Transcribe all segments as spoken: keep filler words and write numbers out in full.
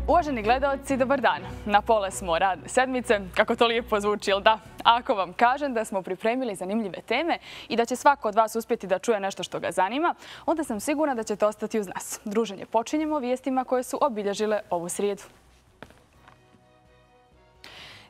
Uvaženi gledaoci, dobar dan. Na pola smo radne sedmice, kako to lijepo zvuči, jel da? Ako vam kažem da smo pripremili zanimljive teme i da će svako od vas uspjeti da čuje nešto što ga zanima, onda sam sigurna da ćete ostati uz nas. Druženje počinjemo vijestima koje su obilježile ovu srijedu.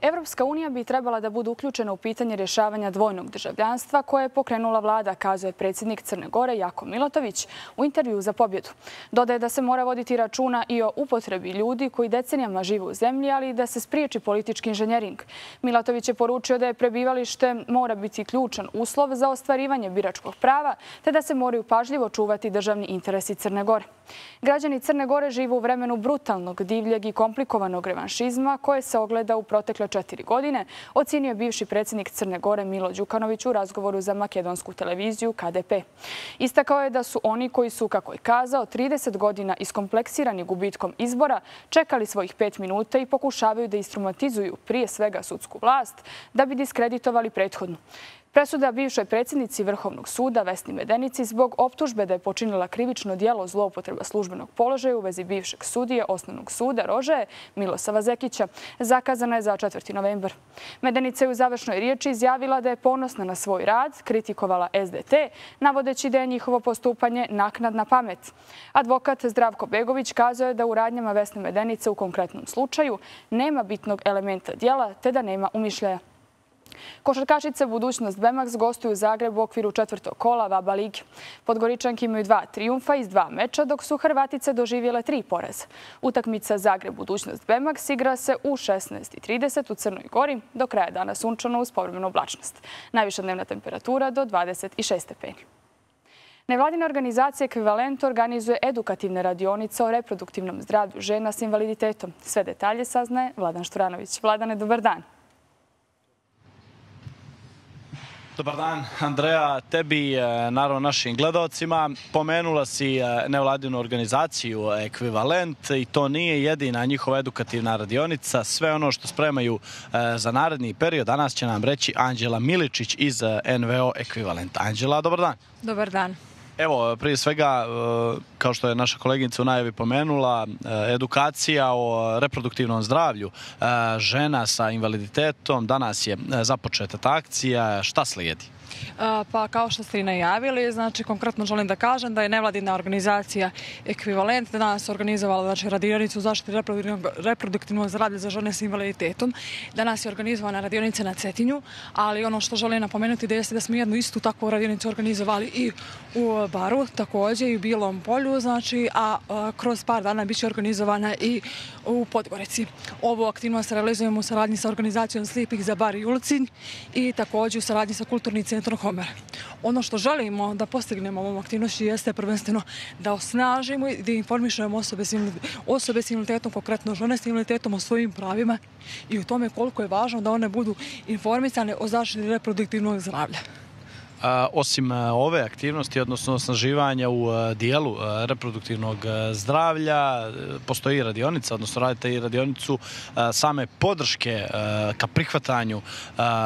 Evropska unija bi trebala da bude uključena u pitanje rješavanja dvojnog državljanstva koje je pokrenula vlada, kazuje predsjednik Crne Gore Jako Milatović u intervju za Pobjedu. Dodaje da se mora voditi računa i o upotrebi ljudi koji decenijama žive u zemlji, ali i da se spriječi politički inženjering. Milatović je poručio da je prebivalište mora biti ključan uslov za ostvarivanje biračkog prava, te da se moraju pažljivo čuvati državni interesi Crne Gore. Građani Crne Gore žive u vremenu brutalnog, divljeg i komplikovanog revanšizma koje se ogleda u protekle četiri godine, ocenio je bivši predsjednik Crne Gore Milo Đukanović u razgovoru za makedonsku televiziju K D P. Istakao je da su oni koji su, kako je kazao, trideset godina iskompleksirani gubitkom izbora, čekali svojih pet minuta i pokušavaju da instrumentizuju prije svega sudsku vlast da bi diskreditovali prethodnu. Presuda bivšoj predsjednici Vrhovnog suda Vesni Medenici zbog optužbe da je počinila krivično djelo zloupotreba službenog položaja u vezi bivšeg sudije Osnovnog suda Rožaje Milosava Zekića zakazana je za četvrti novembar. Medenica je u završnoj riječi izjavila da je ponosna na svoj rad, kritikovala S D T, navodeći da je njihovo postupanje naknadna pamet. Advokat Zdravko Begović kazao je da u radnjama Vesne Medenice u konkretnom slučaju nema bitnog elementa djela te da nema umišljaja. Košarkašice Budućnost Bemax gostuju u Zagrebu u okviru četvrtog kola VABA lige. Podgoričanke imaju dva trijumfa iz dva meča, dok su Hrvatice doživjele tri poraza. Utakmica Zagreb Budućnost Bemax igra se u šesnaest i trideset u Crnoj Gori, do kraja dana sunčano uz povremenu oblačnost. Najviša dnevna temperatura do dvadeset šest stepeni. Nevladina organizacija Ekvivalent organizuje edukativne radionice o reproduktivnom zdravlju žena s invaliditetom. Sve detalje saznaje Vladan Šturanović. Vladane, dobar dan. Dobar dan, Andreja, tebi, naravno našim gledalcima. Pomenula si nevladinu organizaciju Ekvivalent i to nije jedina njihova edukativna radionica. Sve ono što spremaju za naredni period danas će nam reći Anđela Miličić iz N V O Ekvivalent. Anđela, dobar dan. Dobar dan. Evo, prije svega, kao što je naša koleginica u najavi pomenula, edukacija o reproduktivnom zdravlju žena sa invaliditetom. Danas je započeta ta akcija. Šta slijedi? Pa kao što ste i najavili, znači konkretno želim da kažem da je nevladina organizacija Ekvivalent danas organizovala znači, radionicu u zaštiti reproduktivnog zdravlja za žene s invaliditetom. Danas je organizovana radionica na Cetinju, ali ono što želim napomenuti da jeste da smo jednu istu takvu radionicu organizovali i u Baru, također i u Bilom Polju, znači, a, a kroz par dana bit će organizovana i u Podgorici. Ovu aktivnost realizujemo u saradnji sa organizacijom Slijepih za Bar i Ulcinj i također u saradnji sa Kulturnim centrom Homer. Ono što želimo da postignemo ovom aktivnošću jeste prvenstveno da osnažimo i da informišemo osobe s, osobe s invaliditetom, konkretno žene s invaliditetom o svojim pravima i o tome koliko je važno da one budu informisane o zaštiti reproduktivnog zdravlja. Osim ove aktivnosti, odnosno osnaživanja u dijelu reproduktivnog zdravlja, postoji radionica, odnosno radite i radionicu same podrške ka prihvatanju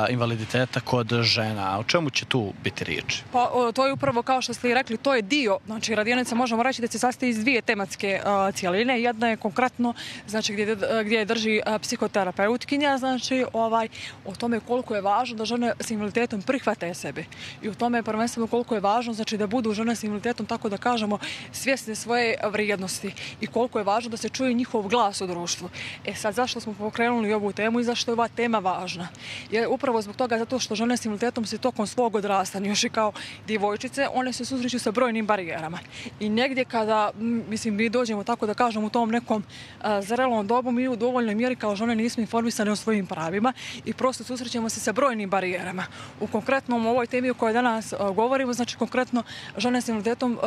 invaliditeta kod žena. O čemu će tu biti riječ? Pa, to je upravo kao što ste i rekli, to je dio, znači radionica možemo reći da se sastoji iz dvije tematske cijeline. Jedna je konkretno, znači gdje, gdje drži psihoterapeutkinja, znači ovaj, o tome koliko je važno da žene s invaliditetom prihvate sebe. I u tome je prvenstveno koliko je važno znači, da budu žene s invaliditetom, tako da kažemo, svjesne svoje vrijednosti i koliko je važno da se čuje njihov glas u društvu. E sad, zašto smo pokrenuli ovu temu i zašto je ova tema važna? Je upravo zbog toga zato što žene s invaliditetom se tokom svog odrastanja, još i kao djevojčice, one se susreću sa brojnim barijerama. I negdje kada, mislim, mi dođemo tako da kažemo u tom nekom a, zrelom dobu, mi u dovoljnoj mjeri kao žene nismo informisane o svojim pravima i prosto susrećemo se sa brojnim barijerama. U konkretnom ovoj temi o kojoj danas govorimo, znači konkretno žene s invaliditetom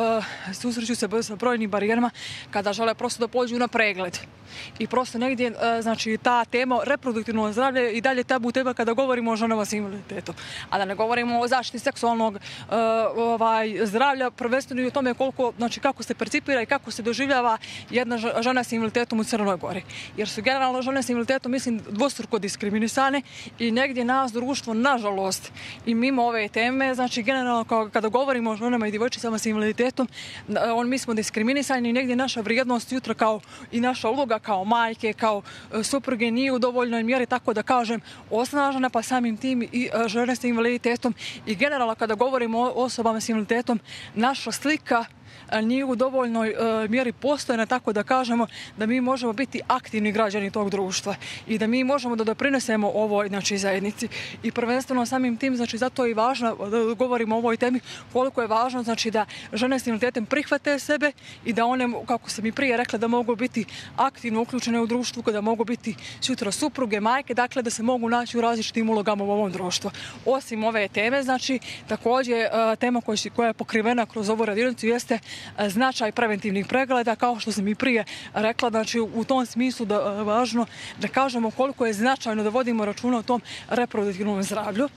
susreću se sa brojnim barijerama kada žele prosto da pođu na pregled. I prosto negdje, znači, ta tema reproduktivnog zdravlja i dalje tabu tema kada govorimo o ženama s invaliditetom. A da ne govorimo o zaštiti seksualnog uh, ovaj, zdravlja, prvenstveno i o tome koliko, znači, kako se percipira i kako se doživljava jedna žena s invaliditetom u Crnoj Gori. Jer su generalno žene s invaliditetom, mislim, dvostruko diskriminisane i negdje nas društvo, nažalost, i mimo ove teme, znači generalno kada govorimo o ženama i djevojčicama s invaliditetom, on, mi smo diskriminisani i negdje naša vrijednost jutra kao i naša uloga kao majke, kao supruge nije u dovoljnoj mjeri, tako da kažem, osnažena, pa samim tim i žene s invaliditetom. I generalno kada govorimo o osobama s invaliditetom, naša slika nije u dovoljnoj mjeri postojena, tako da kažemo da mi možemo biti aktivni građani tog društva i da mi možemo da doprinesemo ovoj, znači, zajednici. I prvenstveno samim tim, znači, zato je i važno da govorimo o ovoj temi, koliko je važno, znači, da žene s invaliditetom prihvate sebe i da one, kako sam i prije rekla, da mogu biti aktivno uključene u društvu, da mogu biti sutra supruge, majke, dakle da se mogu naći u različitim ulogama u ovom društvu. Osim ove teme, znači, također tema koja je pokrivena kroz ovu radionicu jeste značaj preventivnih pregleda, kao što sam i prije rekla, znači u tom smislu da je važno da kažemo koliko je značajno da vodimo računa o tom reproduktivnom zdravlju.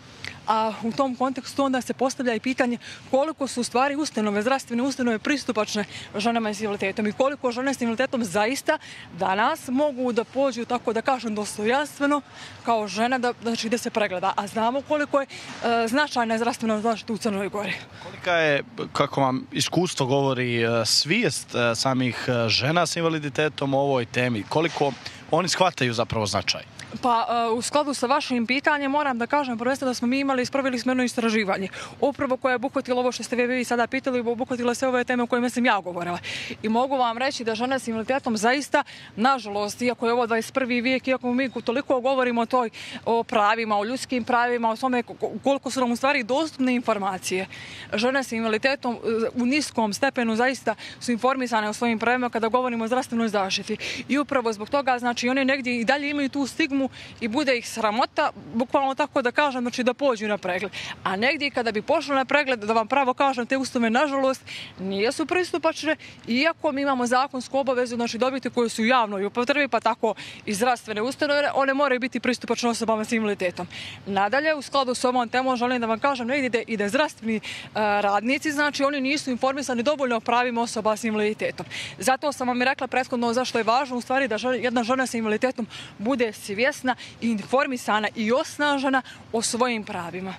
A u tom kontekstu onda se postavlja i pitanje koliko su u stvari ustanove, zdravstvene ustanove pristupačne ženama s invaliditetom i koliko žene s invaliditetom zaista danas mogu da pođu, tako da kažem, dostojanstveno kao žena da, znači, da se pregleda. A znamo koliko je e, značajna zdravstvena zaštita u Crnoj Gori. Kolika je, kako vam iskustvo govori, svijest samih žena s invaliditetom o ovoj temi? Koliko oni shvataju zapravo značaj? Pa u skladu sa vašim pitanjem moram da kažem prvenstveno da smo mi imali, ispravili smo jedno istraživanje. Upravo koje je obuhvatilo ovo što ste vi sada pitali, obuhvatilo sve ove teme o kojima sam ja govorila. I mogu vam reći da žene s invaliditetom zaista, nažalost, iako je ovo dvadeset prvi vijek, iako mi toliko govorimo o toj, o pravima, o ljudskim pravima, o tome koliko su nam u stvari dostupne informacije, žene s invaliditetom u niskom stepenu zaista su informisane o svojim pravima kada govorimo o zdravstvenoj zaštiti. I upravo zbog toga, znači, oni negdje i dalje imaju tu stigmu i bude ih sramota, bukvalno tako da kažem, znači da pođu na pregled. A negdje kada bi pošli na pregled, da vam pravo kažem, te ustanove, nažalost, nisu pristupačne, iako mi imamo zakonsku obavezu, znači dobiti koje su u javnoj upotrebi, pa tako i zdravstvene ustanove, one moraju biti pristupačne osobama s invaliditetom. Nadalje, u skladu s ovom temom, želim da vam kažem negdje i da zdravstveni radnici, znači oni nisu informisani dovoljno o pravima osoba s invaliditetom. Zato sam vam i rekla prethodno zašto je važno u stvari da jedna žena s invaliditetom bude svjesna i informisana i osnažena o svojim pravima.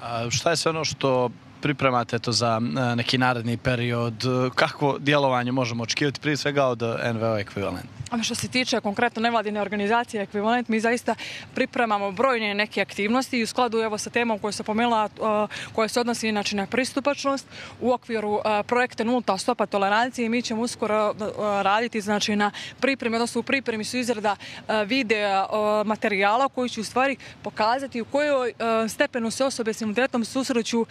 A šta je sve ono što pripremate to za neki naredni period? Kakvo djelovanje možemo očekivati prije svega od N V O Ekvivalent? Što se tiče konkretno nevladine organizacije Ekvivalent, mi zaista pripremamo brojne neke aktivnosti i u skladu evo sa temom koju sam pomenula, koja se odnosi inače na pristupačnost u okviru projekta Nulta stopa tolerancije. Mi ćemo uskoro raditi, znači, na pripremi, odnosno u pripremi su izrada videa materijala koji će u stvari pokazati u kojoj stepenu se osobe s invaliditetom susreću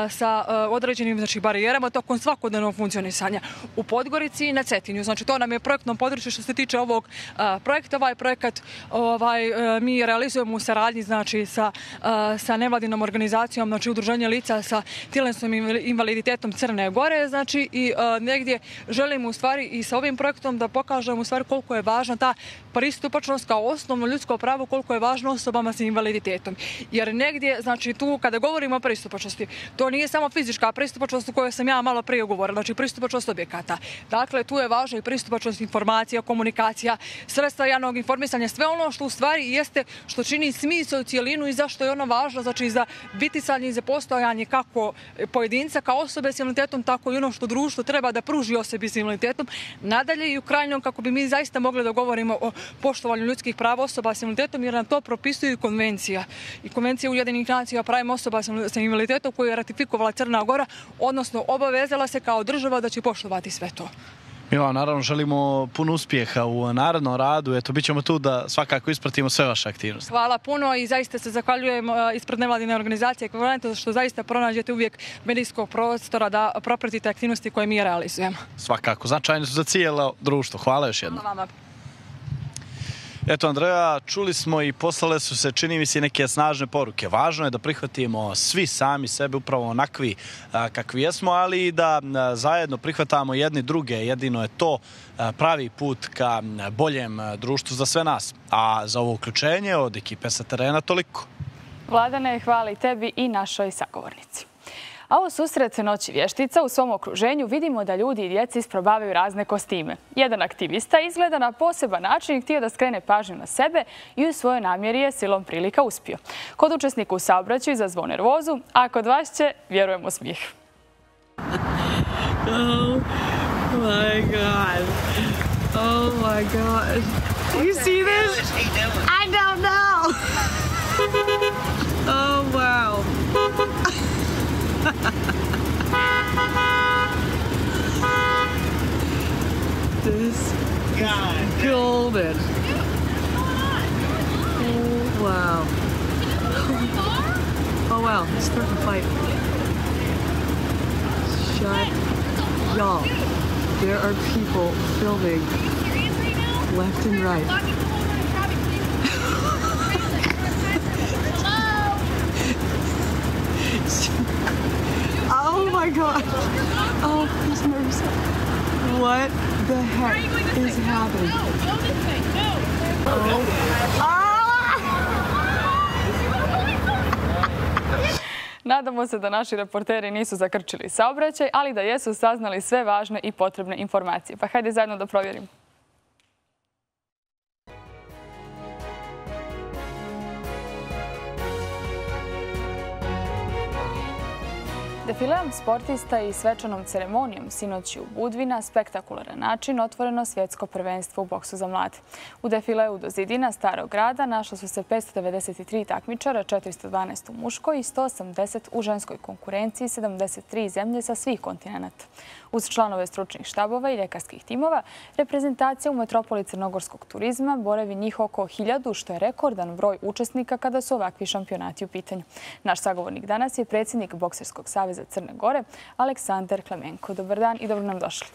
sa određenim, znači, barijerama tokom svakodnevnog funkcionisanja u Podgorici i na Cetinju. Znači, to nam je projektno područje što se tiče ovog a, projekta. Ovaj projekat ovaj, a, mi realizujemo u saradnji, znači, sa, a, sa nevladinom organizacijom, znači Udruženje lica sa tjelesnim invaliditetom Crne Gore, znači, i a, negdje želimo u stvari i sa ovim projektom da pokažemo u stvari koliko je važna ta pristupačnost kao osnovno ljudsko pravo, koliko je važno osobama sa invaliditetom. Jer negdje, znači, tu kada govorimo o pristupačnosti, to nije samo fizička pristupačnost o kojoj sam ja malo prije govorila, znači pristupačnost objekata. Dakle, tu je važna i pristupačnost informacija, komunikacija, sredstva javnog informisanja, sve ono što u stvari jeste, što čini smisao cijelinu i zašto je ono važno, znači za bitisanje i za postojanje kako pojedinca, kao osobe s invaliditetom, tako i ono što društvo treba da pruži osobi s invaliditetom. Nadalje i u krajnjom, kako bi mi zaista mogli da govorimo o poštovanju ljudskih prava osoba s invaliditetom, jer nam to propisuje konvencija. I konvencija Ujedinjenih nacija o pravima osoba s invaliditetom koju je ratifikovala Crna Gora, odnosno obavezala se kao država da će poštovati sve to. Mi vam naravno želimo puno uspjeha u narednom radu. Eto, bit ćemo tu da svakako ispratimo sve vaše aktivnosti. Hvala puno i zaista se zahvaljujem ispred nevladine organizacije Ekvivalent što zaista pronađete uvijek medijskog prostora da propratite aktivnosti koje mi realizujemo. Svakako, značajne su za cijelo društvo. Hvala još jednom. Hvala vama. Eto, Andreja, čuli smo i poslale su se, čini mi se, neke snažne poruke. Važno je da prihvatimo svi sami sebe upravo onakvi kakvi jesmo, ali i da zajedno prihvatamo jedni druge. Jedino je to pravi put ka boljem društvu za sve nas. A za ovo uključenje od ekipe sa terena toliko. Vladane, hvala i tebi i našoj sagovornici. A u susret Noći vještica u svom okruženju vidimo da ljudi i djeci isprobavaju razne kostime. Jedan aktivista izgleda na poseban način i htio da skrene pažnju na sebe i u svojoj namjeri je silom prilika uspio. Kod učesnika u saobraćaju izazvao nervozu, a kod vas će, vjerujemo, smijeh. Oh my god. Oh my god. Do you see this? I don't know. Oh wow. This is golden. Oh wow. Oh wow, he's starting to fight. Shut. Y'all, there are people filming left and right. Oh my god. Oh, he's nervous. What the heck is happening? Oh. Ah! Nadamo se da naši reporteri nisu zakrčili saobraćaj, ali da jesu saznali sve važne i potrebne informacije. Pa hajde zajedno da provjerimo. Defileom sportista i svečanom ceremonijom sinoć u Budvi na spektakularan način otvoreno svjetsko prvenstvo u boksu za mlade. U defileu do zidina Starog grada našlo su se petsto devedeset tri takmičara, četiristo dvanaest u muškoj i sto osamdeset u ženskoj konkurenciji, sedamdeset tri zemlje sa svih kontinenta. Uz članove stručnih štabova i ljekarskih timova, reprezentacija u metropoli crnogorskog turizma boravi njih oko hiljadu, što je rekordan broj učesnika kada su ovakvi šampionati u pitanju. Naš sagovornik danas je predsjednik Bokserskog saveza Crne Gore, Aleksandar Klemenko. Dobar dan i dobro nam došli.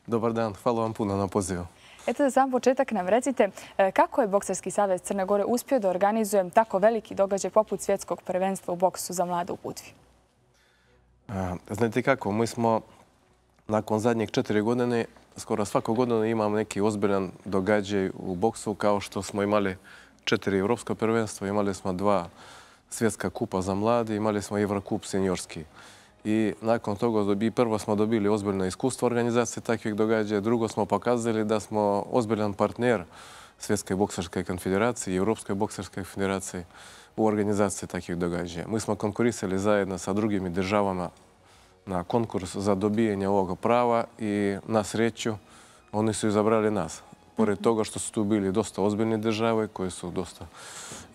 Dobar dan, hvala vam puno na pozivu. Eto, za sam početak nam recite kako je Bokserski savez Crne Gore uspio da organizuje tako veliki događaj poput svjetskog prvenstva u boksu za mlade u Budvi? Znate kako, mi smo nakon zadnjih četiri godine, skoro svako godinu imamo neki ozbiljan događaj u boksu, kao što smo imali četiri evropska prvenstva, imali smo dva svjetska kupa za mladi, imali smo Evrokup seniorski. I nakon toga prvo smo dobili ozbiljno iskustvo organizacije takvih događaja, drugo smo pokazali da smo ozbiljan partner Svjetske bokserske konfederacije i Evropske bokserske federacije u organizaciji takvih događaja. Mi smo konkurisali zajedno sa drugim državama na konkurs za dobijanje ovoga prava i na sreću oni su izabrali nas. Pored toga što su tu bili dosta ozbiljne države koje su dosta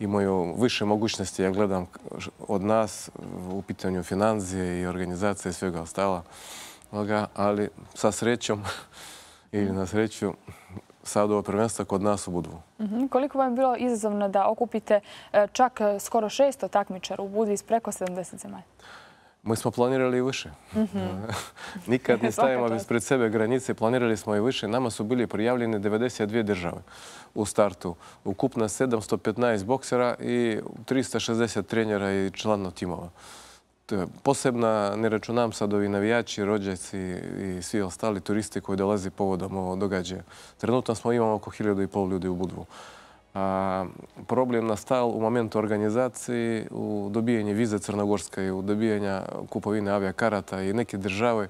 imaju više mogućnosti, ja gledam, od nas u pitanju financije i organizacije i svega ostala. Ali sa srećom ili na sreću sad ovo prvenstvo kod nas u Budvu. Koliko vam je bilo izazovno da okupite čak skoro šesto takmičara u Budvi iz preko sedamdeset zemalja? Mi smo planirali i više. Nikad ne stavimo ispred sebe granice, planirali smo i više. Nama su bili prijavljene devedeset dvije države u startu. Ukupno sedamsto petnaest boksera i tristo šezdeset trenera i članova timova. Posebno ne računam sad ovi navijači, rođaci i svi ostali turisti koji dolazi povodom ovog događaja. Trenutno smo imamo oko hiljadu i pol ljudi u Budvu. Problem nastal u momentu organizacije, u dobijanju vize crnogorske i u dobijanju kupovine avijakarata i neke države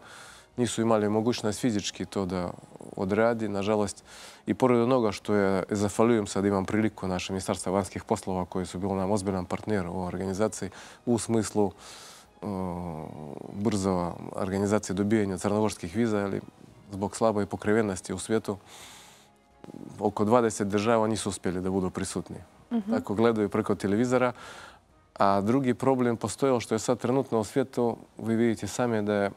nisu imali mogućnost fizički to da odradi, nažalost. I pored onoga što je, zahvaljujem sad, imam priliku naše Ministarstva vanjskih poslova koji su bili nam ozbiljan partner u organizaciji u smislu brzo organizacije dobijanja crnogorskih viza, ali zbog slabe pokrivenosti u svijetu oko dvadeset država nisu uspjeli da budu prisutni. Tako gledaju preko televizora. A drugi problem postojao što je sad trenutno u svijetu, vi vidite sami da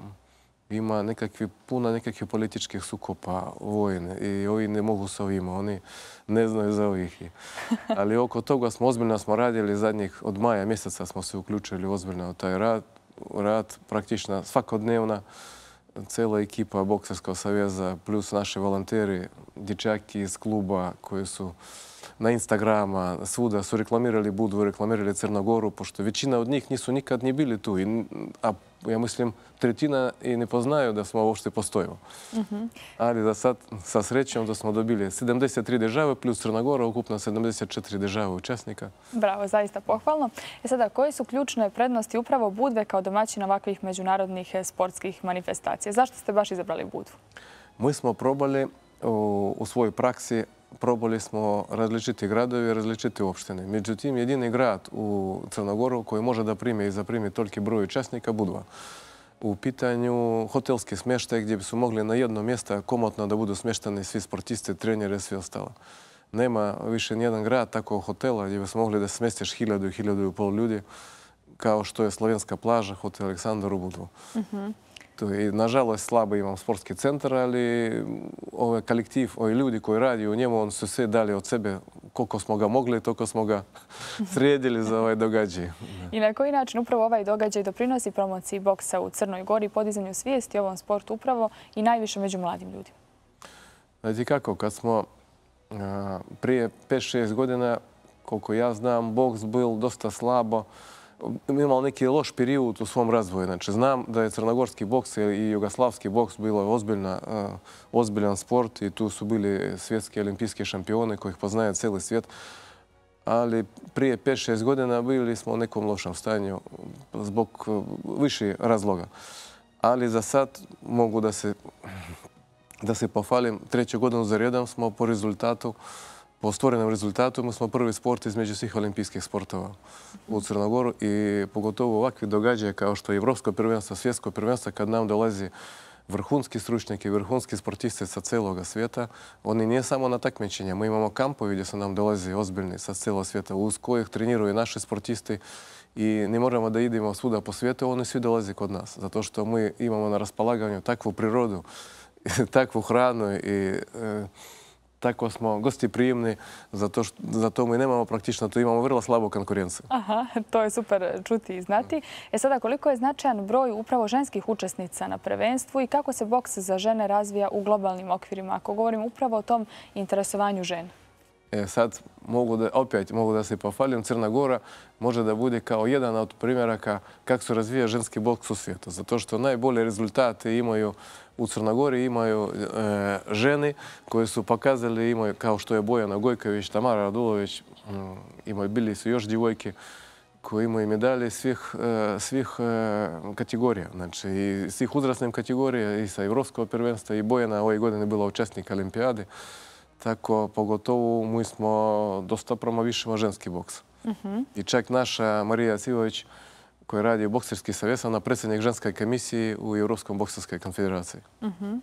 ima nekakvi, puno nekakvih političkih sukopa, vojne i ovi ne mogu sa ovima, oni ne znaju za ovih. Ali oko toga smo ozbiljno smo radili zadnjih, od maja mjeseca smo se uključili ozbiljno u taj rad, rad praktično svakodnevna. Cijela ekipa Bokserskog saveza plus naši volonteri, dječaki iz kluba koji su na Instagrama, svuda su reklamirali Budvu, reklamirali Crnogoru, pošto većina od njih nisu nikad ni bili tu. I, a ja mislim, tretina i ne poznaju da smo uopšte postojimo. Mm-hmm. Ali da sad, sa srećom, da smo dobili sedamdeset tri države plus Crnogora, ukupno sedamdeset četiri države učesnika. Bravo, zaista pohvalno. E sada, koje su ključne prednosti upravo Budve kao domaćina ovakvih međunarodnih sportskih manifestacija? Zašto ste baš izabrali Budvu? Mi smo probali u, u svojoj praksi, probali smo različiti gradovi i različite opštine. Međutim, jedini grad u Crnogoru koji može da primi i zaprimi toliki broj učesnika, Budva. U pitanju hotelski smještaj gdje bi su mogli na jedno mjesto komotno da budu smještani svi sportisti, treneri i svi ostalo. Nema više nijedan grad takvog hotela gdje bi su mogli da smjestiš hiljadu i hiljadu i pol ljudi, kao što je Slovenska plaža, hotel Aleksandar u Budvu. Mm-hmm. I, nažalost, slabo imam sportski centar, ali ovaj kolektiv, ovi ljudi koji radi u njemu, oni su sve dali od sebe koliko smo ga mogli, toliko smo ga sredili za ovaj događaj. I na koji način upravo ovaj događaj doprinosi promociji boksa u Crnoj Gori, podizanju svijesti o ovom sportu upravo i najviše među mladim ljudima? Znači kako, kad smo a, prije pet šest godina, koliko ja znam, boks bil dosta slabo, imao neki loš period u svom razvoju. Znači, znam da je crnogorski boks i jugoslavski boks bilo ozbiljna, uh, ozbiljan sport i tu su bili svjetski olimpijski šampioni kojih poznaje cijeli svijet. Ali prije pet šest godina bili smo u nekom lošem stanju zbog uh, više razloga. Ali za sad mogu da se, da se pohvalim. Treću godinu za redom smo po rezultatu Po stvorenom rezultatu mi smo prvi sport između svih olimpijskih sportova u Crnogoru i pogotovo ovakvi događaje kao što je Evropsko prvenstvo, svjetsko prvenstvo, kad nam dolazi vrhunski stručnjaki, vrhunski sportisti sa cijelog svijeta. Oni nije samo na takmičenja. Mi imamo kampovi gdje su nam dolazi ozbiljni sa cijelog svijeta, uz kojih treniraju naši sportisti i ne moramo da idemo svuda po svijetu, oni svi dolazi kod nas. Zato što mi imamo na raspolaganju takvu prirodu, takvu hranu i e, tako smo gostiprijemni, zato, što, zato mi nemamo praktično, tu imamo vrlo slabu konkurenciju. Aha, to je super čuti i znati. E sada, koliko je značajan broj upravo ženskih učesnica na prvenstvu i kako se boks za žene razvija u globalnim okvirima, ako govorim upravo o tom interesovanju žena? E, sad, mogu da, opet mogu da se pohvalim, Crna Gora može da bude kao jedan od primjeraka kako se razvija ženski boks u svijetu. Zato što najbolje rezultate imaju u Crnogori, imaju e, žene koje su pokazali, imaju, kao što je Bojana Gojković, Tamara Radulović, m, imaju, bili su još djevojke koji imaju medalje svih, e, svih e, kategorija. Znači, i svih uzrasnih kategorija, i sa Evropskog prvenstva, i Bojana ove godine bila učesnik olimpijade. Tako, pogotovo, mi smo dosta promovišemo ženski boks. Uh-huh. I čak naša Marija Civović, koja radi u Bokserski savez, ona predsjednik ženske komisije u Evropskom bokserskoj konfederaciji. Uh-huh.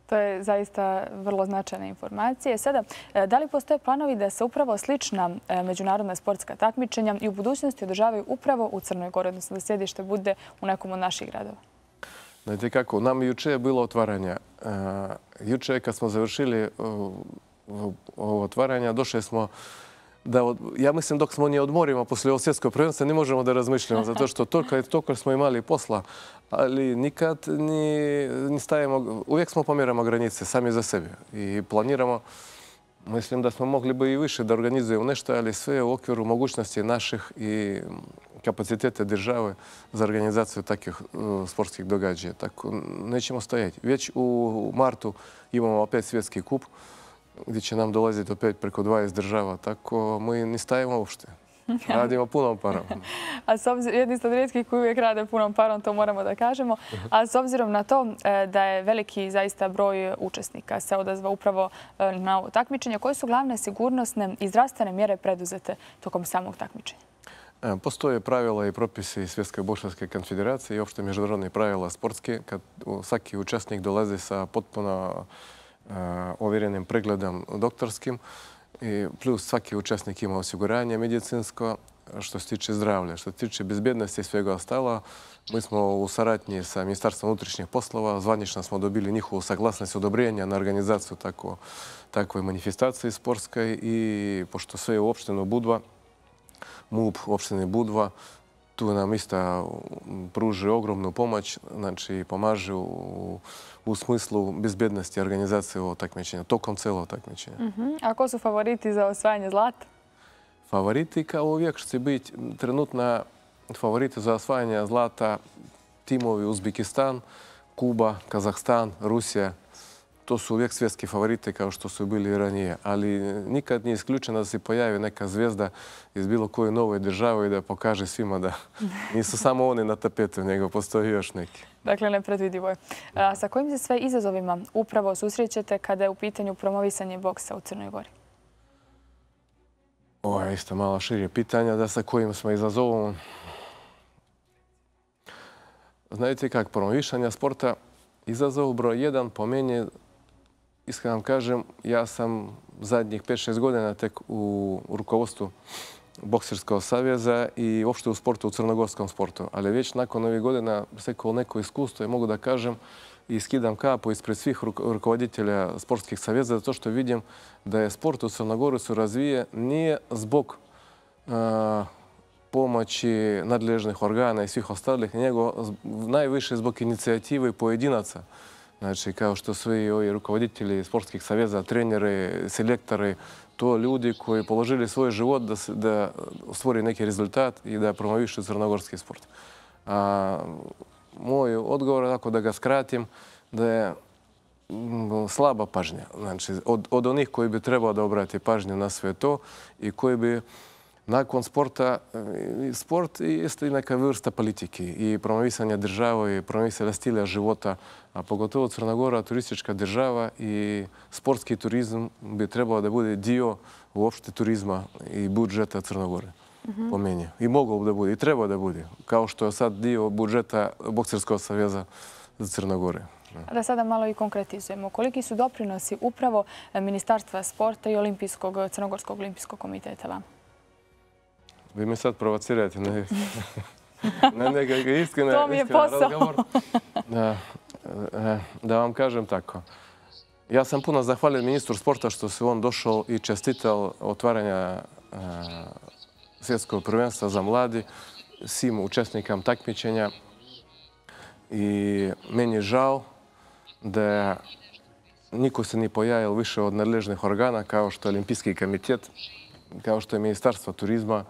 To je zaista vrlo značajna informacija. Sada, da li postoje planovi da se upravo slična međunarodna sportska takmičenja i u budućnosti održavaju upravo u Crnoj Gori, odnosno da sjedište bude u nekom od naših gradova? Znate kako, nam juče je bilo otvaranje. Juče kad smo završili ovo otvaranja, došli smo da, od, ja mislim dok smo nije odmorimo poslije ovog svjetskog prvenstva ne možemo da razmišljamo, zato što toliko, toliko smo imali posla, ali nikad ni, ni stavimo, uvijek smo pomjeramo granice sami za sebe i planiramo. Mislim da smo mogli bi i više da organizujemo nešto, ali sve u okviru mogućnosti naših i kapacitete države za organizaciju takvih uh, sportskih događaja. Tako nećemo stojati. Već u martu imamo opet svjetski kup, gdje će nam dolaziti opet preko dvadeset država. Tako mi ne stajemo uopšte. Radimo punom parom. A s obzirom, jedni ste od rijetkih koji uvijek rade punom parom, to moramo da kažemo. A s obzirom na to da je veliki zaista broj učesnika se odazva upravo na ovo takmičenje, koje su glavne sigurnosne i zdravstvene mjere preduzete tokom samog takmičenja? Postoje pravila i propisi Svjetske bokserske konfederacije i opšte međunarodne pravila sportske, kad svaki učesnik dolazi sa potpuno ovjerenim pregledom doktorskim, i plus svaki učesnik ima osiguranje medicinsko što se tiče zdravlja. Što se tiče bezbjednosti i svega ostalo, mi smo u saradnji sa Ministarstvom unutrašnjih poslova, zvanično smo dobili njihovu saglasnost odobrenja na organizaciju tako, takve manifestacije sportske i pošto sve je u opštinu Budva, M U P u opštini Budva, tu nam isto pruži ogromnu pomoć, znači pomažu u, u smislu bezbjednosti organizacije ovog takmičenja, tokom celog takmičenja. Uh-huh. A ko su favoriti za osvajanje zlata? Favoriti kao uvijek će biti trenutna favoriti za osvajanje zlata timovi Uzbekistan, Kuba, Kazahstan, Rusija. To su uvijek svjetski favoriti kao što su bili i ranije. Ali nikad nije isključeno da se pojavi neka zvijezda iz bilo koje nove države i da pokaže svima da nisu samo oni na tapetu, nego postoji još neki. Dakle, nepredvidivo je. A sa kojim se sve izazovima upravo susrećete kada je u pitanju promovisanje boksa u Crnoj Gori? Ovo je isto malo širje pitanja da sa kojim smo izazovom. Znate kak, promovišanja sporta, izazov broj jedan po meni, iskreno vam kažem, ja sam zadnjih pet šest godina tek u rukovodstvu Bokserskog saveza i uopšte u sportu, u crnogorskom sportu. Ali već nakon ovih godina stekao neko iskustvo i mogu da kažem i skidam kapu ispred svih rukovoditelja sportskih saveza zato što vidim da je sport u Crnogoru se razvije nije zbog uh, pomoći nadležnih organa i svih ostalih, nego najviše zbog inicijative pojedinaca. Znači, kao što svi ovi rukovoditelji sportskih saveza, treneri, selektori, to ljudi koji položili svoj život da, se, da stvori neki rezultat i da promovišu crnogorski sport. A, moj odgovor, ako da ga skratim, da je slaba pažnja. Znači, od, od onih koji bi trebao da obrati pažnju na sve to i koji bi nakon sporta, sport jeste i neka vrsta politike i promovisanja države i promovisanja stila života, a pogotovo Crna Gora, turistička država i sportski turizam bi trebao da bude dio uopšte turizma i budžeta Crne Gore, po meni. I mogao da bude, i trebao da bude, kao što je sad dio budžeta Bokserskog saveza za Crne Gore. Da sada malo i konkretizujemo. Koliki su doprinosi upravo Ministarstva sporta i Olimpijskog, Crnogorskog olimpijskog komiteta vam? Vi me sad provocirate, ne, ne nekako iskreno to mi je posao. Da, da vam kažem tako. Ja sam puno zahvalio ministru sporta što se on došao i čestitao otvaranja svjetskog prvenstva za mladi svim učesnikam takmičenja. I meni je žao da niko se ni pojavio više od nadležnih organa kao što je Olimpijski komitet, kao što je Ministarstvo turizma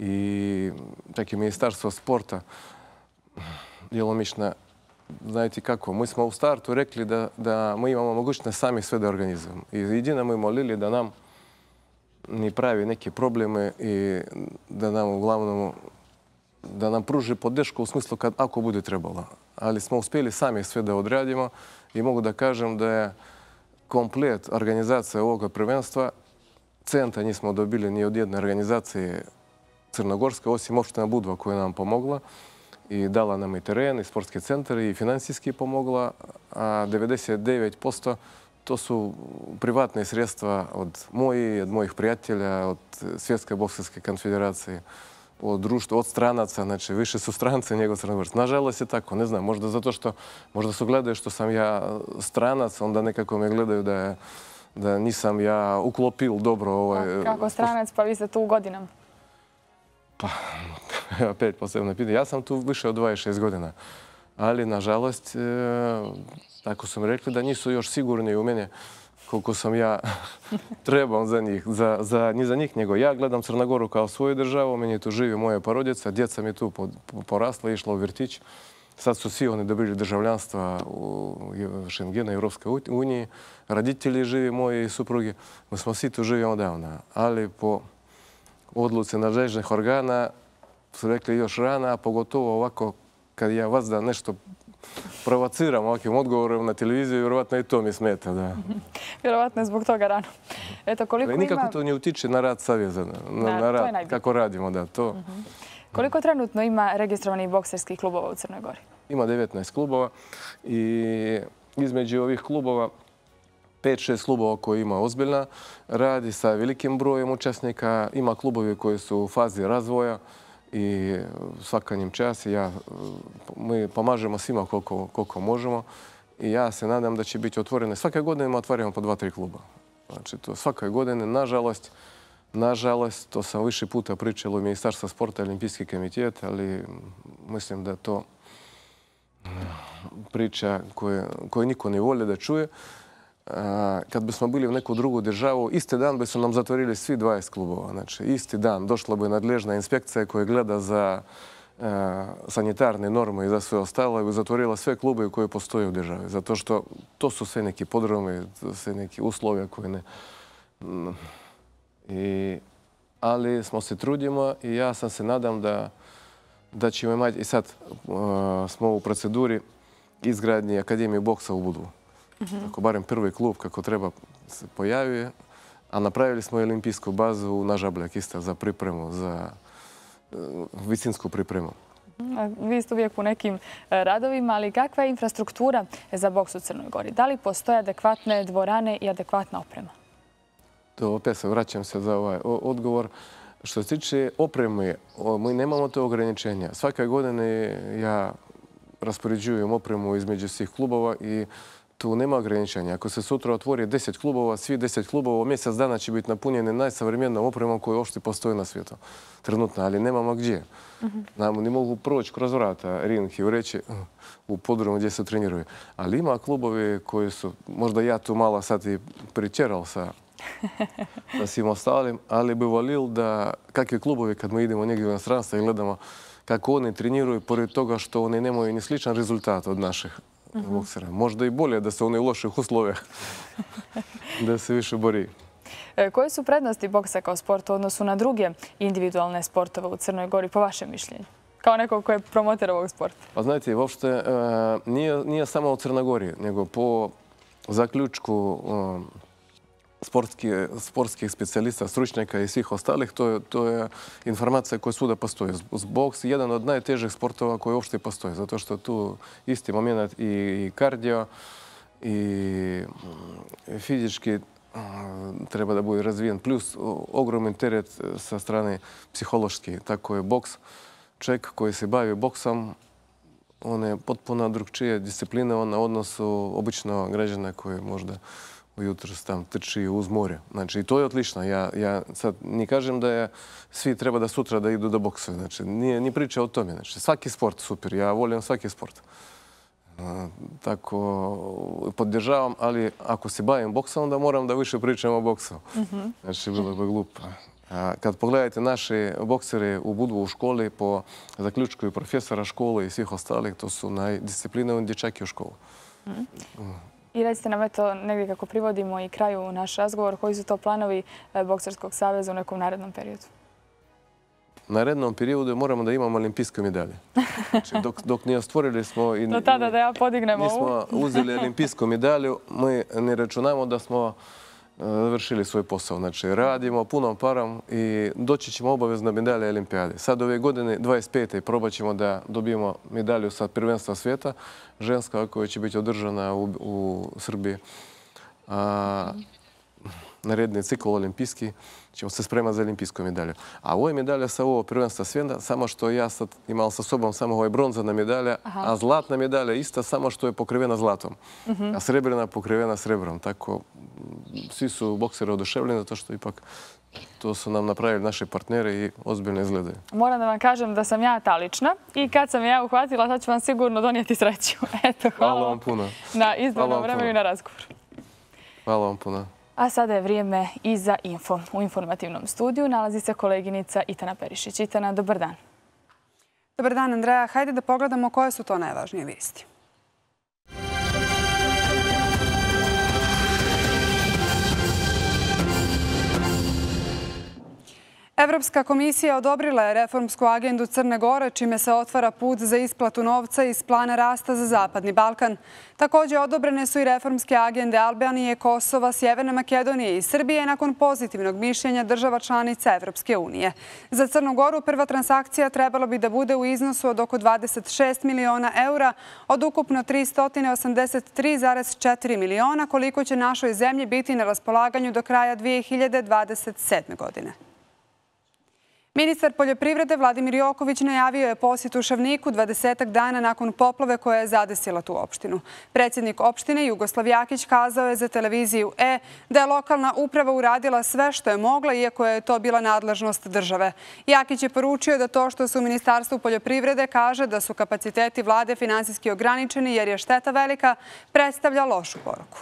i čak i Ministarstvo sporta. Djelomično, znajte kako, mi smo u startu rekli da, da mi imamo mogućnost sami sve da organizujemo. I jedino mi molili da nam ni pravi neke probleme i da nam uglavnom da nam pruži podršku u smislu kad ako bude trebalo. Ali smo uspjeli sami sve da odradimo i mogu da kažem da je komplet organizacija ovoga prvenstva, centa nismo dobili ni od jedne organizacije crnogorske, osim opština Budva koja nam pomogla i dala nam i teren, i sportski centar, i finansijski pomogla, a devedeset devet posto to su privatne sredstva od mojih, od mojih prijatelja, od Svjetske bokserske konfederacije, od društva, od stranaca, znači više su stranci nego crnogorci. Nažalost je tako, ne znam, možda zato što, možda su gledaju što sam ja stranac, onda nekako me gledaju da je da nisam ja uklopil dobro ovaj... Kako stranac, pa vi ste tu godinama? Pa, opet posebno pitanje. Ja sam tu više od dvadeset šest godina. Ali, nažalost, tako su mi rekli da nisu još sigurni u mene koliko sam ja trebao za njih. Za, za, ni za njih, nego ja gledam Crnogoru kao svoju državu. Meni tu živi moja porodica. Djeca mi tu porasla, išla u vrtić. Sad su svi oni dobili državljanstva u Šengena, Evropske unije. Roditelji živi, moji suprugi. Mi smo svi tu živimo davno. Ali po odluci nadležnih organa su rekli još rana, a pogotovo ovako kad ja vas da nešto provociram ovakvim odgovorom na televiziju, vjerovatno i to mi smeta. Da. Vjerovatno je zbog toga rano. Eto, koliko ima... Nikako to ne utiče na rad saveza, na, da, na rad, kako radimo. Da, to. Uh-huh. Koliko trenutno ima registrovanih bokserskih klubova u Crnoj Gori? Ima devetnaest klubova i između ovih klubova pet šest klubova koji ima ozbiljna radi sa velikim brojem učesnika. Ima klubovi koji su u fazi razvoja i svaka njim čas. Ja, mi pomažemo svima koliko, koliko možemo i ja se nadam da će biti otvorene. Svake godine otvaramo po dva, tri kluba. Znači, to svake godine, nažalost, Nažalost, to sam više puta pričalo u Ministarstva sporta i Olimpijski komitet, ali mislim da to priča koju niko ne voli da čuje. Kad bismo bili u neku drugu državu, isti dan bi su nam zatvorili svi dvadeset klubova. Znači, isti dan došla bi nadležna inspekcija koja gleda za sanitarne norme i za sve ostalo i bi zatvorila sve klube koje postoje u državi. Zato što to su sve neki podromi, sve neki uslovja koje ne... I, ali smo se trudimo i ja sam se nadam da, da ćemo imati, i sad uh, smo u proceduri izgradnje Akademije boksa u Budvu. Uh-huh. Tako barem prvi klub kako treba se pojavio, a napravili smo i olimpijsku bazu na Žabljak isto za pripremu, za uh, visinsku pripremu. Vi ste uvijek u nekim radovima, ali kakva je infrastruktura za boks u Crnoj Gori? Da li postoje adekvatne dvorane i adekvatna oprema? To opet se vraćam se za ovaj odgovor. Što se tiče opreme, mi nemamo to ograničenja. Svake godine ja raspoređujem opremu između svih klubova i tu nema ograničenja. Ako se sutra otvori deset klubova, svi deset klubova mjesec dana će biti napunjeni najsavremenijom opremom koja uopšte postoji na svijetu. Trenutno, ali nemamo gdje. Nam ne mogu proći kroz vrata ring i reći u podrumu gdje se treniraju. Ali ima klubovi koji su, možda ja tu malo sad i pričeral sa sa svim ostalim, ali bi volil da kakvi klubovi kad mi idemo negdje u inostranstvo i gledamo kako oni treniraju, pored toga što oni nemaju ni sličan rezultat od naših boksera. Možda i bolje da se oni u loših uslovijah, da se više bori. Koje su prednosti boksa kao sporta u odnosu na druge individualne sportove u Crnoj Gori, po vašem mišljenju? Kao nekog koji je promoter ovog sporta. Pa znajte, uopšte nije, nije samo u Crnoj Gori, nego po zaključku sportskih specijalista, stručnjaka i svih ostalih, to, to je informacija koja svuda postoji. Boks je jedan od najtežih sportova koji uopšte postoji, zato što tu isti moment i kardio i fizički treba da bude razvijen, plus ogroman teret sa strane psihološki. Tako je boks. Čovjek koji se bavi boksom, on je potpuno drugčija disciplina na odnosu obično građana koji možda ujutro tam trči uz more. Znači, i to je odlično. Ja, ja sad ne kažem da je, svi treba da sutra da idu da boksuju. Znači, nije ni priča o tome. Znači, svaki sport super. Ja volim svaki sport. Tako podržavam, ali ako se bavim boksom, onda moram da više pričam o boksu. Znači, bilo bi glupo. Kad pogledajte naše boksere u Budvu u školi, po zaključku i profesora škole i svih ostalih, to su najdisciplinovani dječaki u školu. I recite nam, eto, negdje kako privodimo i kraju naš razgovor, koji su to planovi Bokserskog saveza u nekom narednom periodu? U narednom periodu moramo da imamo olimpijske medalje. Znači, dok, dok nije stvorili smo... I, do tada da ja podignem ovu. Nismo uzeli olimpijsku medalju, mi ne računamo da smo završili svoj posao. Znači, radimo punom parom i doći ćemo obavezno medalje olimpijade. Sad ove godine, dvadeset pete probat ćemo da dobijemo medalju sa prvenstva svijeta, ženska koja će biti održana u, u Srbiji. A, naredni cikl olimpijski ćemo se spremati za olimpijsku medalju. A ovo je medalja sa ovo prvenstva svijeta, samo što ja sad imam sa sobom samo ovo je bronzana medalja, aha, a zlatna medalja ista samo što je pokrivena zlatom, uh-huh, a srebrna pokrivena srebrom. Tako, svi su bokseri oduševljeni zato što ipak to su nam napravili naši partneri i ozbiljno izgledaju. Moram da vam kažem da sam ja ta lična i kad sam ja uhvatila, sad ću vam sigurno donijeti sreću. Eto, hvala, hvala vam puno. Na izdvojenom vremenu i na razgovor. Hvala vam puno. A sada je vrijeme i za info. U informativnom studiju nalazi se koleginica Itana Perišić. Itana, dobar dan. Dobar dan, Andreja. Hajde da pogledamo koje su to najvažnije vijesti. Evropska komisija odobrila je reformsku agendu Crne Gore, čime se otvara put za isplatu novca iz plana rasta za Zapadni Balkan. Također odobrene su i reformske agende Albanije, Kosova, Sjeverne Makedonije i Srbije nakon pozitivnog mišljenja država članica Evropske unije. Za Crnu Goru prva transakcija trebala bi da bude u iznosu od oko dvadeset šest miliona eura od ukupno tristo osamdeset tri zarez četiri miliona, koliko će našoj zemlji biti na raspolaganju do kraja dvije hiljade dvadeset sedme. godine. Ministar poljoprivrede Vladimir Joković najavio je posjetu Šavniku dvadesetak dana nakon poplave koja je zadesila tu opštinu. Predsjednik opštine Jugoslav Jakić kazao je za televiziju E da je lokalna uprava uradila sve što je mogla, iako je to bila nadležnost države. Jakić je poručio da to što su u Ministarstvu poljoprivrede kaže da su kapaciteti vlade finansijski ograničeni jer je šteta velika, predstavlja lošu poruku.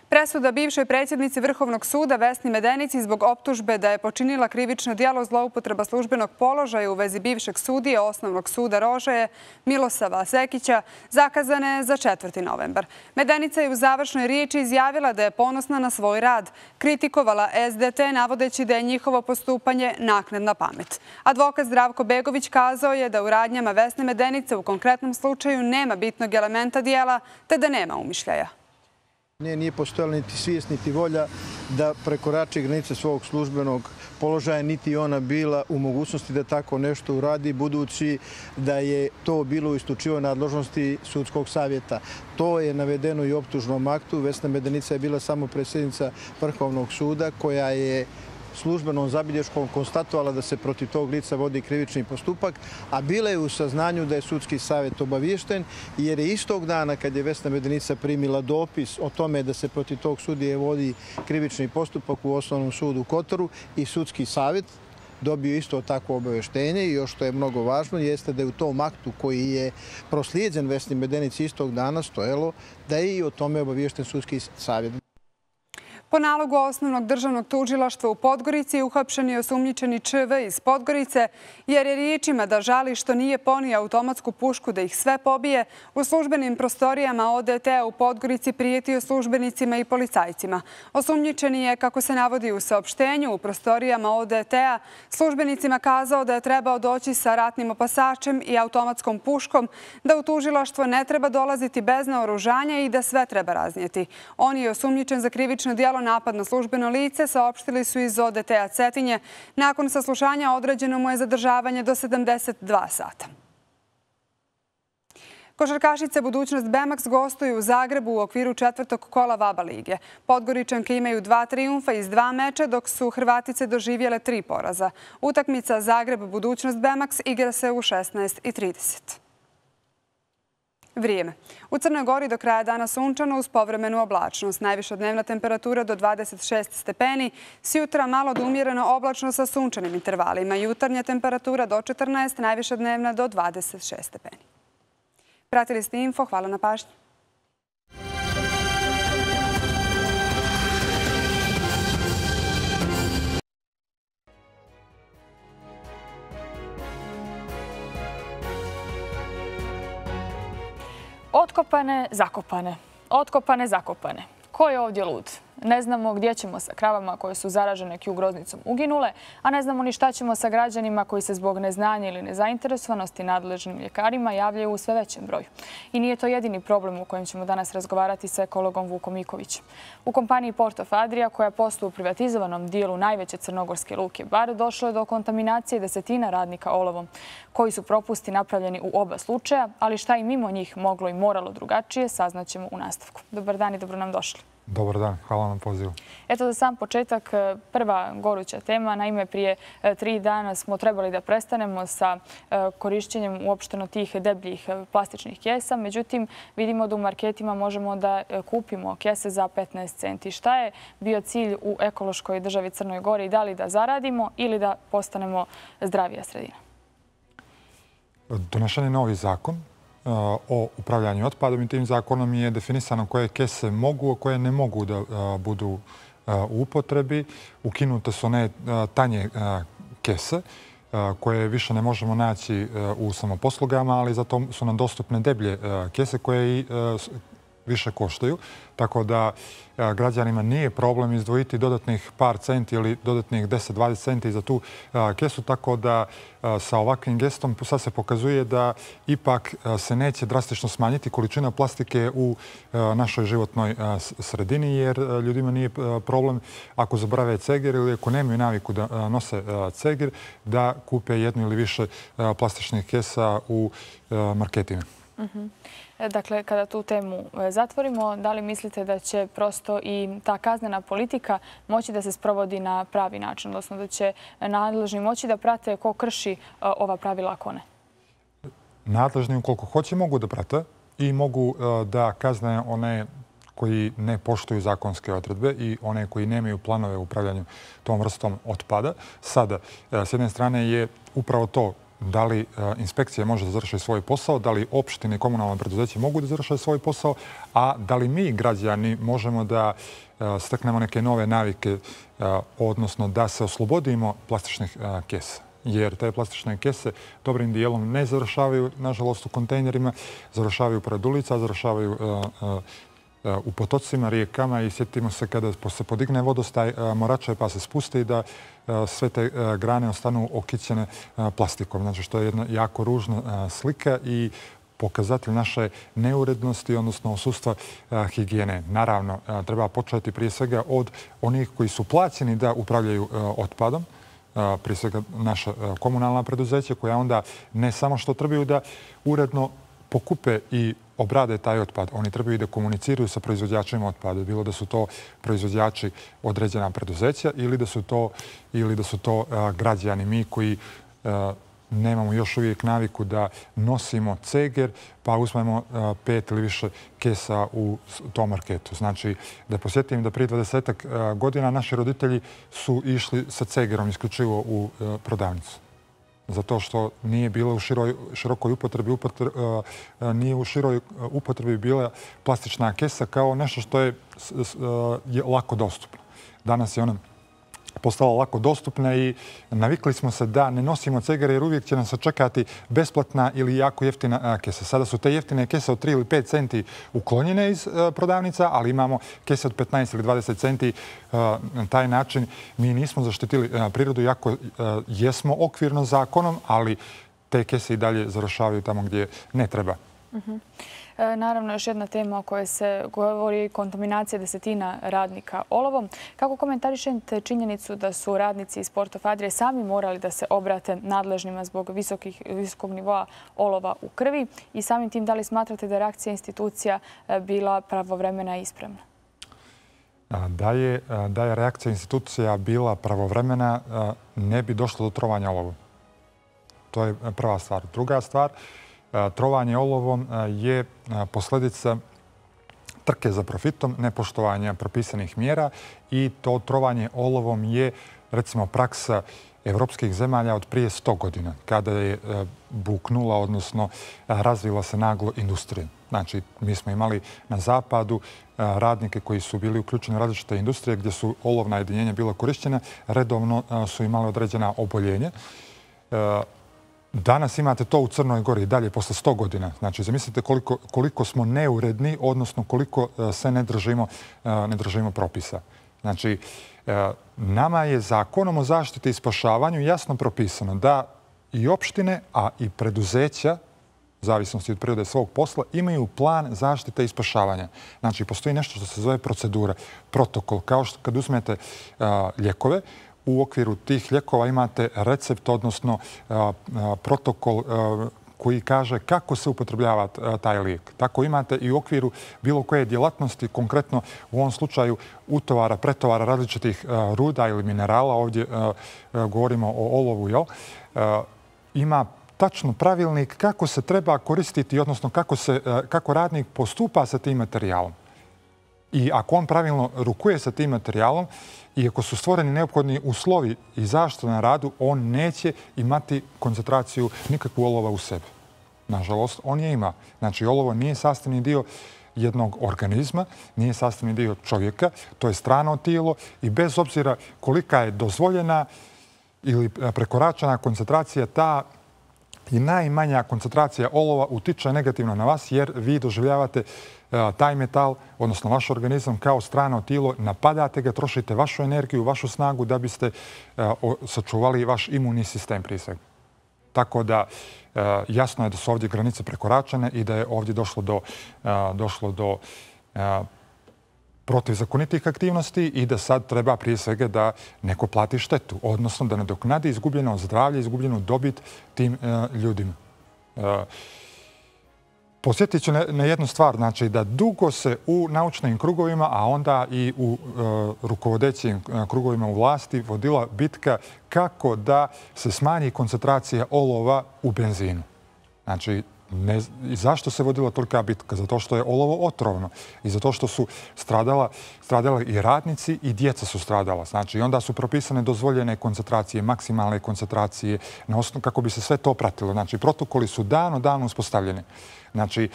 Presuda bivšoj predsjednici Vrhovnog suda Vesni Medenici zbog optužbe da je počinila krivično djelo zloupotreba službenog položaja u vezi bivšeg sudije Osnovnog suda Rožaje Milosava Sekića zakazana je za četvrti novembar. Medenica je u završnoj riječi izjavila da je ponosna na svoj rad. Kritikovala S D T navodeći da je njihovo postupanje naknadna pamet. Advokat Zdravko Begović kazao je da u radnjama Vesne Medenice u konkretnom slučaju nema bitnog elementa djela te da nema umišljaja. Nije postojala niti svijest, niti volja da prekorači granice svog službenog položaja, niti ona bila u mogućnosti da tako nešto uradi, budući da je to bilo u isključivoj nadležnosti sudskog savjeta. To je navedeno i u optužnom aktu. Vesna Medenica je bila samo predsjednica Vrhovnog suda koja je službenom zabilješkom konstatovala da se protiv tog lica vodi krivični postupak, a bila je u saznanju da je sudski savjet obaviješten, jer je istog dana kad je Vesna Medenica primila dopis o tome da se protiv tog sudije vodi krivični postupak u Osnovnom sudu u Kotoru i sudski savjet dobio isto takvo obavještenje i još što je mnogo važno jeste da je u tom aktu koji je proslijeđen Vesni Medenici istog dana stojalo da je i o tome obaviješten sudski savjet. Po nalogu Osnovnog državnog tužilaštva u Podgorici uhapšen je osumnjičeni Č V iz Podgorice, jer je riječima da žali što nije ponio automatsku pušku da ih sve pobije, u službenim prostorijama O D T-a u Podgorici prijetio službenicima i policajcima. Osumnjičeni je, kako se navodi u saopštenju, u prostorijama O D T-a službenicima kazao da je trebao doći sa ratnim opasačem i automatskom puškom, da u tužilaštvo ne treba dolaziti bez naoružanja i da sve treba raznijeti. On je osumnjičen za krivično djelo napad na službeno lice, saopštili su iz O D T-a Cetinje. Nakon saslušanja određeno mu je zadržavanje do sedamdeset dva sata. Košarkašice Budućnost Bemax gostuju u Zagrebu u okviru četvrtog kola VABA lige. Podgoričanke imaju dva trijumfa iz dva meča, dok su Hrvatice doživjele tri poraza. Utakmica Zagreb-Budućnost Bemax igra se u šesnaest i trideset. Vrijeme. U Crnoj Gori do kraja dana sunčano uz povremenu oblačnost. Najviša dnevna temperatura do dvadeset šest stepeni. S jutra malo do umjereno oblačno sa sunčanim intervalima. Jutarnja temperatura do četrnaest, najviša dnevna do dvadeset šest stepeni. Pratili ste info. Hvala na pažnji. Otkopane, zakopane. Otkopane, zakopane. Ko je ovdje lud? Ne znamo gdje ćemo sa kravama koje su zaražene Q groznicom uginule, a ne znamo ni šta ćemo sa građanima koji se zbog neznanja ili nezainteresovanosti nadležnim ljekarima javljaju u sve većem broju. I nije to jedini problem u kojem ćemo danas razgovarati sa ekologom Vukom Mikovićem. U kompaniji Port of Adria, koja posluje u privatizovanom dijelu najveće crnogorske luke Bar, došlo je do kontaminacije desetina radnika olovom, koji su propusti napravljeni u oba slučaja, ali šta i mimo njih moglo i moralo drugačije, saznaćemo u nastavku. Dobar dan i dobro nam došli. Dobar dan, hvala na pozivu. Eto za sam početak, prva goruća tema. Naime, prije tri dana smo trebali da prestanemo sa korišćenjem uopšteno tih debljih plastičnih kesa. Međutim, vidimo da u marketima možemo da kupimo kese za petnaest centi. Šta je bio cilj u ekološkoj državi Crnoj Gori? Da li da zaradimo ili da postanemo zdravija sredina? Donešen je novi zakon o upravljanju otpadom i tim zakonom je definisano koje kese mogu, a koje ne mogu da budu u upotrebi. Ukinute su one tanje kese koje više ne možemo naći u samoposlugama, ali zato su nam dostupne deblje kese koje i više koštaju. Tako da građanima nije problem izdvojiti dodatnih par centi ili dodatnih deset do dvadeset centi za tu kesu. Tako da sa ovakvim gestom sad se pokazuje da ipak se neće drastično smanjiti količina plastike u našoj životnoj sredini, jer ljudima nije problem ako zaborave cegir ili ako nemaju naviku da nose cegir, da kupe jednu ili više plastičnih kesa u marketima. Dakle, kada tu temu zatvorimo, da li mislite da će prosto i ta kaznena politika moći da se sprovodi na pravi način, odnosno da će nadležni moći da prate ko krši ova pravila, ako ne? Nadležni ukoliko hoće mogu da prate i mogu da kazne one koji ne poštuju zakonske odredbe i one koji nemaju planove u upravljanju tom vrstom otpada. Sada, s jedne strane je upravo to da li inspekcija može da završi svoj posao, da li opštine i komunalne preduzeće mogu da završe svoj posao, a da li mi, građani, možemo da steknemo neke nove navike, odnosno da se oslobodimo plastičnih kesa. Jer te plastične kese dobrim dijelom ne završavaju, nažalost, u kontejnerima, završavaju pored ulica, završavaju u potocima, rijekama i sjetimo se kada se podigne vodostaj Morače pa se spusti da sve te grane ostanu okićene plastikom. Znači što je jedna jako ružna slika i pokazatelj naše neurednosti, odnosno odsustva higijene. Naravno, treba početi prije svega od onih koji su plaćeni da upravljaju otpadom, prije svega naša komunalna preduzeća koja onda ne samo što trebaju da uredno pokupe i obrade taj otpad. Oni trebaju i da komuniciraju sa proizvođačima otpada. Bilo da su to proizvođači određena preduzeća ili da su to, ili da su to građani. Mi koji nemamo još uvijek naviku da nosimo ceger pa uzmemo pet ili više kesa u tom marketu. Znači, da posjetim da prije dvadesetak godina naši roditelji su išli sa cegerom isključivo u prodavnicu. Zato što nije bilo u širokoj upotrebi, nije u široj upotrebi bila plastična kesa kao nešto što je lako dostupno. Danas je ona postala lako dostupna i navikli smo se da ne nosimo cegere jer uvijek će nas sačekati besplatna ili jako jeftina kesa. Sada su te jeftine kese od tri ili pet centi uklonjene iz prodavnica, ali imamo kese od petnaest ili dvadeset centi. Na taj način mi nismo zaštitili prirodu, iako jesmo okvirno zakonom, ali te kese i dalje završavaju tamo gdje ne treba. Naravno, još jedna tema o kojoj se govori je kontaminacija desetina radnika olovom. Kako komentarišete činjenicu da su radnici iz Porto Fadrije sami morali da se obrate nadležnima zbog visokog nivoa olova u krvi i samim tim da li smatrate da je reakcija institucija bila pravovremena i ispravna? Da je, da je reakcija institucija bila pravovremena, ne bi došlo do trovanja olovom. To je prva stvar. Druga stvar, trovanje olovom je posljedica trke za profitom, nepoštovanja propisanih mjera i to trovanje olovom je, recimo, praksa evropskih zemalja od prije sto godina, kada je buknula, odnosno razvila se naglo industrija. Znači, mi smo imali na zapadu radnike koji su bili uključeni u različite industrije gdje su olovna jedinjenja bila korišćena, redovno su imali određena oboljenja. Danas imate to u Crnoj Gori dalje posle sto godina. Znači, zamislite koliko, koliko smo neuredni, odnosno koliko se ne držimo, ne držimo propisa. Znači, nama je zakonom o zaštiti i spašavanju jasno propisano da i opštine, a i preduzeća, u zavisnosti od prirode svog posla, imaju plan zaštite i spašavanja. Znači, postoji nešto što se zove procedura, protokol. Kao što kad uzmete lijekove, u okviru tih lijekova imate recept, odnosno protokol koji kaže kako se upotrebljava taj lijek. Tako imate i u okviru bilo koje djelatnosti, konkretno u ovom slučaju utovara, pretovara različitih ruda ili minerala, ovdje govorimo o olovu, jel? Ima tačno pravilnik kako se treba koristiti, odnosno kako, se, kako radnik postupa sa tim materijalom. I ako on pravilno rukuje sa tim materijalom i ako su stvoreni neophodni uslovi i zaštita na radu, on neće imati koncentraciju nikakvu olova u sebi. Nažalost, on je ima. Znači, olovo nije sastavni dio jednog organizma, nije sastavni dio čovjeka, to je strano tijelo i bez obzira kolika je dozvoljena ili prekoračena koncentracija, ta i najmanja koncentracija olova utiče negativno na vas jer vi doživljavate taj metal, odnosno vaš organizam, kao strano tijelo, napadate ga, trošite vašu energiju, vašu snagu da biste sačuvali vaš imunni sistem prije svega. Tako da jasno je da su ovdje granice prekoračene i da je ovdje došlo do, došlo do protivzakonitih aktivnosti i da sad treba prije svega da neko plati štetu, odnosno da nadoknadi izgubljeno zdravlje, izgubljenu dobit tim ljudima. Posjetit ću na jednu stvar, znači da dugo se u naučnim krugovima, a onda i u rukovodećim krugovima u vlasti vodila bitka kako da se smanji koncentracija olova u benzinu. Znači, Ne, i zašto se vodila tolika bitka? Zato što je olovo otrovno i zato što su stradala, stradali i radnici i djeca su stradala. Znači, onda su propisane dozvoljene koncentracije, maksimalne koncentracije, na osnovu kako bi se sve to pratilo. Znači, protokoli su dano, dano uspostavljeni. Znači,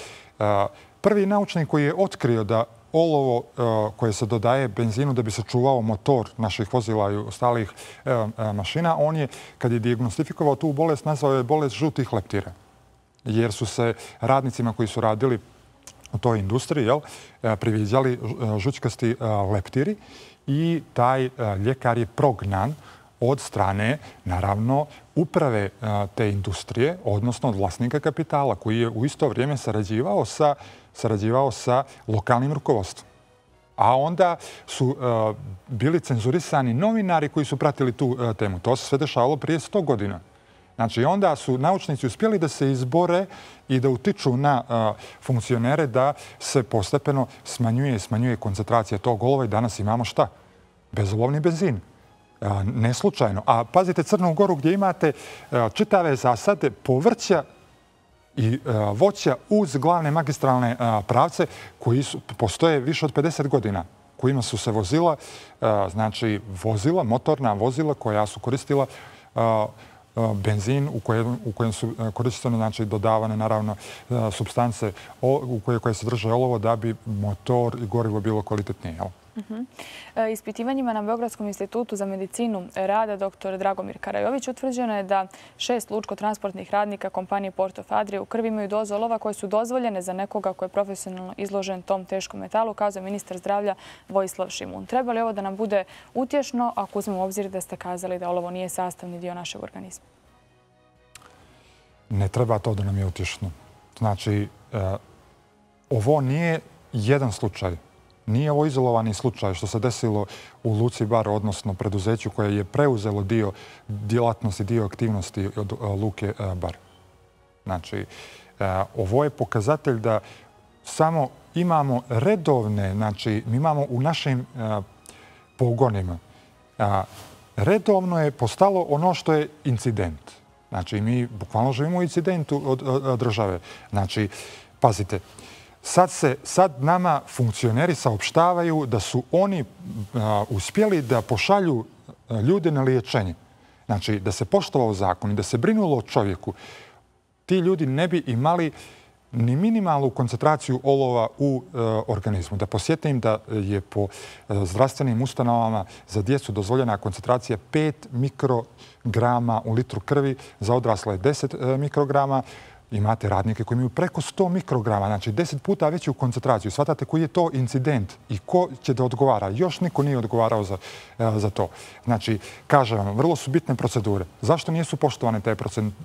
prvi naučnik koji je otkrio da olovo koje se dodaje benzinu da bi se čuvao motor naših vozila i ostalih mašina, on je, kad je dijagnostifikovao tu bolest, nazvao je bolest žutih leptira. Jer su se radnicima koji su radili u toj industriji priviđali žućkasti leptiri i taj ljekar je prognan od strane, naravno, uprave te industrije, odnosno od vlasnika kapitala, koji je u isto vrijeme sarađivao sa, sarađivao sa lokalnim rukovodstvom. A onda su bili cenzurisani novinari koji su pratili tu temu. To se sve dešavalo prije sto godina. Znači, onda su naučnici uspjeli da se izbore i da utiču na funkcionere da se postepeno smanjuje smanjuje koncentracija tog olova i danas imamo šta? Bezolovni benzin. Ne slučajno. A pazite Crnu Goru gdje imate čitave zasade povrća i voća uz glavne magistralne pravce koji su, postoje više od pedeset godina, kojima su se vozila, znači vozila, motorna vozila koja su koristila benzin u kojem, u kojem su koristene, znači dodavane naravno supstance u koje, koje se drže olovo da bi motor i gorivo bilo kvalitetnije. Jel? Uh-huh. Ispitivanjima na Beogradskom institutu za medicinu rada doktor Dragomir Karajović utvrđeno je da šest lučko-transportnih radnika kompanije Port of Adria u krvi imaju doze olova koje su dozvoljene za nekoga koji je profesionalno izložen tom teškom metalu, kazao ministar zdravlja Vojislav Šimun. Treba li ovo da nam bude utješno ako uzmemo u obzir da ste kazali da olovo nije sastavni dio našeg organizma? Ne treba to da nam je utješno. Znači, ovo nije jedan slučaj. Nije ovo izolovani slučaj što se desilo u Luci Bar, odnosno preduzeću koje je preuzelo dio djelatnosti, dio aktivnosti od Luke Bar. Znači, ovo je pokazatelj da samo imamo redovne, znači, mi imamo u našim pogonima. Redovno je postalo ono što je incident. Znači, mi bukvalno živimo u incidentu od države. Znači, pazite, Sad, se, sad nama funkcioneri saopštavaju da su oni a, uspjeli da pošalju ljude na liječenje. Znači, da se poštovao zakon i da se brinulo o čovjeku, ti ljudi ne bi imali ni minimalnu koncentraciju olova u e, organizmu. Da posjetim da je po e, zdravstvenim ustanovama za djecu dozvoljena koncentracija pet mikrograma u litru krvi, za odrasle deset e, mikrograma. Imate radnike koji imaju preko sto mikrograma, znači deset puta veću koncentraciju. Shvatate koji je to incident i ko će da odgovara. Još niko nije odgovarao za, za to. Znači, kažem vam, vrlo su bitne procedure. Zašto nisu poštovane te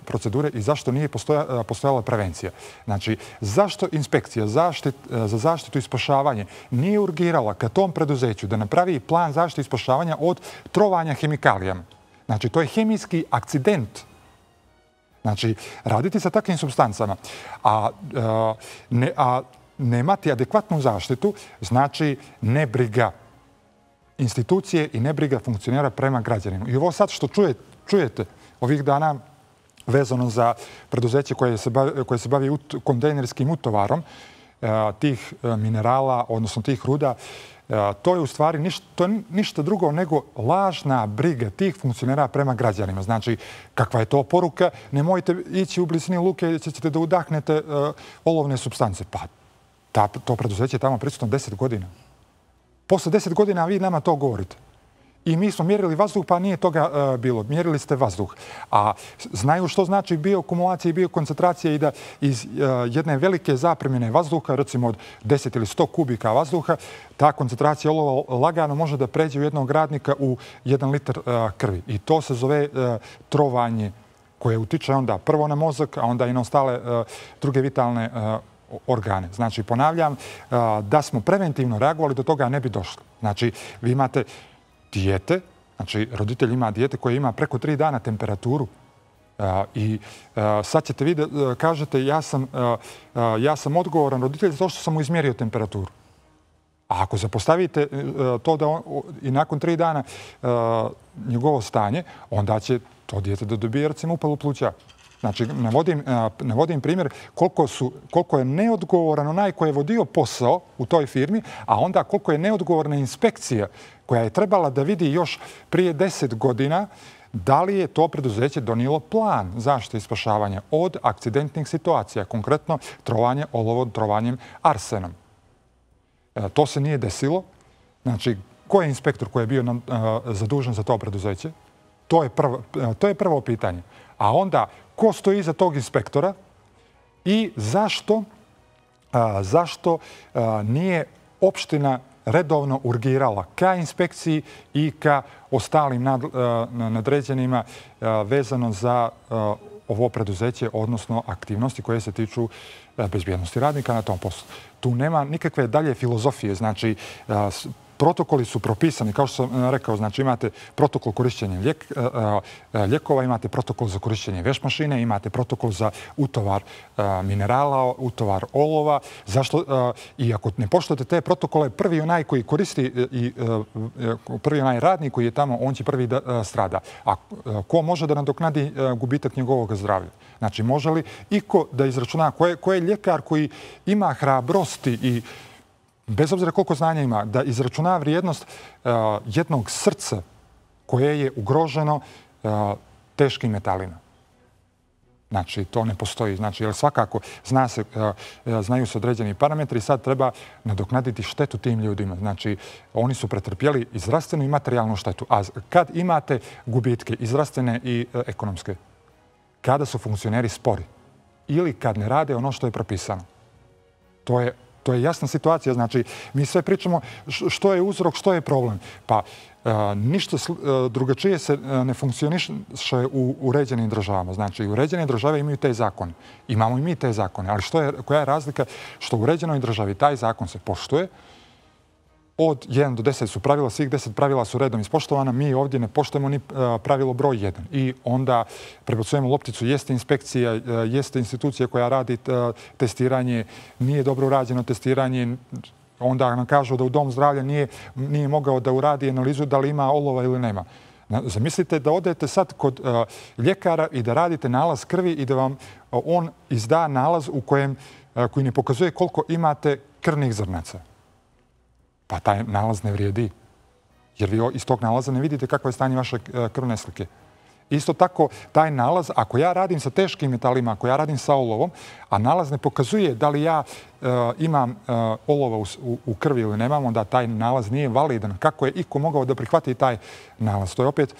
procedure i zašto nije postoja, postojala prevencija? Znači, zašto inspekcija zaštit, za zaštitu i spašavanje nije urgirala ka tom preduzeću da napravi plan zaštite i spašavanja od trovanja hemikalijama? Znači, to je hemijski akcident. Znači, raditi sa takvim supstancama, a, a, ne, a nemati adekvatnu zaštitu, znači nebriga institucije i nebriga funkcionera prema građanima. I ovo sad što čuje, čujete ovih dana vezano za preduzeće koje se bavi, koje se bavi ut, kontejnerskim utovarom a, tih a, minerala, odnosno tih ruda, to je u stvari ništa, to je ništa drugo nego lažna briga tih funkcionera prema građanima. Znači, kakva je to poruka? Nemojte ići u blizini luke i ćete da udahnete uh, olovne supstance. Pa ta, to preduzeće je tamo prisutno deset godina. Posle deset godina vi nama to govorite. I mi smo mjerili vazduh, pa nije toga uh, bilo. Mjerili ste vazduh. A znaju što znači bioakumulacija i biokoncentracija i da iz uh, jedne velike zapremine vazduha, recimo od deset ili sto kubika vazduha, ta koncentracija olova lagano može da pređe u jednog radnika u jedan litar uh, krvi. I to se zove uh, trovanje koje utiče onda prvo na mozak, a onda i na ostale uh, druge vitalne uh, organe. Znači, ponavljam, uh, da smo preventivno reagovali, do toga ne bi došlo. Znači, vi imate dijete, znači roditelj ima dijete koje ima preko tri dana temperaturu I sad ćete vi da kažete ja sam odgovoran roditelj zato što sam mu izmjerio temperaturu. A ako zapostavite to da i nakon tri dana njegovo stanje, onda će to dijete da dobije recimo upalu pluća. Znači, navodim primjer koliko je neodgovoran onaj koji je vodio posao u toj firmi, a onda koliko je neodgovorna inspekcija koja je trebala da vidi još prije deset godina da li je to preduzeće donijelo plan zaštite i spašavanja od akcidentnih situacija, konkretno trovanje olovom, trovanjem arsenom. To se nije desilo. Znači, ko je inspektor koji je bio zadužen za to preduzeće? To je prvo pitanje. A onda, ko stoji iza tog inspektora i zašto, zašto nije opština redovno urgirala ka inspekciji i ka ostalim nadređenima vezano za ovo preduzeće, odnosno aktivnosti koje se tiču bezbjednosti radnika na tom poslu. Tu nema nikakve dalje filozofije. Znači, protokoli su propisani, kao što sam rekao, znači imate protokol korišćenja lijekova, imate protokol za korišćenje veš mašine, imate protokol za utovar minerala, utovar olova. Zašto? I ako ne poštujete te protokole, prvi onaj koji koristi i prvi onaj radnik koji je tamo, on će prvi da strada. A ko može da nadoknadi gubitak njegovog zdravlja? Znači, može li iko da izračuna ko je ljekar koji ima hrabrosti i bez obzira koliko znanja ima, da izračuna vrijednost jednog srca koje je ugroženo teškim metalima. Znači, to ne postoji. Znači, jer svakako znaju se određeni parametri i sad treba nadoknaditi štetu tim ljudima. Znači, oni su pretrpjeli i zdravstvenu i materijalnu štetu. A kad imate gubitke i zdravstvene i ekonomske, kada su funkcioneri spori ili kad ne rade ono što je propisano, to je To je jasna situacija. Znači, mi sve pričamo što je uzrok, što je problem. Pa ništa drugačije se ne funkcioniše u uređenim državama. Znači, uređene države imaju te zakone. Imamo i mi te zakone. Ali koja je razlika? Što u uređenoj državi taj zakon se poštuje. Od jedan do deset su pravila, svih deset pravila su redom ispoštovana. Mi ovdje ne poštujemo ni pravilo broj jedan. I onda prebacujemo lopticu. Jeste inspekcija, jeste institucija koja radi testiranje, nije dobro urađeno testiranje. Onda nam kažu da u dom zdravlja nije mogao da uradi analizu da li ima olova ili nema. Zamislite da odete sad kod ljekara i da radite nalaz krvi i da vam on izda nalaz u kojem koji ne pokazuje koliko imate krvnih zrnaca. Pa taj nalaz ne vrijedi. Jer vi iz tog nalaza ne vidite kakvo je stanje vaše krvne slike. Isto tako, taj nalaz, ako ja radim sa teškim metalima, ako ja radim sa olovom, a nalaz ne pokazuje da li ja imam olova u krvi ili nemam, onda taj nalaz nije validan. Kako je iko mogao da prihvati taj nalaz? To je opet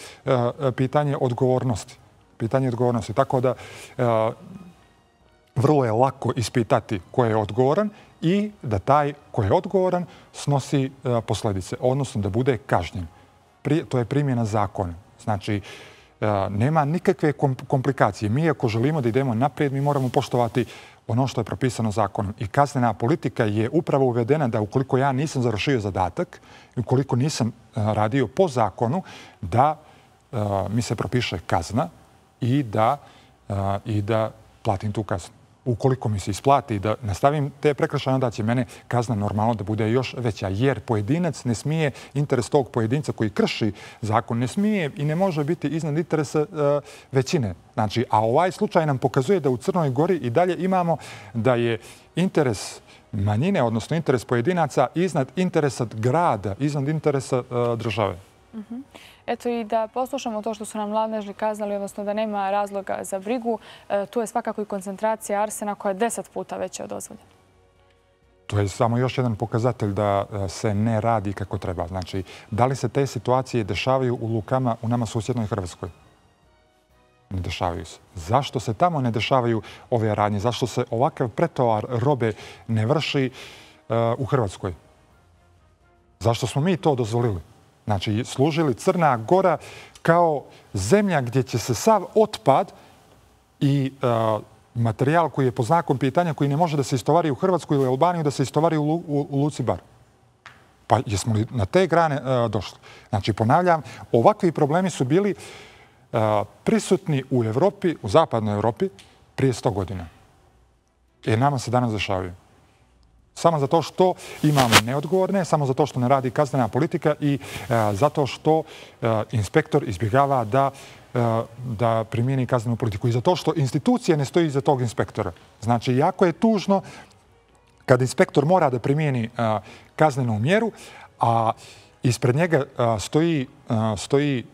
pitanje odgovornosti. Pitanje odgovornosti. Tako da vrlo je lako ispitati ko je odgovoran i da taj ko je odgovoran snosi posljedice, odnosno da bude kažnjen. To je primjena zakona. Znači, nema nikakve komplikacije. Mi ako želimo da idemo naprijed, mi moramo poštovati ono što je propisano zakonom. I kaznena politika je upravo uvedena da ukoliko ja nisam završio zadatak, ukoliko nisam radio po zakonu, da mi se propiše kazna i da platim tu kaznu. Ukoliko mi se isplati da nastavim te prekršaje, onda će mene kazna normalno da bude još veća. Jer pojedinac ne smije, interes tog pojedinca koji krši zakon, ne smije i ne može biti iznad interesa većine. Znači, a ovaj slučaj nam pokazuje da u Crnoj Gori i dalje imamo da je interes manjine, odnosno interes pojedinaca iznad interesa grada, iznad interesa države. Eto i da poslušamo to što su nam nadležni kazali, odnosno da nema razloga za brigu. Tu je svakako i koncentracija arsena koja je deset puta veća od dozvoljene. To je samo još jedan pokazatelj da se ne radi kako treba. Znači, da li se te situacije dešavaju u lukama u nama susjednoj Hrvatskoj? Ne dešavaju se. Zašto se tamo ne dešavaju ove radnje? Zašto se ovakav pretovar robe ne vrši u Hrvatskoj? Zašto smo mi to dozvolili? Znači, služili Crna Gora kao zemlja gdje će se sav otpad i materijal koji je po znakom pitanja, koji ne može da se istovari u Hrvatsku ili Albaniju, da se istovari u Luci Bar. Pa jesmo li na te grane došli? Znači, ponavljam, ovakvi problemi su bili prisutni u Evropi, u zapadnoj Evropi, prije sto godina. Jer nama se danas dešavaju. Samo zato što imamo neodgovorne, samo zato što ne radi kaznena politika i zato što inspektor izbjegava da da primijeni kaznenu politiku. I zato što institucija ne stoji iza tog inspektora. Znači, jako je tužno kad inspektor mora da primijeni kaznenu mjeru, a ispred njega stoji, stoji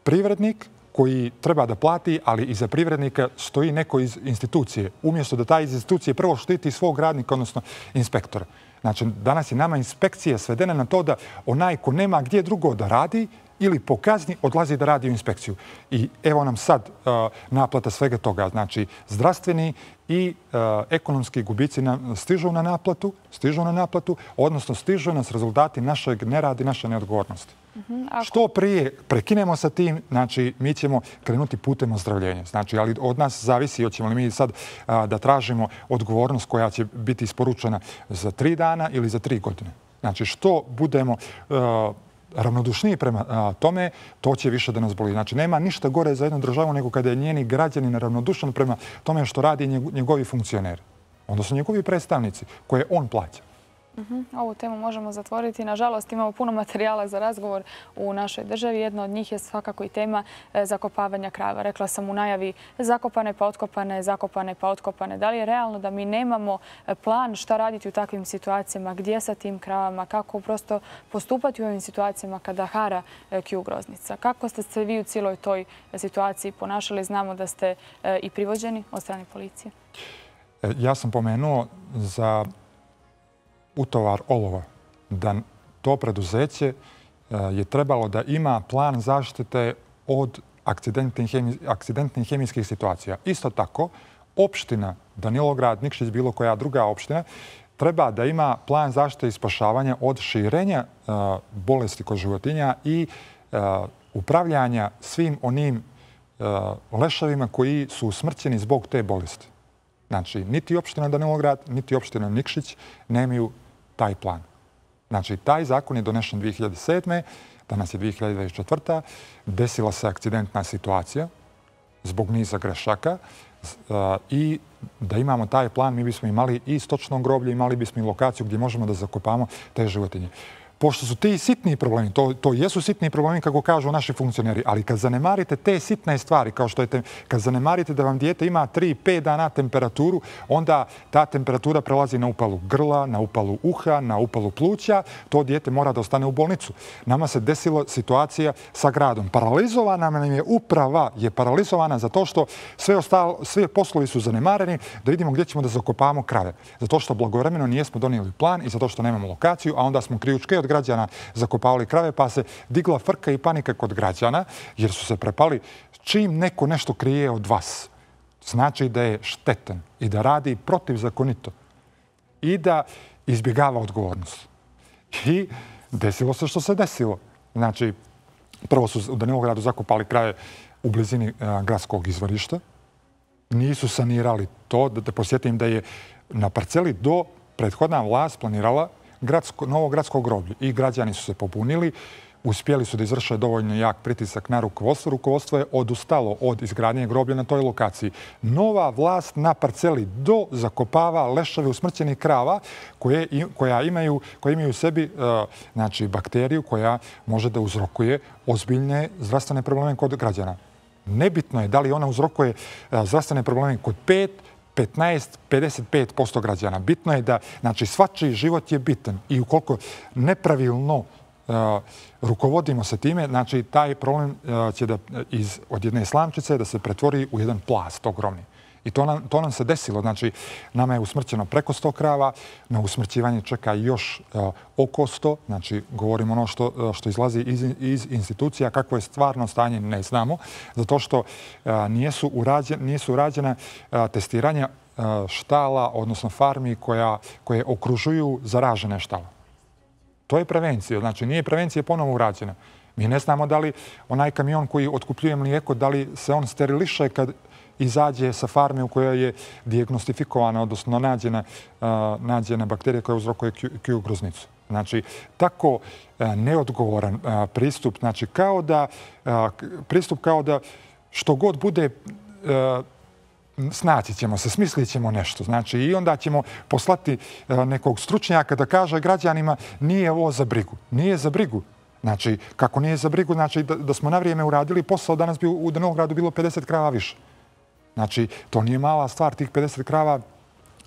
privrednik koji treba da plati, ali iza privrednika stoji neko iz institucije. Umjesto da ta iz institucije prvo štiti svog radnika, odnosno inspektora. Znači, danas je nama inspekcija svedena na to da onaj ko nema gdje drugo da radi ili po kazni odlazi da radi u inspekciju. I evo nam sad uh, naplata svega toga. Znači, zdravstveni i uh, ekonomski gubici nam stižu na naplatu, stižu na naplatu, odnosno stižu nas rezultati našeg nerada i naše neodgovornosti. Mm-hmm, ako... Što prije prekinemo sa tim, znači, mi ćemo krenuti putem ozdravljenja. Znači, ali od nas zavisi, hoćemo li mi sad uh, da tražimo odgovornost koja će biti isporučena za tri dana ili za tri godine. Znači, što budemo uh, ravnodušniji prema a, tome, to će više da nas boli. Znači, nema ništa gore za jednu državu nego kada je njeni građani neravnodušan prema tome što radi njegovi funkcioneri. Odnosno njegovi predstavnici koje on plaća. Uh-huh. Ovu temu možemo zatvoriti. Nažalost, imamo puno materijala za razgovor u našoj državi. Jedna od njih je svakako i tema zakopavanja krava. Rekla sam u najavi zakopane pa otkopane, zakopane pa otkopane. Da li je realno da mi nemamo plan šta raditi u takvim situacijama, gdje sa tim kravama, kako prosto postupati u ovim situacijama kada hara kju groznica? Kako ste se vi u cijeloj toj situaciji ponašali? Znamo da ste i privođeni od strane policije. Ja sam pomenuo za utovar olova, da to preduzeće je trebalo da ima plan zaštite od akcidentnih hemijskih situacija. Isto tako, opština Danilograd, Nikšić, bilo koja druga opština, treba da ima plan zaštite i spašavanja od širenja bolesti kod životinja i upravljanja svim onim leševima koji su usmrćeni zbog te bolesti. Znači, niti opština Danilograd, niti opština Nikšić nemaju taj plan. Znači, taj zakon je donešen dvije hiljade sedme. Danas je dvije hiljade dvadeset četvrta. Desila se akcidentna situacija zbog niza grešaka i da imamo taj plan, mi bismo imali i stočno groblje, imali bismo i lokaciju gdje možemo da zakopamo te životinje. Pošto su ti sitni problemi, to, to jesu sitni problemi kako kažu naši funkcioneri, ali kad zanemarite te sitne stvari, kao što je te, kad zanemarite da vam dijete ima tri pet dana temperaturu, onda ta temperatura prelazi na upalu grla, na upalu uha, na upalu pluća, to dijete mora da ostane u bolnicu. Nama se desila situacija sa gradom. Paralizovana nam je uprava, je paralizovana zato što sve, ostalo, sve poslovi su zanemareni, da vidimo gdje ćemo da zakopavamo krave. Zato što blagovremeno nijesmo donijeli plan i zato što nemamo lokaciju, a onda smo krijučke od građana zakopavali krave, pa se digla frka i panika kod građana, jer su se prepali čim neko nešto krije od vas. Znači da je štetan i da radi protivzakonito i da izbjegava odgovornost. I desilo se što se desilo. Znači, prvo su u Danilogradu zakopali krave u blizini gradskog izvorišta. Nisu sanirali to. Da te posjetim da je na parceli do prethodna vlast planirala Gradsko, novo gradsko groblje i građani su se pobunili, uspjeli su da izvrše dovoljno jak pritisak na rukovodstvo. Rukovodstvo je odustalo od izgradnje groblja na toj lokaciji. Nova vlast na parceli do zakopava leševe usmrćenih krava koje, koja imaju, koje imaju u sebi uh, znači, bakteriju koja može da uzrokuje ozbiljne zdravstvene probleme kod građana. Nebitno je da li ona uzrokuje uh, zdravstvene probleme kod pet, petnaest, pedeset pet posto građana. Bitno je da, znači, svačiji život je bitan i ukoliko nepravilno uh, rukovodimo se time, znači, taj problem uh, će da iz, od jedne slamčice da se pretvori u jedan plast ogromni. I to nam, to nam se desilo. Znači, nama je usmrćeno preko sto krava, na usmrćivanje čeka još uh, oko sto. Znači, govorimo ono što, uh, što izlazi iz, iz institucija, kakvo je stvarno stanje, ne znamo. Zato što uh, nijesu, urađen, nijesu urađena uh, testiranja uh, štala, odnosno farmi koja, koje okružuju zaražene štala. To je prevencija. Znači, nije prevencija ponovo urađena. Mi ne znamo da li onaj kamion koji otkupljuje mlijeko, da li se on steriliše kad izađe sa farme u kojoj je dijagnostifikovana, odnosno nađena, uh, nađena bakterija koja uzrokuje kju groznicu. Znači, tako neodgovoran pristup, znači kao da, pristup kao da što god bude, snaći ćemo se, smislit ćemo nešto. Znači, i onda ćemo poslati nekog stručnjaka da kaže građanima nije ovo za brigu. Nije za brigu. Znači, kako nije za brigu, znači da, da smo na vrijeme uradili posao, danas bi u Novogradu bilo pedeset krava više. Znači, to nije mala stvar, tih pedeset krava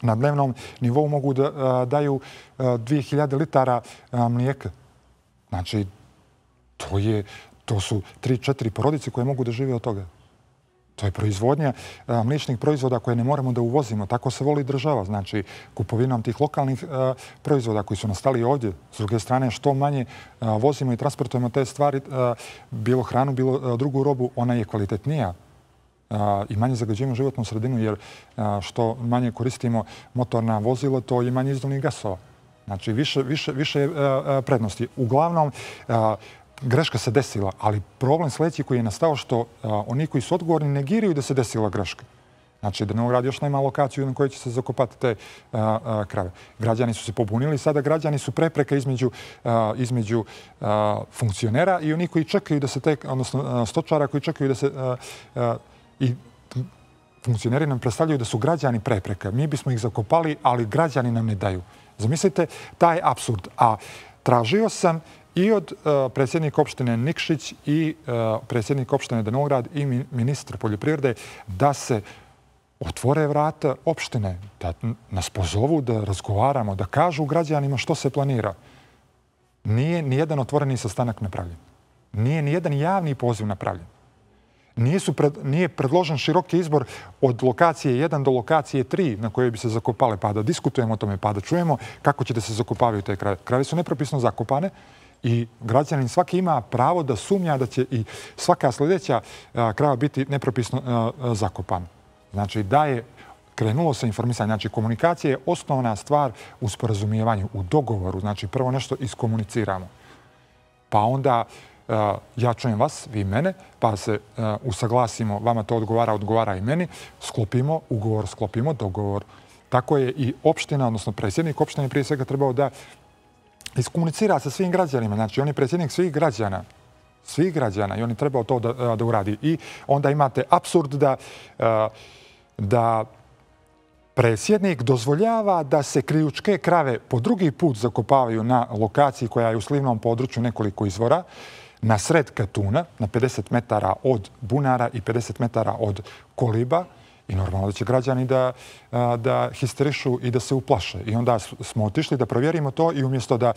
na dnevnom nivou mogu da a, daju dvije hiljade litara a, mlijeka. Znači, to, je, to su tri četiri porodice koje mogu da žive od toga. To je proizvodnja a, mliječnih proizvoda koje ne moramo da uvozimo. Tako se voli država. Znači, kupovinom tih lokalnih a, proizvoda koji su nastali ovdje. S druge strane, što manje a, vozimo i transportujemo te stvari, a, bilo hranu, bilo a, drugu robu, ona je kvalitetnija. I manje zagađujemo životnu sredinu, jer što manje koristimo motorna vozila, to je manje izduvnih gasova. Znači, više, više, više prednosti. Uglavnom, greška se desila, ali problem sljedeći koji je nastao što oni koji su odgovorni negiraju da se desila greška. Znači, da Novograd još nema lokaciju na kojoj će se zakopati te a, a, krave. Građani su se pobunili, sada građani su prepreka između, a, između a, funkcionera i oni koji čekaju da se te, odnosno a, stočara koji čekaju da se a, a, i funkcioneri nam predstavljaju da su građani prepreka. Mi bismo ih zakopali, ali građani nam ne daju. Zamislite taj apsurd. A tražio sam i od uh, predsjednika opštine Nikšić i uh, predsjednika opštine Novograd i ministra poljoprivrede da se otvore vrata opštine, da nas pozovu, da razgovaramo, da kažu građanima što se planira. Nije nijedan otvoreni sastanak napravljen. Nije nijedan javni poziv napravljen. Nije, su pred, nije predložen široki izbor od lokacije jedan do lokacije tri na koje bi se zakopale, pa da diskutujemo o tome, pa da čujemo kako će da se zakopavaju te krave. Krave su nepropisno zakopane i građanin svaki ima pravo da sumnja da će i svaka sljedeća a, krava biti nepropisno a, a, zakopana. Znači da je krenulo sa informisanjem. Znači komunikacija je osnovna stvar u sporazumijevanju, u dogovoru. Znači prvo nešto iskomuniciramo. Pa onda Uh, ja čujem vas, vi mene, pa se uh, usaglasimo, vama to odgovara, odgovara i meni, sklopimo ugovor, sklopimo dogovor. Tako je i opština, odnosno predsjednik opštine prije svega trebao da iskomunicira sa svim građanima. Znači on je predsjednik svih građana, svih građana i on je trebao to da, da uradi. I onda imate apsurd da, uh, da predsjednik dozvoljava da se krijučke krave po drugi put zakopavaju na lokaciji koja je u slivnom području nekoliko izvora, na sred Katuna, na pedeset metara od bunara i pedeset metara od koliba. I normalno da će građani da, da histerišu i da se uplaše. I onda smo otišli da provjerimo to i umjesto da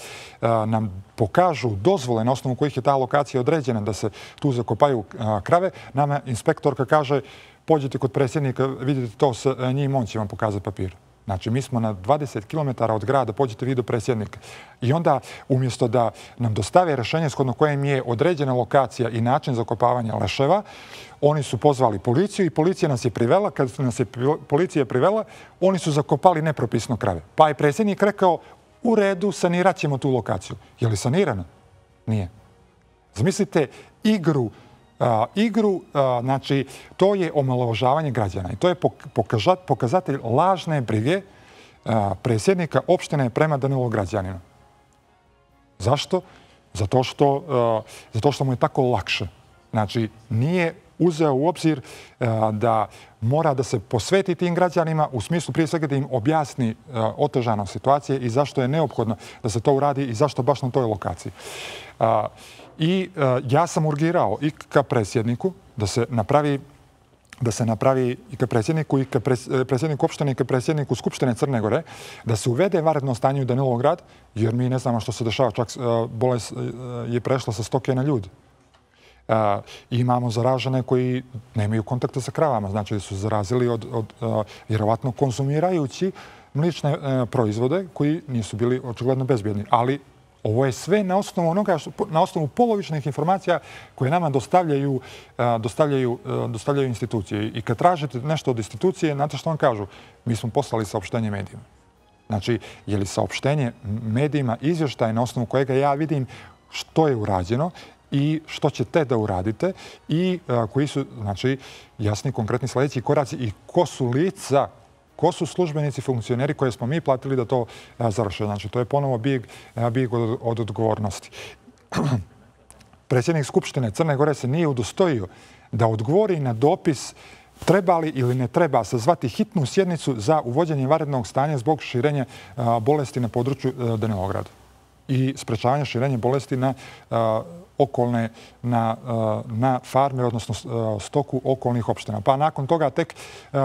nam pokažu dozvole na osnovu kojih je ta lokacija određena da se tu zakopaju krave, nama inspektorka kaže pođite kod predsjednika, vidite to sa njim, on će vam pokazati papir. Znači, mi smo na dvadeset kilometara od grada, pođite vi do predsjednika. I onda, umjesto da nam dostave rješenje shodno kojem je određena lokacija i način zakopavanja leševa, oni su pozvali policiju i policija nas je privela. Kad nas je policija privela, oni su zakopali nepropisno krave. Pa je predsjednik rekao, u redu, sanirat ćemo tu lokaciju. Je li sanirana? Nije. Zamislite igru Uh, igru, uh, znači, to je omalovažavanje građana i to je pokazat, pokazatelj lažne brige uh, predsjednika opštine prema Danilograđaninu. Zašto? Zato što, uh, zato što mu je tako lakše. Znači, nije uzeo u obzir uh, da mora da se posveti tim građanima u smislu prije svega da im objasni uh, otežanost situacije i zašto je neophodno da se to uradi i zašto baš na toj lokaciji. Uh, I uh, ja sam urgirao i ka predsjedniku da se napravi da se napravi i ka predsjedniku i ka predsjedniku opštine i ka predsjedniku Skupštine Crne Gore da se uvede vanredno stanje u Danilograd, jer mi ne znamo što se dešava, čak uh, bolest uh, je prešla sa stoke na ljudi. Uh, imamo zaražene koji nemaju kontakta sa kravama, znači da su zarazili od, od uh, vjerovatno konzumirajući mlične uh, proizvode koji nisu bili očigledno bezbjedni, ali ovo je sve na osnovu onoga, na osnovu polovičnih informacija koje nama dostavljaju, dostavljaju, dostavljaju institucije. I kad tražite nešto od institucije, znate što vam kažu? Mi smo poslali saopštenje medijima. Znači, je li saopštenje medijima izvještaj na osnovu kojega ja vidim što je urađeno i što ćete da uradite i koji su, znači, jasni konkretni sljedeći koraci i ko su lica Ko su službenici, funkcioneri koje smo mi platili da to završe? Znači, to je ponovo bijeg, bijeg od, od odgovornosti. Predsjednik Skupštine Crne Gore se nije udostojio da odgovori na dopis treba li ili ne treba sazvati hitnu sjednicu za uvođenje vanrednog stanja zbog širenja bolesti na području Danilograda i sprečavanja širenja bolesti na okolne, na, na farme, odnosno stoku okolnih opština. Pa nakon toga tek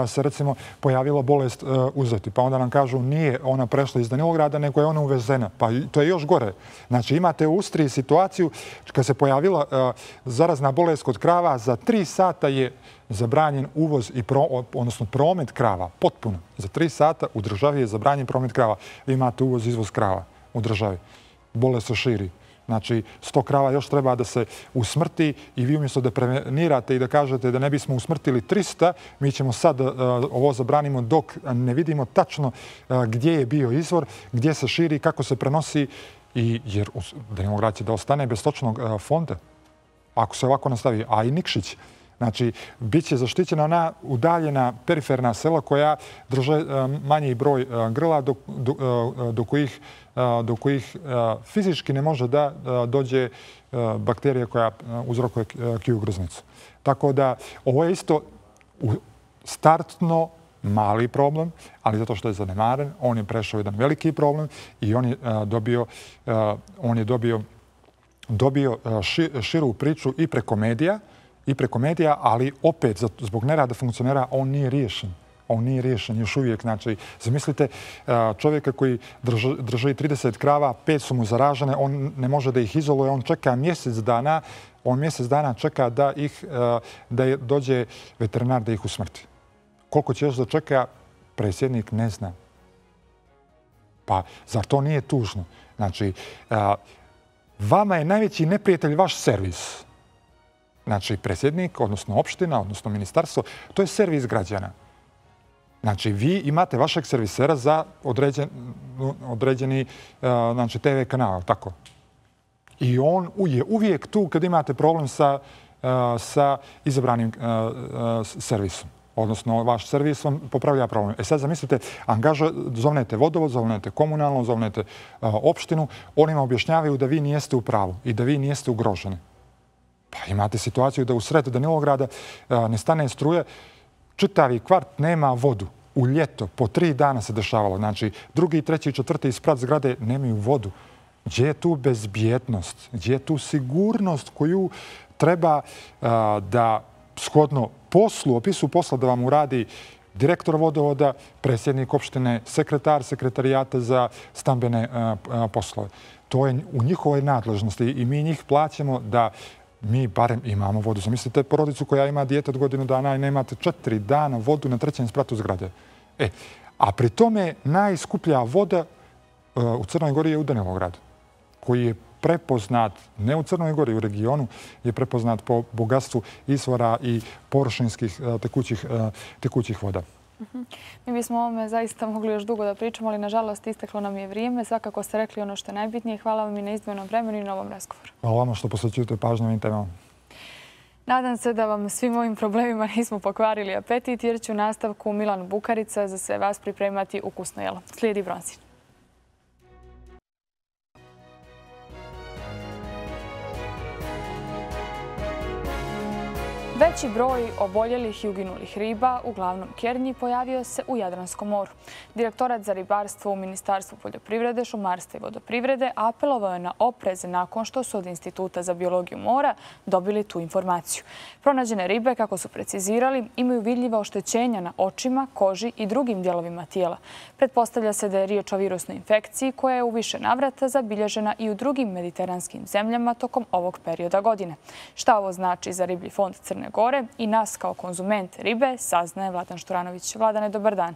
se recimo pojavila bolest uzeti. Pa onda nam kažu nije ona prešla iz Danilograda, nego je ona uvezena. Pa to je još gore. Znači imate u Austriji situaciju kad se pojavila zarazna bolest kod krava, za tri sata je zabranjen uvoz i pro, odnosno promet krava. Potpuno. Za tri sata u državi je zabranjen promet krava. Vi imate uvoz i izvoz krava u državi. Bolest se širi. Znači, sto krava još treba da se usmrti i vi umjesto da prevenirate i da kažete da ne bismo usmrtili trista, mi ćemo sad uh, ovo zabranimo dok ne vidimo tačno uh, gdje je bio izvor, gdje se širi, kako se prenosi, i, jer Danilograd će da ostane bez stočnog uh, fonda. Ako se ovako nastavi, a i Nikšić. Znači, bit će zaštićena ona udaljena periferna sela koja drže uh, manji broj uh, grla do, do, uh, do kojih do kojih fizički ne može da dođe bakterija koja uzrokuje kiju groznicu. Tako da ovo je isto startno mali problem, ali zato što je zanemaren, on je prešao jedan veliki problem i on je dobio, on je dobio, dobio širu priču i preko medija, i preko medija, ali opet zbog nerada funkcionera on nije riješen. On nije riješen još uvijek. Znači, zamislite čovjeka koji drži, drži trideset krava, pet su mu zaražene, on ne može da ih izoluje, on čeka mjesec dana, on mjesec dana čeka da ih, da dođe veterinar da ih usmrti. Koliko će još da čeka, predsjednik ne zna. Pa, zar to nije tužno? Znači, vama je najveći neprijatelj vaš servis. Znači, predsjednik, odnosno opština, odnosno ministarstvo, to je servis građana. Znači, vi imate vašeg servisera za određen, određeni znači, te ve kanal, tako. I on je uvijek tu kad imate problem sa, sa izabranim servisom. Odnosno, vaš servis vam popravlja problem. E sad zamislite, angaža, zovnete vodovod, zovnete komunalno, zovnete opštinu, onima objašnjavaju da vi nijeste u pravu i da vi nijeste ugroženi. Pa imate situaciju da u sred Danilograda ne stane struje, čitavi kvart nema vodu. U ljeto, po tri dana se dešavalo. Znači, drugi, treći, četvrti sprat zgrade nemaju vodu. Gdje je tu bezbjednost? Gdje je tu sigurnost koju treba a, da shodno poslu, opisu posla da vam uradi direktor vodovoda, predsjednik opštine, sekretar sekretarijata za stambene a, a, poslove. To je u njihovoj nadležnosti i mi njih plaćamo da mi barem imamo vodu. Zamislite porodicu koja ima dijete od godinu dana i nemate četiri dana vodu na trećem spratu zgrade. E, a pri tome najskuplja voda uh, u Crnoj Gori je u Danilogradu, koji je prepoznat, ne u Crnoj Gori, u regionu, je prepoznat po bogatstvu izvora i površinskih uh, tekućih, uh, tekućih voda. Uh-huh. Mi bismo o ovome zaista mogli još dugo da pričamo, ali nažalost isteklo nam je vrijeme. Svakako ste rekli ono što je najbitnije. Hvala vam i na izdvojenom vremenu i na ovom razgovoru. Hvala vam što posvećujete pažnju ovim temama. Nadam se da vam svim ovim problemima nismo pokvarili apetit, jer će u nastavku Milan Bukarica za sve vas pripremati ukusno jelo. Slijedi Bronzin. Veći broj oboljelih i uginulih riba, uglavnom kernji, pojavio se u Jadranskom moru. Direktorat za ribarstvo u Ministarstvu poljoprivrede, šumarstva i vodoprivrede apelovao je na oprez nakon što su od Instituta za biologiju mora dobili tu informaciju. Pronađene ribe, kako su precizirali, imaju vidljiva oštećenja na očima, koži i drugim dijelovima tijela. Pretpostavlja se da je riječ o virusnoj infekciji koja je u više navrata zabilježena i u drugim mediteranskim zemljama tokom ovog perioda godine. Šta ovo znači za riblji fond Crne Gore i nas kao konzument ribe, saznaje Vladan Šturanović. Vladane, dobar dan.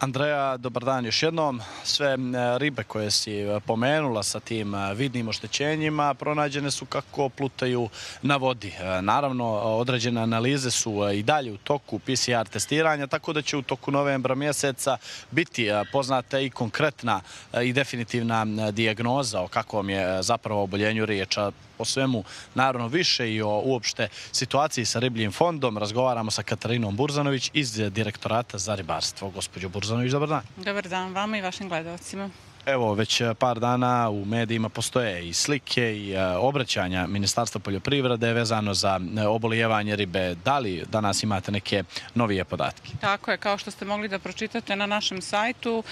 Andreja, dobar dan još jednom. Sve ribe koje si pomenula sa tim vidnim oštećenjima pronađene su kako plutaju na vodi. Naravno, određene analize su i dalje u toku P C R testiranja, tako da će u toku novembra mjeseca biti poznata i konkretna i definitivna dijagnoza o kakvom je zapravo oboljenju riječa. O svemu, naravno, više i o uopšte situaciji sa ribljim fondom razgovaramo sa Katarinom Burzanović iz Direktorata za ribarstvo. Gospođo Burzanović, dobar dan. Dobar dan vama i vašim gledalcima. Evo, već par dana u medijima postoje i slike i obraćanja Ministarstva poljoprivrede vezano za obolijevanje ribe. Da li danas imate neke novije podatke? Tako je, kao što ste mogli da pročitate na našem sajtu,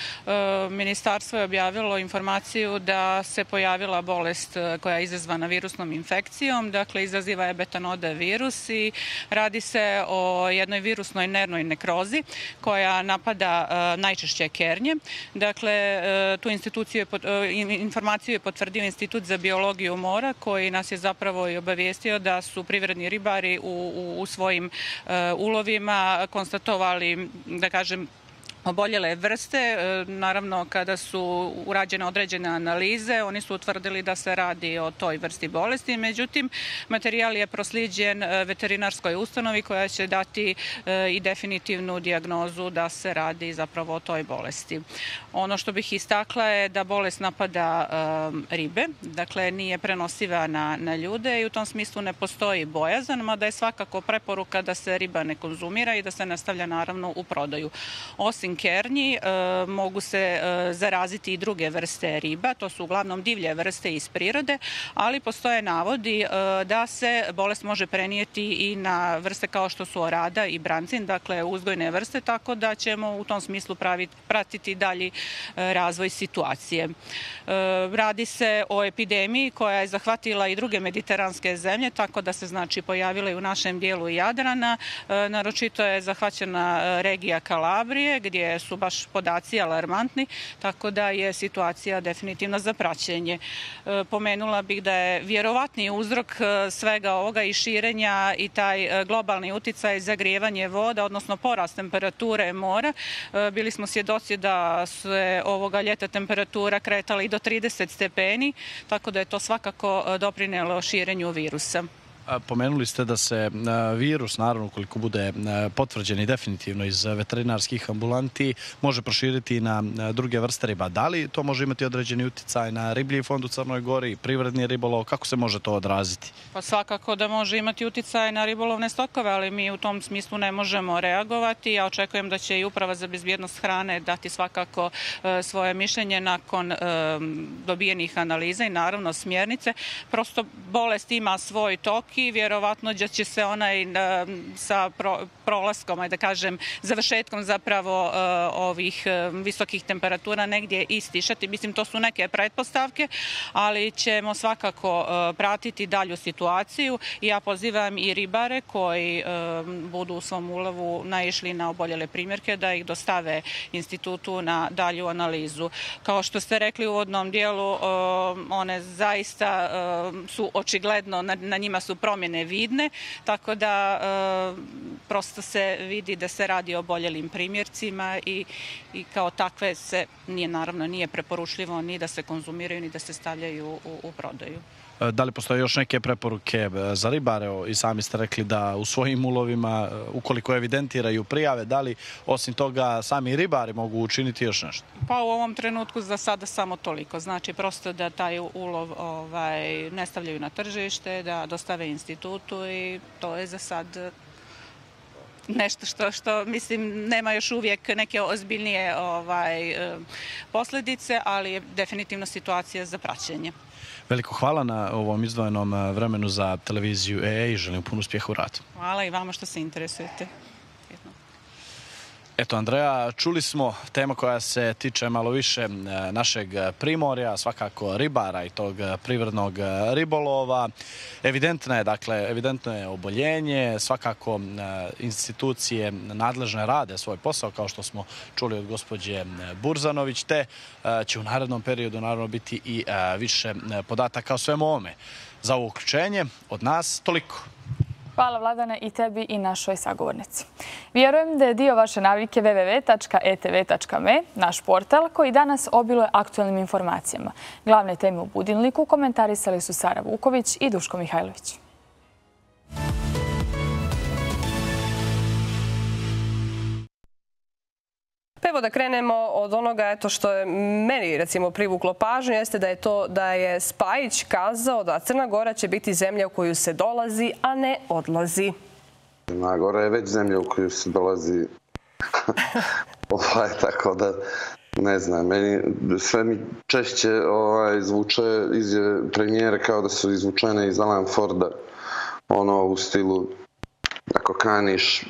Ministarstvo je objavilo informaciju da se pojavila bolest koja je izazvana virusnom infekcijom, dakle izaziva je betanode virus i radi se o jednoj virusnoj nervnoj nekrozi koja napada najčešće kernje. Dakle, tu informaciju je potvrdio Institut za biologiju mora koji nas je zapravo i obavijestio da su privredni ribari u svojim ulovima konstatovali, da kažem, oboljele vrste. Naravno, kada su urađene određene analize, oni su utvrdili da se radi o toj vrsti bolesti. Međutim, materijal je proslijeđen veterinarskoj ustanovi koja će dati i definitivnu dijagnozu da se radi zapravo o toj bolesti. Ono što bih istakla je da bolest napada ribe, dakle nije prenosiva na, na ljude i u tom smislu ne postoji bojazan, mada je svakako preporuka da se riba ne konzumira i da se nastavlja naravno u prodaju. Osim kernji mogu se zaraziti i druge vrste riba, to su uglavnom divlje vrste iz prirode, ali postoje navodi da se bolest može prenijeti i na vrste kao što su orada i brancin, dakle uzgojne vrste, tako da ćemo u tom smislu praviti, pratiti dalji razvoj situacije. Radi se o epidemiji koja je zahvatila i druge mediteranske zemlje, tako da se znači pojavila i u našem dijelu Jadrana. Naročito je zahvaćena regija Kalabrije, gdje su baš podaci alarmantni, tako da je situacija definitivno za praćenje. Pomenula bih da je vjerovatni uzrok svega ovoga i širenja i taj globalni uticaj zagrijevanje voda, odnosno porast temperature mora. Bili smo svjedoci da se ovoga ljeta temperatura kretala i do trideset stepeni, tako da je to svakako doprinelo širenju virusa. Pomenuli ste da se virus, naravno, ukoliko bude potvrđen i definitivno iz veterinarskih ambulanti, može proširiti na druge vrste riba. Da li to može imati određeni uticaj na riblji fond u Crnoj Gori, privredni ribolov? Kako se može to odraziti? Pa svakako da može imati uticaj na ribolovne stokove, ali mi u tom smislu ne možemo reagovati. Ja očekujem da će i Uprava za bezbjednost hrane dati svakako svoje mišljenje nakon dobijenih analiza i naravno smjernice. Prosto bolest ima svoj tok i vjerovatno da će se onaj sa prolaskom, da kažem, završetkom zapravo ovih visokih temperatura negdje istišati. Mislim, to su neke pretpostavke, ali ćemo svakako pratiti dalju situaciju i ja pozivam i ribare koji budu u svom ulovu naišli na oboljele primjerke da ih dostave institutu na dalju analizu. Kao što ste rekli u uvodnom dijelu, one zaista su očigledno, na njima su promjene vidne, tako da prosto se vidi da se radi o oboljelim primjercima i, i kao takve se nije, naravno nije preporučljivo ni da se konzumiraju ni da se stavljaju u, u prodaju. Da li postoje još neke preporuke za ribare? I sami ste rekli da u svojim ulovima, ukoliko evidentiraju prijave, da li osim toga sami ribari mogu učiniti još nešto? Pa u ovom trenutku za sada samo toliko. Znači prosto da taj ulov ovaj, ne stavljaju na tržište, da dostave institutu i to je za sad nešto što, što mislim, nema još uvijek neke ozbiljnije ovaj, posljedice, ali je definitivno situacija za praćenje. Veliko hvala na ovom izdvojenom vremenu za televiziju E E i želim puno uspjeha u radu. Hvala i vama što se interesujete. Eto, Andreja, čuli smo tema koja se tiče malo više našeg primorja, svakako ribara i tog privrednog ribolova. Evidentno je, dakle, evidentno je oboljenje, svakako institucije nadležne rade svoj posao, kao što smo čuli od gospođe Burzanović, te će u narednom periodu naravno biti i više podataka o svemu ovome. Za ovo uključenje od nas toliko. Hvala Vladane i tebi i našoj sagovornici. Vjerujem da je dio vaše navike w w w tačka e t v tačka m e, naš portal koji danas obiluje aktualnim informacijama. Glavne teme u Budilniku komentarisali su Sara Vuković i Duško Mihajlović. Evo da krenemo od onoga eto što je meni recimo privuklo pažnju, jeste da je to da je Spajić kazao da Crna Gora će biti zemlja u koju se dolazi, a ne odlazi. Crna Gora je već zemlja u koju se dolazi. ovaj, tako da ne znam, meni sve mi češće ovaj, zvuče izjave premijere kao da su izvučene iz Alan Forda, ono u stilu ako kaniš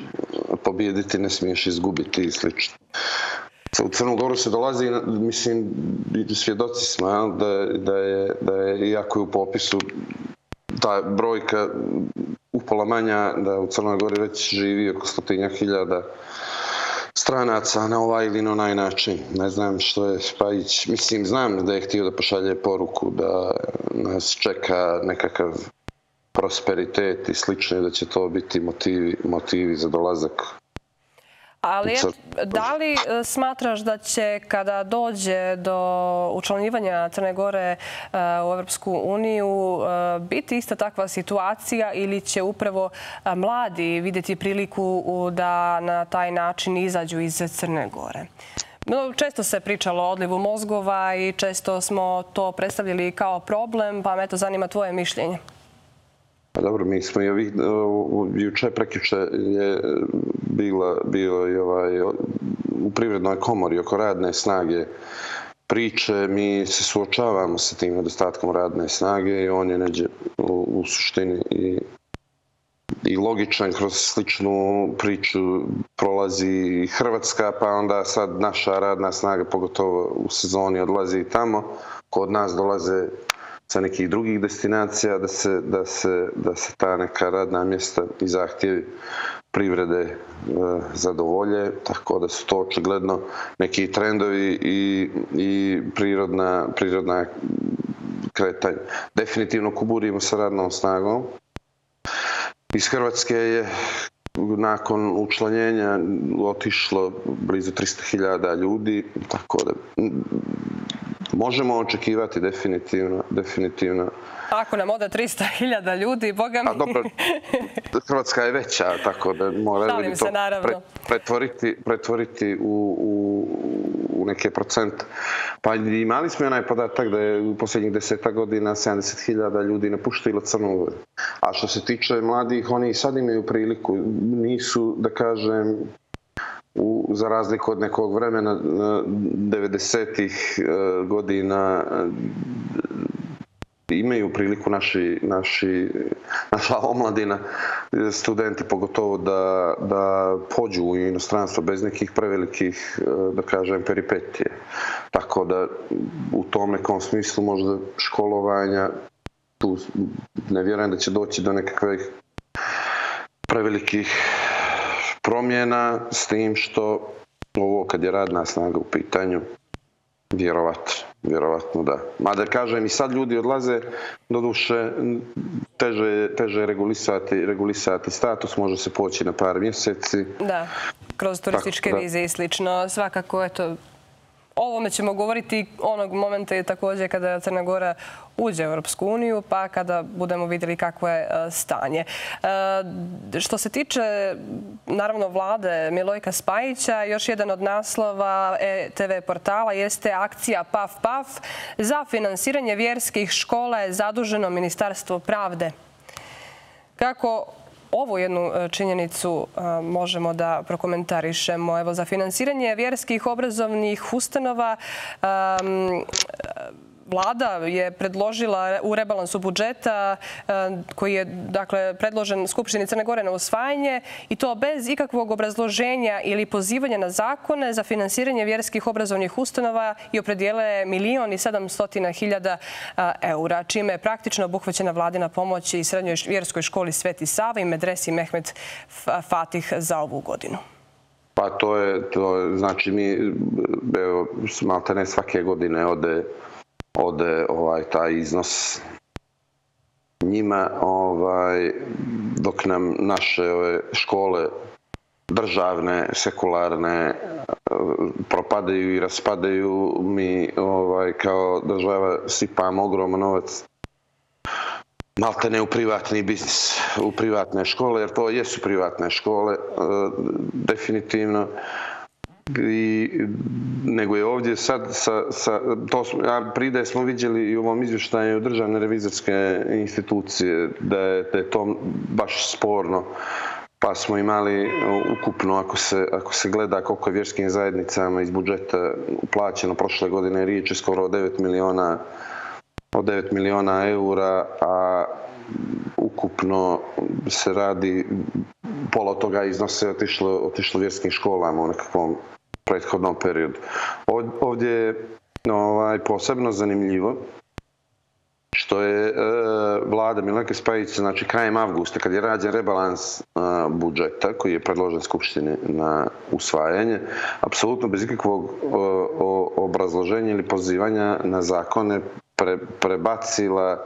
pobijediti, ne smiješ izgubiti i slično. U Crnu Goru se dolazi, mislim, svjedoci smo da, da, je, da je, iako je u popisu ta brojka upola manja, da u Crnoj Gori već živi oko stotinjak hiljada stranaca na ovaj ili na onaj način. Ne znam što je Spajić, mislim, znam da je htio da pošalje poruku da nas čeka nekakav prosperitet i slično, da će to biti motivi, motivi za dolazak. Ali da li smatraš da će kada dođe do učlanjivanja Crne Gore u Evropsku uniju biti ista takva situacija ili će upravo mladi vidjeti priliku da na taj način izađu iz Crne Gore? Često se pričalo o odlivu mozgova i često smo to predstavljali kao problem, pa me to zanima tvoje mišljenje. Pa dobro, mi smo i ovih, juče, prekjuče je bila, bilo i ovaj, u Privrednoj komori oko radne snage priče, mi se suočavamo sa tim nedostatkom radne snage i on je neđe u, u suštini i, i logičan kroz sličnu priču prolazi Hrvatska, pa onda sad naša radna snaga, pogotovo u sezoni, odlazi tamo, kod nas dolaze sa nekih drugih destinacija, da se, da se, da se ta neka radna mjesta i zahtjevi privrede e, zadovolje, tako da su to očigledno neki trendovi i, i prirodna, prirodna kretanja. Definitivno kuburimo sa radnom snagom. Iz Hrvatske je nakon učlanjenja otišlo blizu tristo hiljada ljudi, tako da možemo očekivati definitivno, definitivno. Ako nam ode tristo hiljada ljudi, boga mi... A dobro, Hrvatska je veća, tako da mora ljudi to pre, pretvoriti, pretvoriti u, u, u neke procente. Pa imali smo onaj podatak da je u posljednjih deseta godina sedamdeset hiljada ljudi napuštilo Crnu Goru. A što se tiče mladih, oni i sad imaju priliku, nisu, da kažem, U, za razliku od nekog vremena devedesetih godina imaju priliku naši, naši, naša omladina, studenti pogotovo da, da pođu u inostranstvo bez nekih prevelikih, da kažem, peripetije. Tako da u tom nekom smislu možda školovanja, tu ne vjerujem da će doći do nekakvih prevelikih promjena, s tim što ovo kad je radna snaga u pitanju, vjerovatno, vjerovatno da. Mada kažem i sad ljudi odlaze, doduše teže, teže regulisati, regulisati status, može se poći na par mjeseci. Da, kroz turističke vize i slično. Svakako, eto, o ovome ćemo govoriti onog momenta i također kada Crna Gora uđe u Europsku uniju, pa kada budemo vidjeli kakvo je stanje. Što se tiče, naravno, vlade Milojka Spajića, još jedan od naslova E T V portala jeste akcija Paf Paf. Za finansiranje vjerskih škola je zaduženo Ministarstvo pravde. Kako ovu jednu činjenicu možemo da prokomentarišemo? Evo, za finansiranje vjerskih obrazovnih ustanova Vlada je predložila u rebalansu budžeta koji je, dakle, predložen Skupštini Crne Gore na usvajanje i to bez ikakvog obrazloženja ili pozivanja na zakone za finansiranje vjerskih obrazovnih ustanova i opredijele milion i sedamstotina hiljada eura, čime je praktično obuhvaćena vladina pomoć i srednjoj vjerskoj školi Sveti Sava i medresi Mehmet Fatih za ovu godinu. Pa to je, to je znači mi, evo, malte ne svake godine ode ode ovaj taj iznos njima, dok nam naše škole državne, sekularne propadaju i raspadaju, mi kao država sipamo ogroman novac malte ne u privatni biznis, u privatne škole, jer to jesu privatne škole, definitivno. Nego je ovdje sad, prije smo vidjeli i u ovom izvještaju državne revizorske institucije da je to baš sporno, pa smo imali ukupno, ako se gleda koliko je vjerskim zajednicama iz budžeta uplaćeno prošle godine, riječ je skoro o devet miliona od devet miliona eura, a ukupno se radi, pola toga iznose otišlo vjerskim školama u nekakvom prethodnom periodu. Ovdje je posebno zanimljivo što je vlada Milenke Spajić, znači krajem avgusta, kad je rađen rebalans budžeta koji je predložen Skupštini na usvajanje, apsolutno bez ikakvog obrazloženja ili pozivanja na zakone prebacila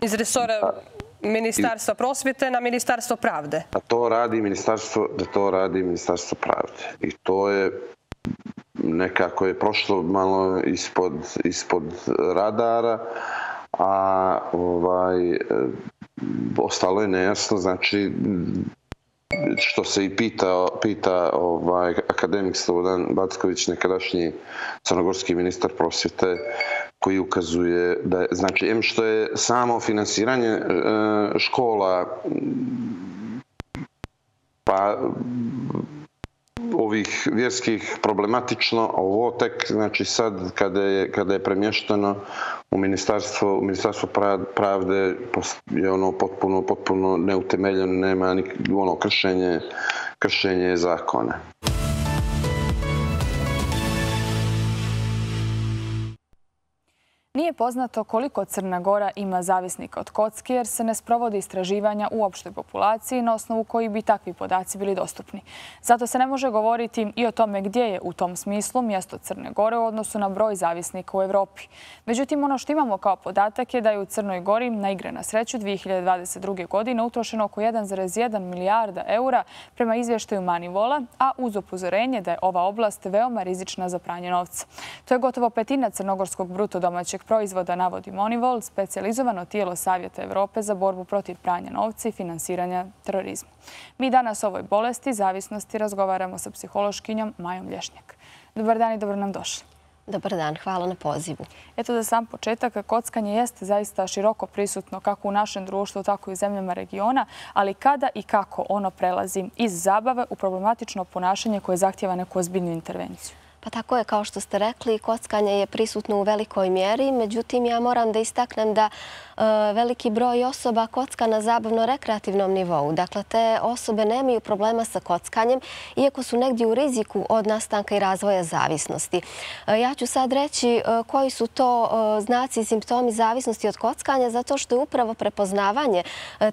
iz resora Ministarstva prosvjete na Ministarstvo pravde. Da to radi Ministarstvo, da to radi Ministarstvo pravde. I to je nekako je prošlo malo ispod, ispod radara, a ovaj, ostalo je nejasno, znači što se i pita, pita ovaj, akademik Slobodan Backović, nekadašnji crnogorski ministar prosvjete, koji ukazuje da je, znači, em što je samo finansiranje škola pa ovih vjerskih problematično, a ovo tek, znači sad kada je, kada je premješteno u ministarstvo, u ministarstvo pravde je ono potpuno, potpuno neutemeljeno, nema ni ono kršenje, kršenje zakona. Nije poznato koliko Crna Gora ima zavisnika od kocke jer se ne sprovodi istraživanja u opštoj populaciji na osnovu koji bi takvi podaci bili dostupni. Zato se ne može govoriti i o tome gdje je u tom smislu mjesto Crne Gore u odnosu na broj zavisnika u Evropi. Međutim, ono što imamo kao podatak je da je u Crnoj Gori na igre na sreću dvije hiljade dvadeset druge. godine utrošeno oko jedan zarez jedan milijarda eura prema izvještaju Manivola, a uz upozorenje da je ova oblast veoma rizična za pranje novca. To je gotovo petina crnogorskog bruto domaćeg proizvoda, navodi Monivol, specijalizovano tijelo Savjeta Evrope za borbu protiv pranja novca i finansiranja terorizma. Mi danas o ovoj bolesti zavisnosti razgovaramo sa psihološkinjom Majom Lješnjak. Dobar dan i dobro nam došli. Dobar dan, hvala na pozivu. Eto za sam početak, kockanje jeste zaista široko prisutno kako u našem društvu, tako i u zemljama regiona, ali kada i kako ono prelazi iz zabave u problematično ponašanje koje zahtjeva neku ozbiljnu intervenciju? Pa tako je, kao što ste rekli, kockanje je prisutno u velikoj mjeri. Međutim, ja moram da istaknem da veliki broj osoba kocka na zabavno-rekreativnom nivou. Dakle, te osobe nemaju problema sa kockanjem, iako su negdje u riziku od nastanka i razvoja zavisnosti. Ja ću sad reći koji su to znaci i simptomi zavisnosti od kockanja, zato što je upravo prepoznavanje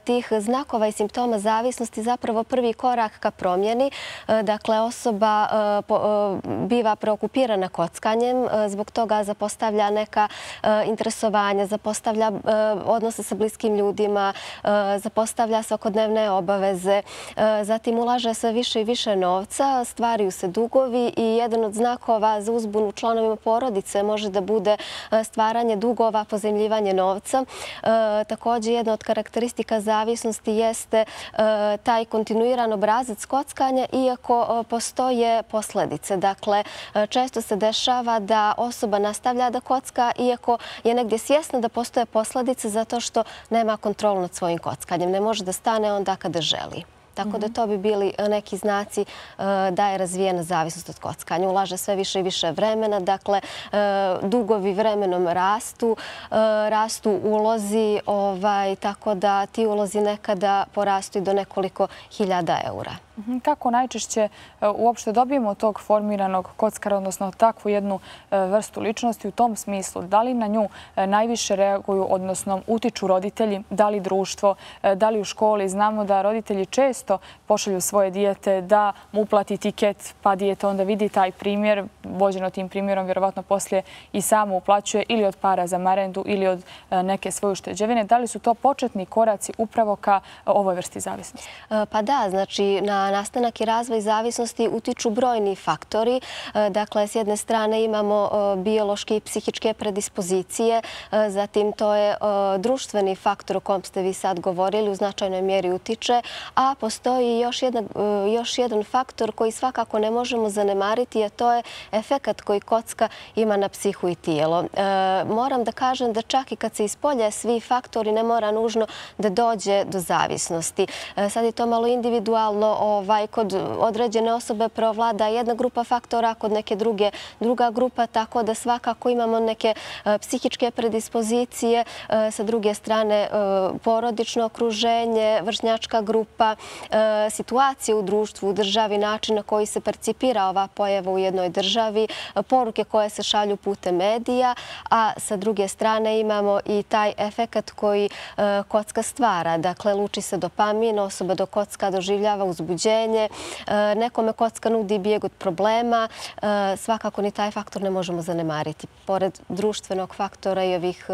tih znakova i simptoma zavisnosti zapravo prvi korak ka promjeni. Dakle, osoba biva preokupirana kockanjem, zbog toga zapostavlja neka interesovanja, zapostavlja odnose sa bliskim ljudima, zapostavlja svakodnevne obaveze, zatim ulaže sve više i više novca, stvaraju se dugovi i jedan od znakova za uzbunu članovima porodice može da bude stvaranje dugova, pozajmljivanje novca. Također, jedna od karakteristika zavisnosti jeste taj kontinuiran obrazac kockanja, iako postoje posljedice. Dakle, često se dešava da osoba nastavlja da kocka, iako je negdje svjesna da postoje posljedice zato što nema kontrolu nad svojim kockanjem. Ne može da stane onda kada želi. Tako da to bi bili neki znaci da je razvijena zavisnost od kockanja. Ulaže sve više i više vremena, dakle dugovi vremenom rastu, rastu ulozi, tako da ti ulozi nekada porastu i do nekoliko hiljada eura. Kako najčešće uopšte dobijemo tog formiranog kockara, odnosno takvu jednu vrstu ličnosti u tom smislu? Da li na nju najviše reaguju, odnosno utiču roditelji, da li društvo, da li u školi? Znamo da roditelji često često pošalju svoje dijete da mu uplati tiket, pa dijete onda vidi taj primjer, vođeno tim primjerom, vjerovatno poslije i samo uplaćuje ili od para za marendu ili od neke svoje ušteđevine. Da li su to početni koraci upravo ka ovoj vrsti zavisnosti? Pa da, znači na nastanak i razvoj zavisnosti utiču brojni faktori. Dakle, s jedne strane imamo biološke i psihičke predispozicije, zatim to je društveni faktor o kom ste vi sad govorili, u značajnoj mjeri utiče, a postoji još jedan, još jedan faktor koji svakako ne možemo zanemariti, a to je efekat koji kocka ima na psihu i tijelo. Moram da kažem da čak i kad se ispolje svi faktori ne mora nužno da dođe do zavisnosti. Sad je to malo individualno, ovaj, kod određene osobe preovlada jedna grupa faktora, kod neke druge druga grupa, tako da svakako imamo neke psihičke predispozicije, sa druge strane porodično okruženje, vršnjačka grupa, situacije u društvu, u državi, način na koji se percipira ova pojava u jednoj državi, poruke koje se šalju putem medija, a sa druge strane imamo i taj efekat koji kocka stvara. Dakle, luči se dopamin, osoba do kocka doživljava uzbuđenje, nekome kocka nudi bijeg od problema, svakako ni taj faktor ne možemo zanemariti. Pored društvenog faktora i ovih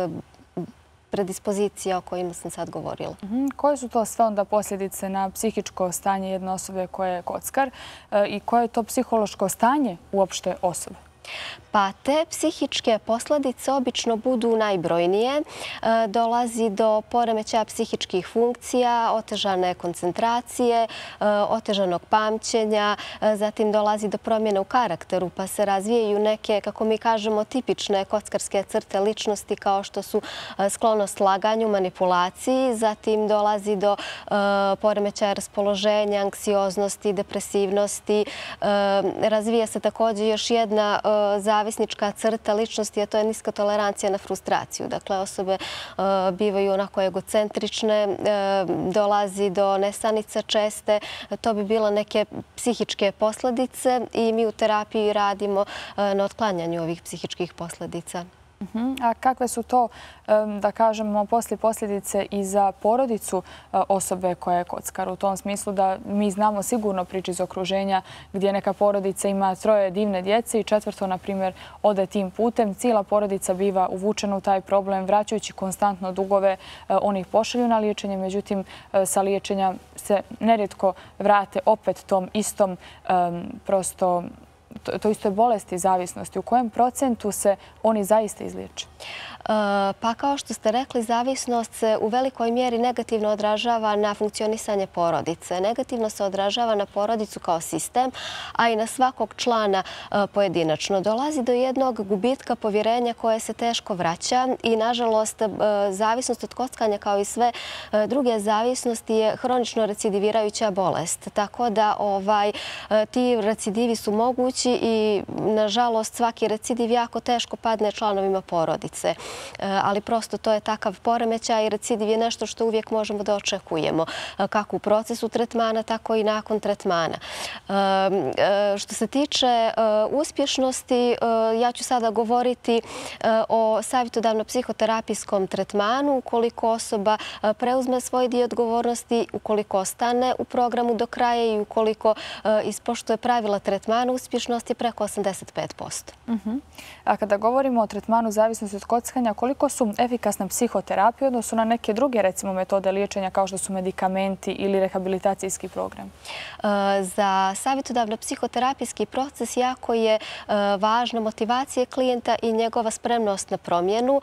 predispozicija o kojima sam sad govorila. Koje su to sve onda posljedice na psihičko stanje jedne osobe koja je kockar i koje je to psihološko stanje uopšte osobe? Pa te psihičke posljedice obično budu najbrojnije. Dolazi do poremećaja psihičkih funkcija, otežane koncentracije, otežanog pamćenja, zatim dolazi do promjene u karakteru, pa se razvijaju neke, kako mi kažemo, tipične kockarske crte ličnosti kao što su sklonost laganju, manipulaciji, zatim dolazi do poremećaja raspoloženja, anksioznosti, depresivnosti. Razvija se također još jedna zavisnička crta ličnosti, a to je niska tolerancija na frustraciju. Dakle, osobe bivaju onako egocentrične, dolazi do nesanica česte. To bi bilo neke psihičke posljedice i mi u terapiji radimo na otklanjanju ovih psihičkih posljedica. A kakve su to, da kažemo, poslije posljedice i za porodicu osobe koja je kockar? U tom smislu da mi znamo sigurno priče iz okruženja gdje neka porodica ima troje divne djece i četvrto, na primjer, ode tim putem. Cijela porodica biva uvučena u taj problem, vraćajući konstantno dugove, oni ih pošalju na liječenje, međutim, sa liječenja se nerijetko vrate opet tom istom prosto to isto je bolesti zavisnosti. U kojem procentu se oni zaista izliječe? Pa kao što ste rekli, zavisnost se u velikoj mjeri negativno odražava na funkcionisanje porodice. Negativno se odražava na porodicu kao sistem, a i na svakog člana pojedinačno. Dolazi do jednog gubitka povjerenja koje se teško vraća i, nažalost, zavisnost od kockanja kao i sve druge zavisnosti je hronično recidivirajuća bolest. Tako da ovaj, ti recidivi su mogući i, nažalost, svaki recidiv jako teško padne članovima porodice. Ali prosto to je takav poremećaj i recidiv je nešto što uvijek možemo da očekujemo, kako u procesu tretmana, tako i nakon tretmana. Što se tiče uspješnosti, ja ću sada govoriti o savjetodavno-psihoterapijskom tretmanu. Ukoliko osoba preuzme svoj dio odgovornosti, ukoliko ostane u programu do kraja i ukoliko ispoštuje pravila tretmana, uspješnost je preko osamdeset pet posto. A kada govorimo o tretmanu zavisnosti od kockanja, koliko su efikasne psihoterapije odnosno na neke druge, recimo, metode liječenja kao što su medikamenti ili rehabilitacijski program? Za savjetodavno-psihoterapijski proces jako je važna motivacija klijenta i njegova spremnost na promjenu.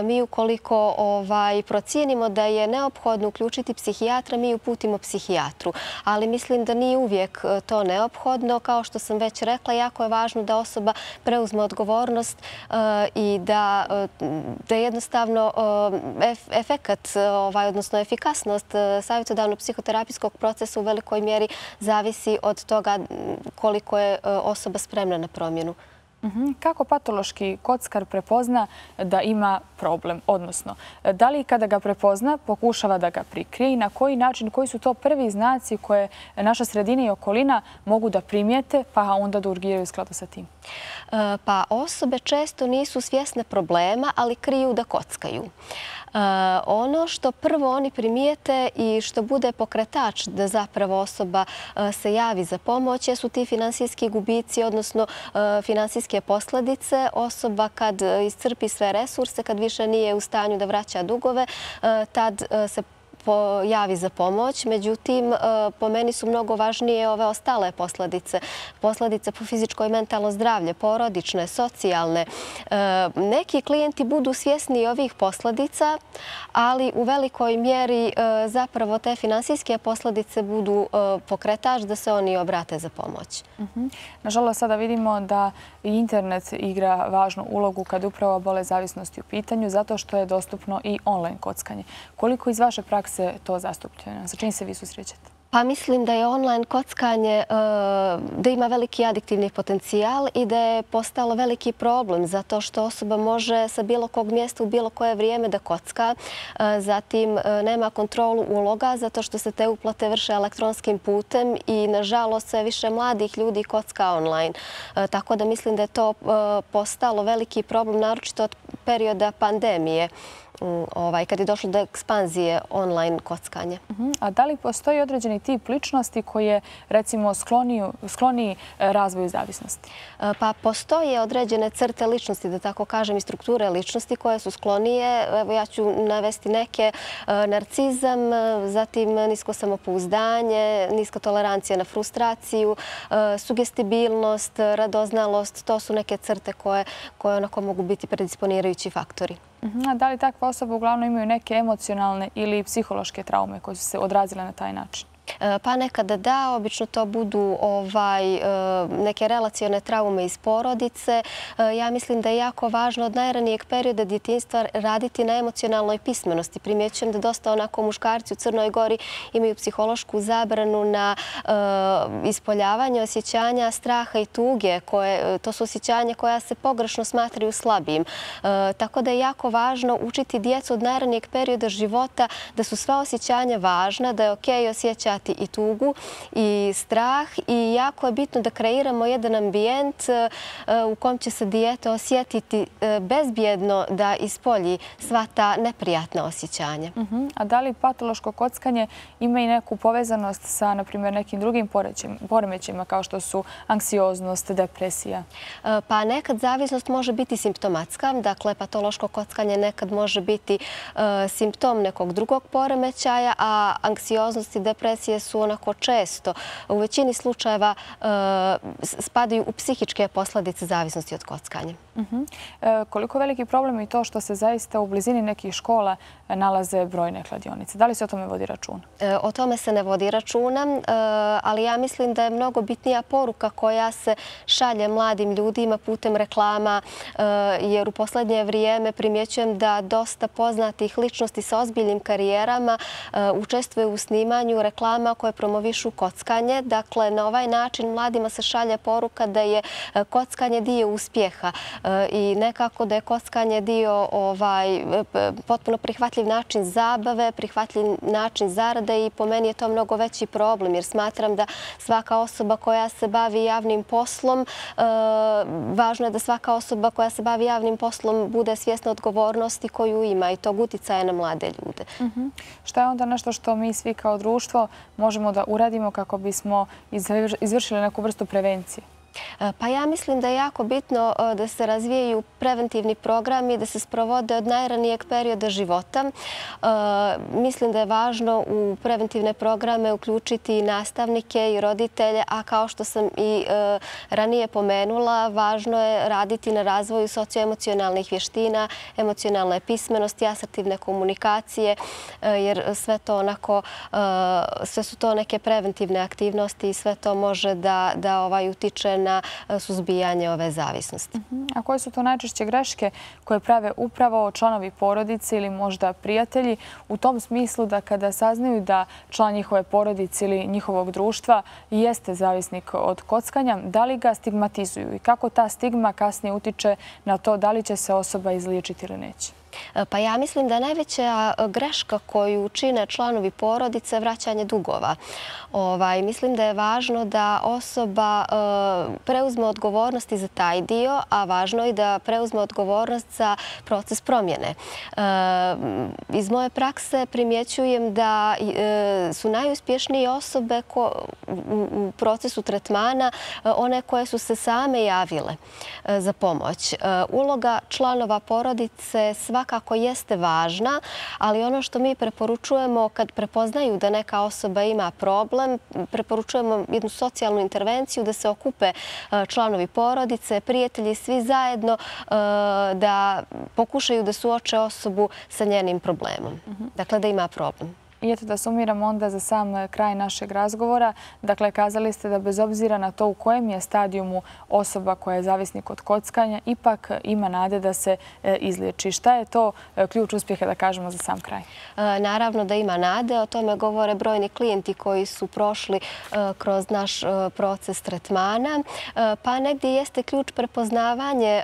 Mi ukoliko ovaj, procijenimo da je neophodno uključiti psihijatra, mi uputimo psihijatru. Ali mislim da nije uvijek to neophodno. Kao što sam već rekla, jako je važno da osoba preuzme odgovornost i da da jednostavno efekat, odnosno efikasnost savjetodavno-psihoterapijskog procesa u velikoj mjeri zavisi od toga koliko je osoba spremna na promjenu. Kako patološki kockar prepozna da ima problem? Odnosno, da li kada ga prepozna pokušava da ga prikrije i na koji način, koji su to prvi znaci koje naša sredina i okolina mogu da primijete pa onda da urgiraju u skladu sa tim? Pa osobe često nisu svjesne problema, ali kriju da kockaju. Ono što prvo oni primijete i što bude pokretač da zapravo osoba se javi za pomoć su ti finansijski gubici, odnosno finansijske posljedice. Osoba kad iscrpi sve resurse, kad više nije u stanju da vraća dugove, tad se javi za pomoć. Međutim, po meni su mnogo važnije ove ostale posljedice. Posljedice po fizičko i mentalno zdravlje, porodične, socijalne. Neki klijenti budu svjesni ovih posljedica, ali u velikoj mjeri zapravo te finansijske posljedice budu pokretač da se oni obrate za pomoć. Nažalost, sada vidimo da internet igra važnu ulogu kad upravo bolest zavisnosti u pitanju, zato što je dostupno i online kockanje. Koliko iz vaše prakse se to zastupljeno? Sa čim se vi susrećete? Pa mislim da je online kockanje, da ima veliki adiktivni potencijal i da je postalo veliki problem zato što osoba može sa bilo kog mjesta u bilo koje vrijeme da kocka. Zatim nema kontrolu uloga zato što se te uplate vrše elektronskim putem i nažalost sve više mladih ljudi kocka online. Tako da mislim da je to postalo veliki problem, naročito od perioda pandemije, kad je došlo do ekspanzije online kockanja. A da li postoji određeni tip ličnosti koji je, recimo, skloniji razvoju zavisnosti? Pa postoje određene crte ličnosti, da tako kažem, i strukture ličnosti koje su sklonije. Evo ja ću navesti neke. Narcizam, zatim nisko samopouzdanje, niska tolerancija na frustraciju, sugestibilnost, radoznalost. To su neke crte koje onako mogu biti predisponirajući faktori. A da li takve osobe uglavnom imaju neke emocionalne ili psihološke traume koje su se odrazile na taj način? Pa nekada da, obično to budu neke relacione traume iz porodice. Ja mislim da je jako važno od najranijeg perioda djetinjstva raditi na emocionalnoj pismenosti. Primjećujem da dosta onako muškarci u Crnoj Gori imaju psihološku zabranu na ispoljavanje osjećanja straha i tuge. To su osjećanja koja se pogrešno smatraju slabijim. Tako da je jako važno učiti djecu od najranijeg perioda života da su sva osjećanja važna, da je okej osjećati i tugu i strah i jako je bitno da kreiramo jedan ambijent u kom će se dijete osjetiti bezbjedno da ispolji sva ta neprijatna osjećanja. A da li patološko kockanje ima i neku povezanost sa, na primjer, nekim drugim poremećajima kao što su anksioznost, depresija? Pa nekad zavisnost može biti simptomatska. Dakle, patološko kockanje nekad može biti simptom nekog drugog poremećaja, a anksioznost i depresija su onako često, u većini slučajeva spadaju u psihičke posljedice zavisnosti od kockanja. Koliko veliki problem je to što se zaista u blizini nekih škola nalaze brojne kladionice? Da li se o tome vodi računa? O tome se ne vodi računa, ali ja mislim da je mnogo bitnija poruka koja se šalje mladim ljudima putem reklama, jer u posljednje vrijeme primjećujem da dosta poznatih ličnosti sa ozbiljnim karijerama učestvuje u snimanju reklama koje promovišu kockanje. Dakle, na ovaj način mladima se šalje poruka da je kockanje dio uspjeha i nekako da je kockanje dio potpuno prihvatljiv način zabave, prihvatljiv način zarade i po meni je to mnogo veći problem jer smatram da svaka osoba koja se bavi javnim poslom, važno je da svaka osoba koja se bavi javnim poslom bude svjesna odgovornosti koju ima i tog uticaja na mlade ljude. Šta je onda nešto što mi svi kao društvo možemo da uradimo kako bismo izvršili neku vrstu prevencije? Pa ja mislim da je jako bitno da se razvijaju preventivni programi, da se sprovode od najranijeg perioda života. Mislim da je važno u preventivne programe uključiti i nastavnike i roditelje, a kao što sam i ranije pomenula, važno je raditi na razvoju socioemocionalnih vještina, emocionalne pismenosti, asertivne komunikacije, jer sve to onako, sve su to neke preventivne aktivnosti i sve to može da, da ovaj utiče na suzbijanje ove zavisnosti. A koje su to najčešće greške koje prave upravo članovi porodice ili možda prijatelji u tom smislu da kada saznaju da član njihove porodice ili njihovog društva jeste zavisnik od kockanja, da li ga stigmatizuju i kako ta stigma kasnije utiče na to da li će se osoba izliječiti ili neće? Pa ja mislim da najveća greška koju čine članovi porodice je vraćanje dugova. Ovaj, mislim da je važno da osoba e, preuzme odgovornost i za taj dio, a važno je da preuzme odgovornost za proces promjene. E, iz moje prakse primjećujem da e, su najuspješnije osobe ko, u, u procesu tretmana e, one koje su se same javile e, za pomoć. E, uloga članova porodice svakako jeste važna, ali ono što mi preporučujemo kad prepoznaju da neka osoba ima problem, preporučujemo jednu socijalnu intervenciju da se okupe članovi porodice, prijatelji, svi zajedno da pokušaju da suoče osobu sa njenim problemom. Dakle, da ima problem. I eto da sumiramo onda za sam kraj našeg razgovora. Dakle, kazali ste da bez obzira na to u kojem je stadijumu osoba koja je zavisnik od kockanja, ipak ima nade da se izliječi. Šta je to ključ uspjeha, da kažemo, za sam kraj? Naravno da ima nade. O tome govore brojni klijenti koji su prošli kroz naš proces tretmana. Pa negdje jeste ključ prepoznavanje.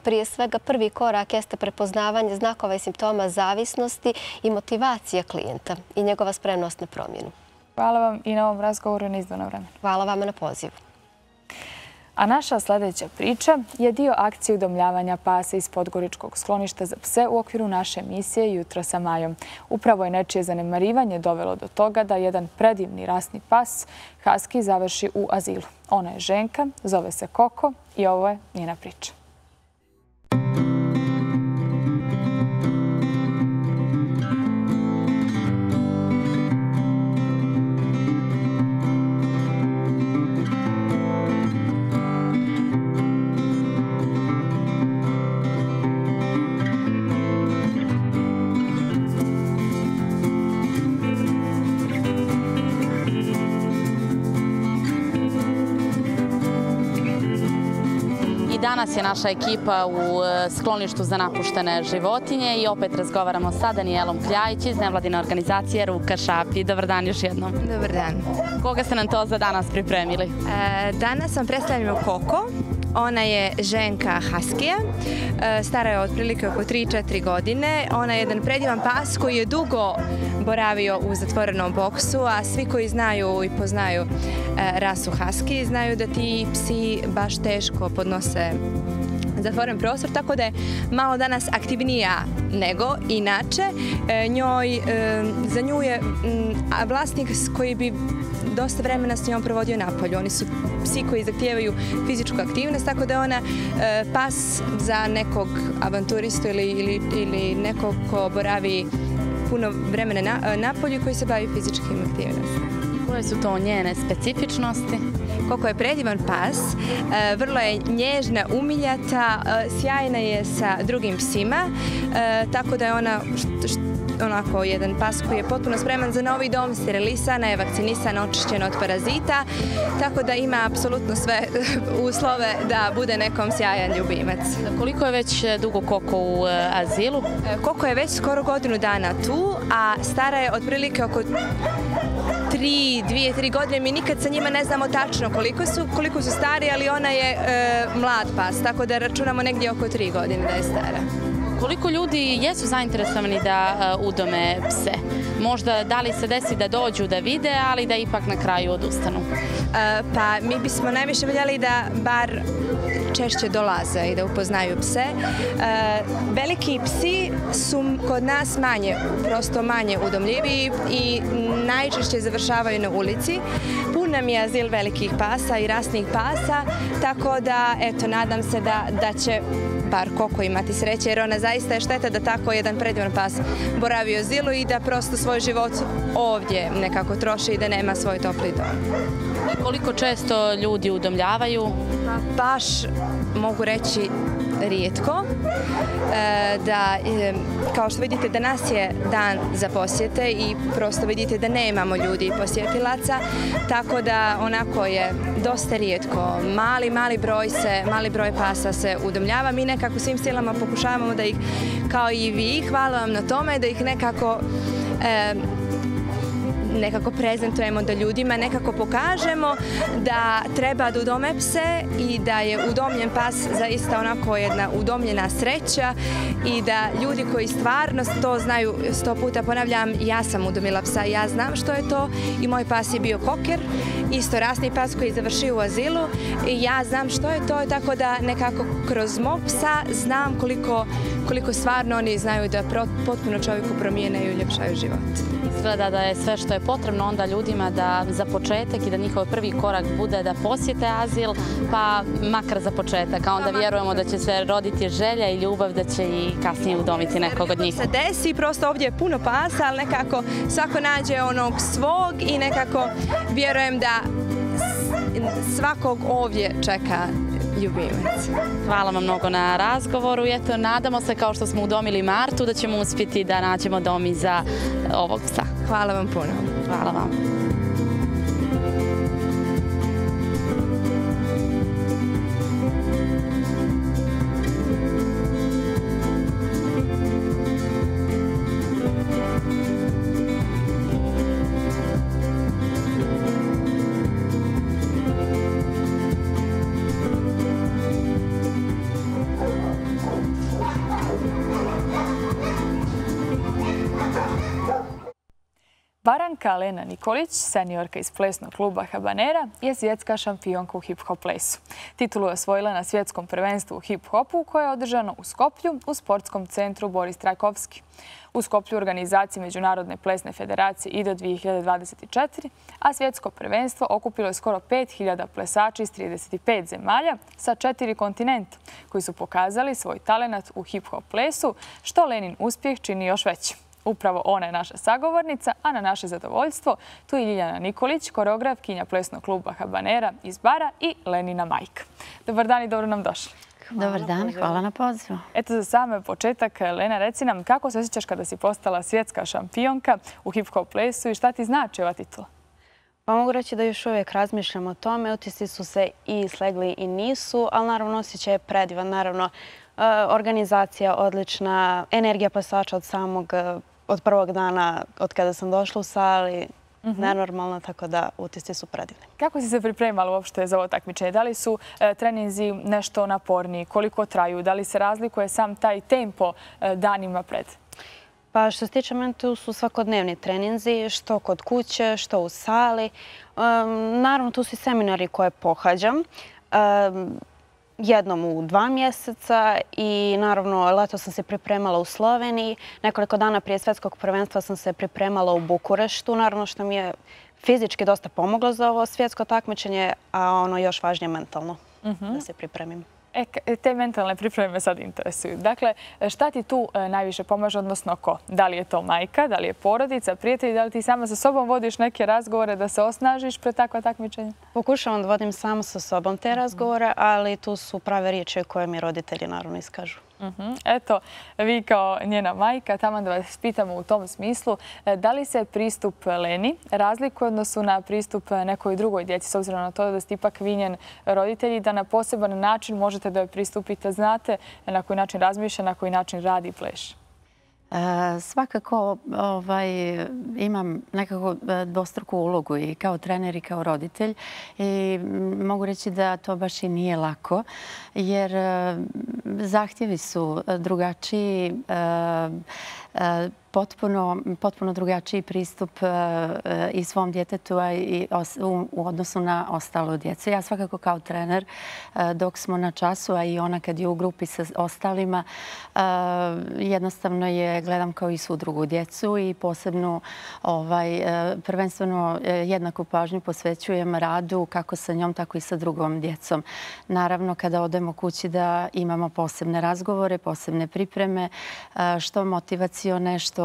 Prije svega prvi korak jeste prepoznavanje znakova i simptoma zavisnosti i motivacija klijenta i njegova spremnost na promjenu. Hvala vam i na ovom razgovoru na izdvojeno vremenu. Hvala vama na pozivu. A naša sljedeća priča je dio akcije udomljavanja pasa iz Podgoričkog skloništa za pse u okviru naše emisije Jutro sa Majom. Upravo je nečije zanemarivanje dovelo do toga da jedan predivni rasni pas, husky, završi u azilu. Ona je ženka, zove se Koko i ovo je njena priča. Danas je naša ekipa u skloništu za napuštene životinje i opet razgovaramo sa Danijelom Kljajić iz nevladine organizacije Ruka Šapi. Dobar dan još jednom. Dobar dan. Koga ste nam to za danas pripremili? E, danas vam predstavljamo Koko. Ona je ženka Haskija, stara je otprilike oko tri četiri godine. Ona je jedan predivan pas koji je dugo boravio u zatvorenom boksu, a svi koji znaju i poznaju rasu Husky znaju da ti psi baš teško podnose zatvoren prostor, tako da je malo danas aktivnija nego inače. Njoj, za nju je vlasnik koji bi dosta vremena s njom provodio napolju. Oni su psi koji zahtijevaju fizičku aktivnost, tako da je ona pas za nekog avanturistu ili, ili, ili nekog ko boravi puno vremena na, napolju koji se bavi fizičkim aktivnostima. Koje su to njene specifičnosti? Koko je predivan pas, vrlo je nježna, umiljata, sjajna je sa drugim psima, tako da je ona onako jedan pas koji je potpuno spreman za novi dom, sterilisana je, vakcinisana, očišćena od parazita, tako da ima apsolutno sve uslove da bude nekom sjajan ljubimac. Koliko je već dugo Koko u azilu? Koko je već skoro godinu dana tu, a stara je otprilike oko tri, dvije, tri godine. Mi nikad sa njima ne znamo tačno koliko su, koliko su stari, ali ona je e, mlad pas, tako da računamo negdje oko tri godine da je stara. Koliko ljudi jesu zainteresovani da uh, udome pse? Možda da li se desi da dođu da vide, ali da ipak na kraju odustanu? Uh, pa mi bismo najviše voljeli da bar češće dolaze i da upoznaju pse. Uh, veliki psi su kod nas manje, prosto manje udomljivi i najčešće završavaju na ulici. Pun nam je azil velikih pasa i rasnih pasa, tako da eto, nadam se da, da će bar Koko imati sreće, jer ona zaista je šteta da tako jedan predivan pas boravi u azilu i da prosto svoj život ovdje nekako troši i da nema svoj topli dom. Koliko često ljudi udomljavaju? Baš mogu reći rijetko. Da, kao što vidite, danas je dan za posjete i prosto vidite da nemamo ljudi i posjetilaca, tako da onako je dosta rijetko. Mali, mali broj se, mali broj pasa se udomljava. Mi nekako svim silama pokušavamo da ih, kao i vi, hvala vam na tome, da ih nekako e, nekako prezentujemo da ljudima nekako pokažemo da treba da udome pse i da je udomljen pas zaista onako jedna udomljena sreća i da ljudi koji stvarno to znaju, sto puta ponavljam, ja sam udomila psa, ja znam što je to i moj pas je bio koker, isto rasni pas koji je završio u azilu i ja znam što je to, tako da nekako kroz mog psa znam koliko, koliko stvarno oni znaju da potpuno čovjeku promijene i uljepšaju život. Izgleda da je sve što je potrebno onda ljudima da za početak i da njihov prvi korak bude da posjete azil, pa makar za početak, a onda vjerujemo da će se roditi želja i ljubav da će i kasnije udomiti nekog od njih. Se desi, prosto ovdje je puno pasa, ali nekako svako nađe onog svog i nekako vjerujem da svakog ovdje čeka ljubimac. Hvala vam mnogo na razgovoru i eto, nadamo se kao što smo udomili Martu da ćemo uspjeti da nađemo dom i za ovog psa. Hvala vam puno. Hvala vam. Baranka Lena Nikolić, seniorka iz plesnog kluba Habanera, je svjetska šampionka u hip-hop plesu. Titulu je osvojila na svjetskom prvenstvu u hip-hopu koje je održano u Skoplju u sportskom centru Boris Trajkovski. U Skoplju organizaciji Međunarodne plesne federacije I D O dvije hiljade dvadeset četiri, a svjetsko prvenstvo okupilo je skoro pet hiljada plesača iz trideset pet zemalja sa četiri kontinenta koji su pokazali svoj talenat u hip-hop plesu, što Lenin uspjeh čini još većim. Upravo ona je naša sagovornica, a na naše zadovoljstvo tu je Ljiljana Nikolić, koreografkinja plesnog kluba Habanera iz Bara i Lenina majka. Dobar dan i dobro nam došli. Dobar dan, hvala na pozivu. Eto za sam početak, Lena, reci nam kako se osjećaš kada si postala svjetska šampionka u hip-hop plesu i šta ti znači ova titula? Pa mogu reći da još uvijek razmišljam o tome. Utisci su se i slegli i nisu, ali naravno osjećaj je predivan. Naravno, organizacija odlična, energija plesača od samog od prvog dana od kada sam došla u sali, nenormalna, tako da utisci su predivni. Kako si se pripremala uopšte za ovo takmičenje? Da li su treninzi nešto naporniji? Koliko traju? Da li se razlikuje sam taj tempo danima pred? Pa što se tiče mene, tu su svakodnevni treninzi, što kod kuće, što u sali. Naravno, tu su i seminari koje pohađam. Jednom u dva mjeseca i naravno leto sam se pripremala u Sloveniji. Nekoliko dana prije svjetskog prvenstva sam se pripremala u Bukureštu. Naravno što mi je fizički dosta pomoglo za ovo svjetsko takmičenje, a ono još važnije mentalno da se pripremim. E, te mentalne pripreme me sad interesuju. Dakle, šta ti tu najviše pomaže, odnosno ko? Da li je to majka, da li je porodica, prijatelji, da li ti sama sa sobom vodiš neke razgovore da se osnažiš pred takva takmičenja? Pokušavam da vodim sama sa sobom te razgovore, ali tu su prave riječi koje mi roditelji naravno iskažu. Eto, vi kao njena majka, tamo da vas pitamo u tom smislu, da li se pristup Leni razlikuje odnosu na pristup nekoj drugoj djeci, s obzirom na to da ste ipak vi njen roditelji, da na poseban način možete da joj pristupite, znate na koji način razmišlja, na koji način radi i pleše? Svakako imam nekako dvostruku ulogu i kao trener i kao roditelj i mogu reći da to baš i nije lako jer zahtjevi su drugačiji, potpuno drugačiji pristup i svom djetetu i u odnosu na ostalu djecu. Ja svakako kao trener dok smo na času, a i ona kad je u grupi sa ostalima, jednostavno je gledam kao i svu drugu djecu i posebno prvenstveno jednaku pažnju posvećujem radu kako sa njom, tako i sa drugom djecom. Naravno, kada odemo kući da imamo posebne razgovore, posebne pripreme, što motivacione, što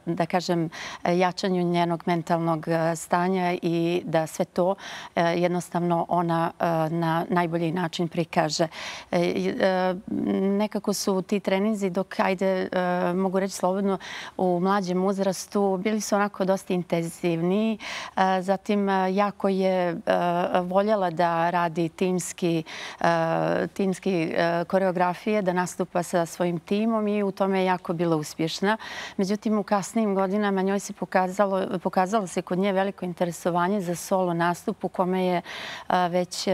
da kažem, jačanju njenog mentalnog stanja i da sve to jednostavno ona na najbolji način prikaže. Nekako su ti treninzi dok, ajde, mogu reći slobodno, u mlađem uzrastu bili su onako dosta intenzivniji. Zatim, jako je voljela da radi timski koreografije, da nastupa sa svojim timom i u tome je jako bila uspješna. Međutim, u kasnijim godinama njoj se pokazalo, pokazalo se kod nje veliko interesovanje za solo nastup u kome je već,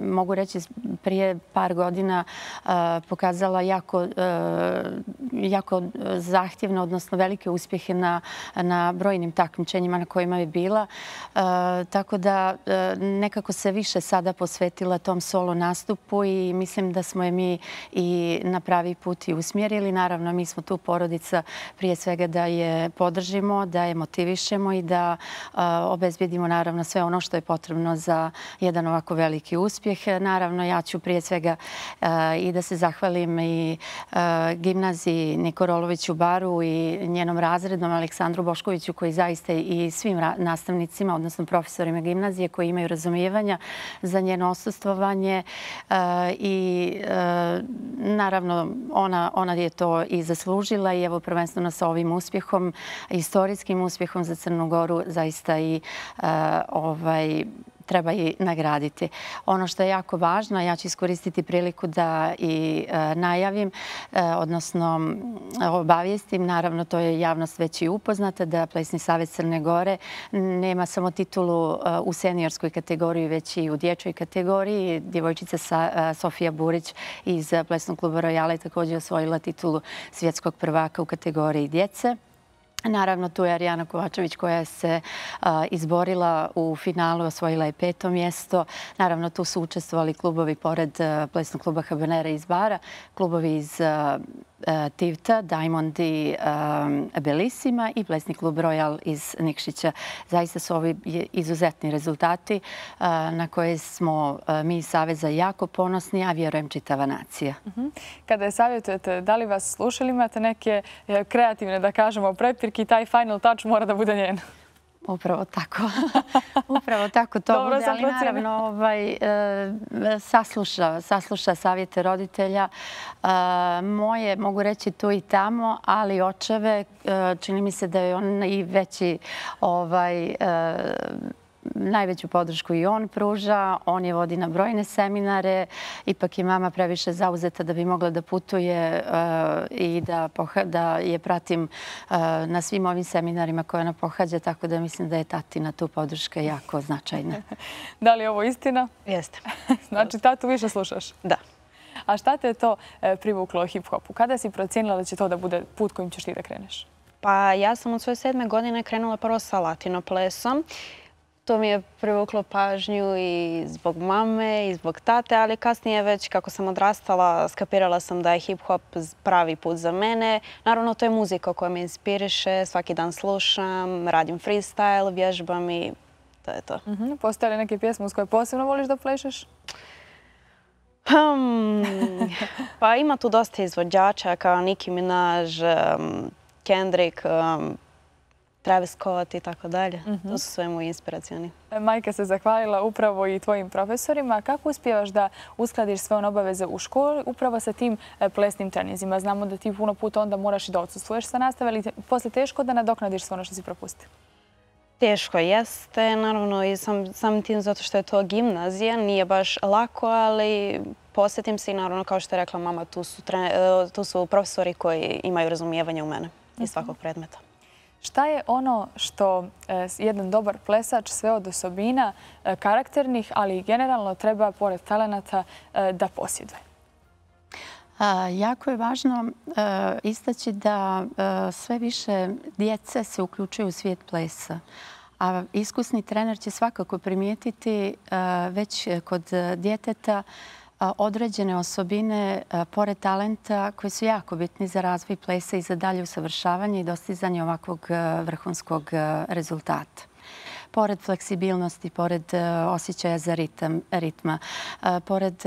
mogu reći, prije par godina pokazala jako, jako zahtjevno, odnosno velike uspjehe na, na brojnim takmičenjima na kojima je bila. Tako da nekako se više sada posvetila tom solo nastupu i mislim da smo je mi i na pravi put i usmjerili. Naravno, mi smo tu porodica prije svega da je podržimo, da je motivišemo i da obezbjedimo naravno sve ono što je potrebno za jedan ovako veliki uspjeh. Naravno, ja ću prije svega i da se zahvalim i gimnaziji Niko Rolović u Baru i njenom razrednom Aleksandru Boškoviću koji zaista i svim nastavnicima, odnosno profesorima gimnazije koji imaju razumijevanja za njeno osustvovanje i naravno ona, ona je to i zaslužila i evo prvenstveno sa ovim uspjehom, istorijskim uspjehom za Crnu Goru zaista i ovaj treba i nagraditi. Ono što je jako važno, ja ću iskoristiti priliku da i najavim, odnosno obavijestim, naravno to je javnost već i upoznata, da Plesni savez Crne Gore nema samo titulu u seniorskoj kategoriji, već i u dječjoj kategoriji. Djevojčica Sofija Burić iz Plesnog kluba Rojala je također osvojila titulu svjetskog prvaka u kategoriji djece. Naravno, tu je Arijana Kovačević koja se izborila u finalu, osvojila je peto mjesto. Naravno, tu su učestvovali klubovi pored Plesnog kluba Habanera iz Bara, klubovi iz Tivta, Diamond i Belissima i Plesni klub Royal iz Nikšića. Zaista su ovi izuzetni rezultati na koje smo mi iz Saveza jako ponosni, a vjerujem čitava nacija. Kada je savjetujete, da li vas slušali, imate neke kreativne, da kažemo, prepirke i taj final touch mora da bude njen? Upravo tako. Upravo tako to bude, ali naravno ovaj, sasluša, sasluša savjete roditelja. Moje, mogu reći tu i tamo, ali očeve, čini mi se da je on i veći ovaj, najveću podršku i on pruža. On je vodi na brojne seminare. Ipak je mama previše zauzeta da bi mogla da putuje i da, da je pratim na svim ovim seminarima koje ona pohađa, tako da mislim da je tatina tu podrška jako značajna. Da li je ovo istina? Jeste. Znači, tatu više slušaš? Da. A šta te je to privuklo hip-hopu? Kada si procijenila da će to da bude put kojim ćeš ti da kreneš? Pa ja sam od svoje sedme godine krenula prvo sa latino-plesom. To mi je privuklo pažnju i zbog mame i zbog tate, ali kasnije već kako sam odrastala skapirala sam da je hip-hop pravi put za mene. Naravno, to je muzika koja me inspiriše, svaki dan slušam, radim freestyle, vježbam i to je to. Uh-huh. Postoje li neke pjesme uz koje posebno voliš da plešeš? Um, pa ima tu dosta izvođača kao Nicki Minaj, um, Kendrick, um, Travis Scott i tako dalje. To su sve moji inspiracijani. Majka se zahvalila upravo i tvojim profesorima. Kako uspijevaš da uskladiš sve one obaveze u školi upravo sa tim plesnim treninzima? Znamo da ti puno puta onda moraš i da odsustvuješ sa nastave, ali posle teško da nadoknadiš sve ono što si propustio? Teško jeste, naravno i sam, sam tim zato što je to gimnazija. Nije baš lako, ali posjetim se i naravno, kao što je rekla mama, tu su, tre, tu su profesori koji imaju razumijevanje u mene i svakog predmeta. Šta je ono što jedan dobar plesač sve od osobina karakternih, ali i generalno treba, pored talenata, da posjeduje? Jako je važno istaći da sve više djece se uključuju u svijet plesa. A iskusni trener će svakako primijetiti već kod djeteta određene osobine, pored talenta, koji su jako bitni za razvoj plesa i za dalje usavršavanje i dostizanje ovakvog vrhunskog rezultata. Pored fleksibilnosti, pored osjećaja za ritam, ritma, pored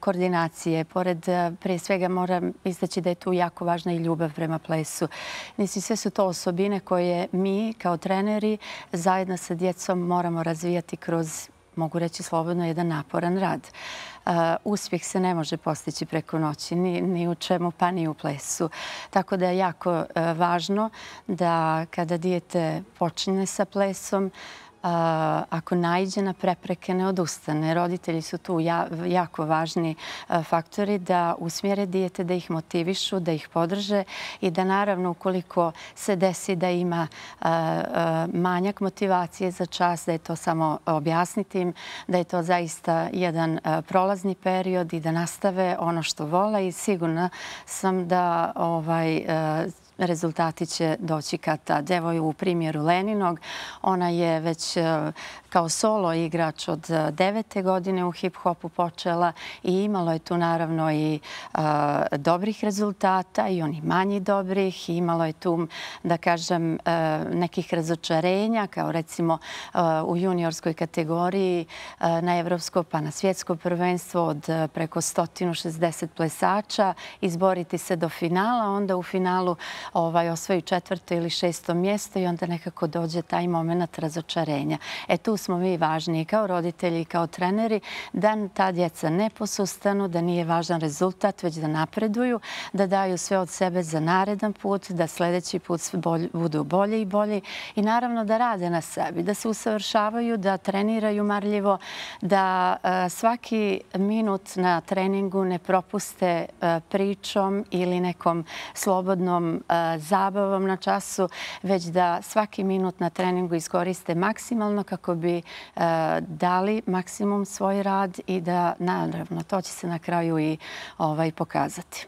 koordinacije, pored, prije svega moram istaći da je tu jako važna i ljubav prema plesu. Mislim, sve su to osobine koje mi kao treneri zajedno sa djecom moramo razvijati kroz, mogu reći slobodno, jedan naporan rad. Uspjeh se ne može postići preko noći, ni, ni u čemu, pa ni u plesu. Tako da je jako važno da kada dijete počne sa plesom, ako naiđe na prepreke, ne odustane. Roditelji su tu jako važni faktori da usmjere dijete, da ih motivišu, da ih podrže i da naravno ukoliko se desi da ima manjak motivacije za čas, da je to samo objasniti im, da je to zaista jedan prolazni period i da nastave ono što vole i sigurna sam da ovaj rezultati će doći kad tad. Evo u primjeru Leninog, ona je već kao solo igrač od devete godine u hip-hopu počela i imalo je tu naravno i dobrih rezultata i oni manji dobrih. Imalo je tu, da kažem, nekih razočarenja, kao recimo u juniorskoj kategoriji na evropsko pa na svjetsko prvenstvo od preko sto šezdeset plesača, izboriti se do finala, onda u finalu osvoji četvrto ili šesto mjesto i onda nekako dođe taj moment razočarenja. E tu smo mi važni kao roditelji i kao treneri da ta djeca ne posustanu, da nije važan rezultat, već da napreduju, da daju sve od sebe za naredan put, da sljedeći put budu bolji i bolji i naravno da rade na sebi, da se usavršavaju, da treniraju marljivo, da svaki minut na treningu ne propuste pričom ili nekom slobodnom zabavom na času, već da svaki minut na treningu iskoriste maksimalno kako bi dali maksimum svoj rad i da, naravno, to će se na kraju i pokazati.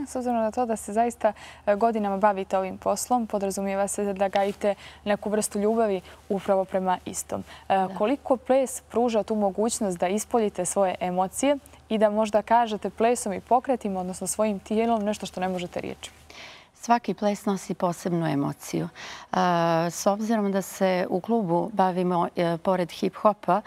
S obzirom na to da se zaista godinama bavite ovim poslom, podrazumijeva se da gajite neku vrstu ljubavi upravo prema istom. Koliko ples pruža tu mogućnost da ispoljite svoje emocije i da možda kažete plesom i pokretima, odnosno svojim tijelom, nešto što ne možete riječima? Svaki ples nosi posebnu emociju. S obzirom da se u klubu bavimo pored hip-hopa,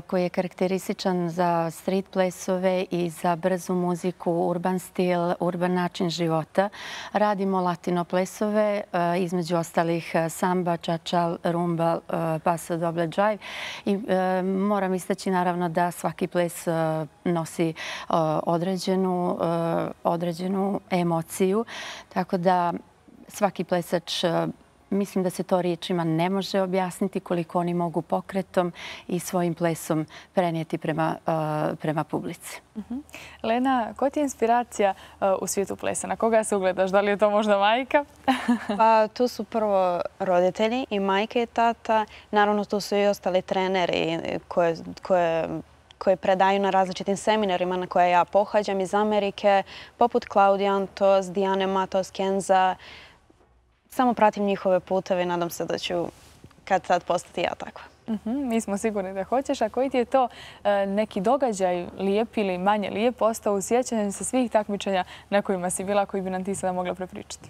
koji je karakterističan za street plesove i za brzu muziku, urban stil, urban način života, radimo latino plesove, između ostalih samba, čačal, rumba, paso doble džajv. I moram istaći naravno da svaki ples nosi određenu, određenu emociju, tako da svaki plesač, mislim da se to riječima ne može objasniti koliko oni mogu pokretom i svojim plesom prenijeti prema, prema publici. Lena, koja ti je inspiracija u svijetu plesa? Na koga se ugledaš? Da li je to možda majka? Pa tu su prvo roditelji i majka i tata. Naravno tu su i ostali treneri koje, koje koje predaju na različitim seminarima na koje ja pohađam iz Amerike, poput Claudia Antos, Diane Matos, Kenza. Samo pratim njihove puteve i nadam se da ću kad sad postati ja takva. Mi smo sigurni da hoćeš. A koji ti je to neki događaj lijep ili manje lijep ostao u sjećanju sa svih takmičenja na kojima si bila, koji bi nam ti sada mogla prepričati?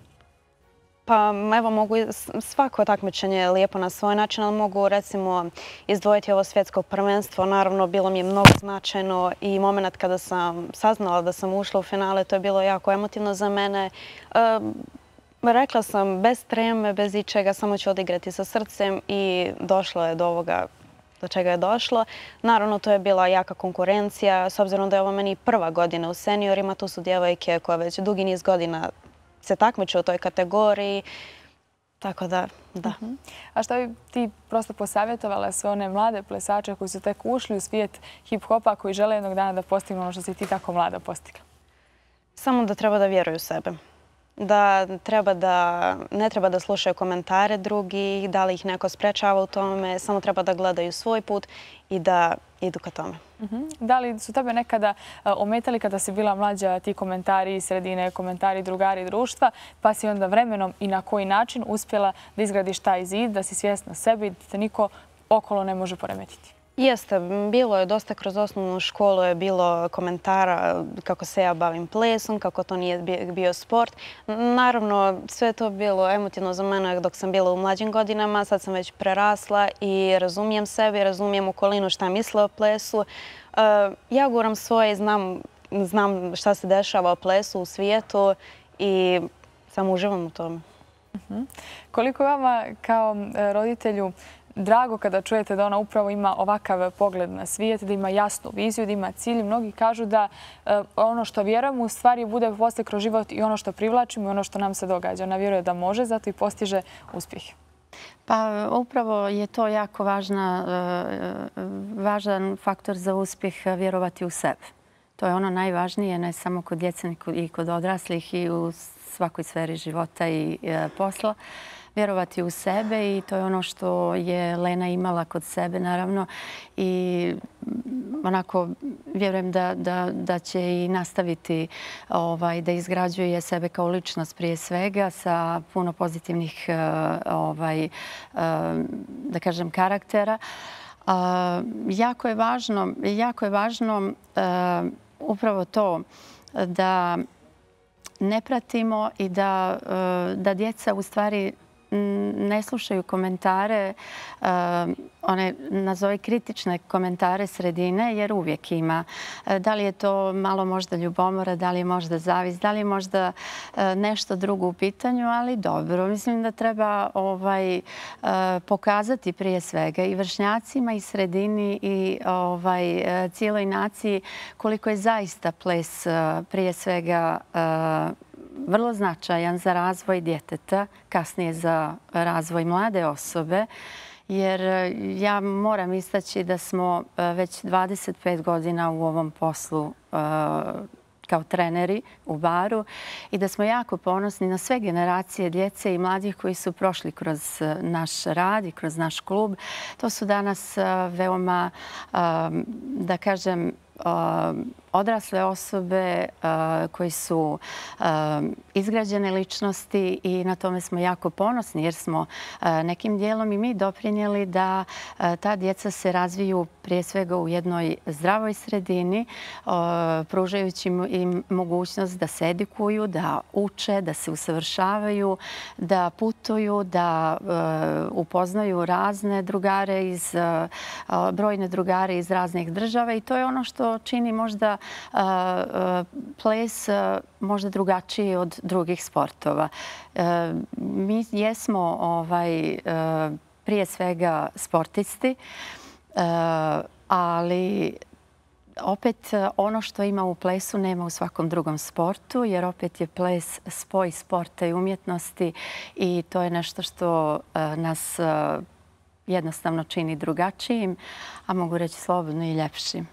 Pa evo, mogu svako takmičenje lijepo na svoj način, ali mogu recimo izdvojiti ovo svjetsko prvenstvo. Naravno, bilo mi je mnogo značajno i moment kada sam saznala da sam ušla u finale, to je bilo jako emotivno za mene. Rekla sam bez treme, bez ičega, samo ću odigrati sa srcem i došlo je do ovoga do čega je došlo. Naravno, to je bila jaka konkurencija, s obzirom da je ovo meni prva godina u seniorima. Tu su djevojke koje već dugi niz godina se takmiče u toj kategoriji. Tako da, da. A što bi ti prosto posavjetovala sve one mlade plesače koji su tek ušli u svijet hip-hopa, koji žele jednog dana da postignu ono što si ti tako mlada postigla? Samo da treba da vjeruju u sebe. Da treba da, ne treba da slušaju komentare drugih, da li ih neko sprečava u tome, samo treba da gledaju svoj put i da idu ka tome. Da li su tebe nekada ometali kada si bila mlađa ti komentari iz sredine, komentari drugari društva, pa si onda vremenom i na koji način uspjela da izgradiš taj zid, da si svjesna sebi, da te niko okolo ne može poremetiti? Jeste, bilo je dosta kroz osnovnu školu, je bilo komentara kako se ja bavim plesom, kako to nije bio sport. Naravno, sve to bilo emotivno za mene dok sam bila u mlađim godinama. Sad sam već prerasla i razumijem sebe, razumijem okolinu šta misle o plesu. Ja guram svoje, znam, znam šta se dešava o plesu u svijetu i samo uživam u tome. Koliko je vama kao roditelju drago kada čujete da ona upravo ima ovakav pogled na svijet, da ima jasnu viziju, da ima cilj? Mnogi kažu da ono što vjerujemo u stvari bude posle kroz život i ono što privlačimo i ono što nam se događa. Ona vjeruje da može, zato i postiže uspjeh. Pa upravo je to jako važna, važan faktor za uspjeh vjerovati u sebe. To je ono najvažnije, ne samo kod djece i kod odraslih i u svakoj sferi života i posla. Vjerovati u sebe i to je ono što je Lena imala kod sebe, naravno. I onako vjerujem da, da, da će i nastaviti ovaj, da izgrađuje sebe kao ličnost prije svega sa puno pozitivnih ovaj, da kažem, karaktera. Jako je važno, jako je važno upravo to da ne pratimo i da, da djeca u stvari ne slušaju komentare, one nazove kritične komentare sredine, jer uvijek ima. Da li je to malo možda ljubomora, da li je možda zavis, da li je možda nešto drugo u pitanju, ali dobro. Mislim da treba ovaj, pokazati prije svega i vršnjacima i sredini i ovaj, cijeloj naciji koliko je zaista ples prije svega vrlo značajan za razvoj djeteta, kasnije za razvoj mlade osobe, jer ja moram istaći da smo već dvadeset pet godina u ovom poslu kao treneri u baru i da smo jako ponosni na sve generacije djece i mladih koji su prošli kroz naš rad i kroz naš klub. To su danas veoma, da kažem, odrasle osobe koji su izgrađene ličnosti i na tome smo jako ponosni jer smo nekim dijelom i mi doprinijeli da ta djeca se razviju prije svega u jednoj zdravoj sredini, pružajući im mogućnost da se edukuju, da uče, da se usavršavaju, da putuju, da upoznaju razne drugare iz, brojne drugare iz raznih država i to je ono što čini možda ples možda drugačiji od drugih sportova. Mi jesmo ovaj, prije svega sportisti, ali opet ono što ima u plesu nema u svakom drugom sportu, jer opet je ples spoj sporta i umjetnosti i to je nešto što nas jednostavno čini drugačijim, a mogu reći slobodno i ljepšim.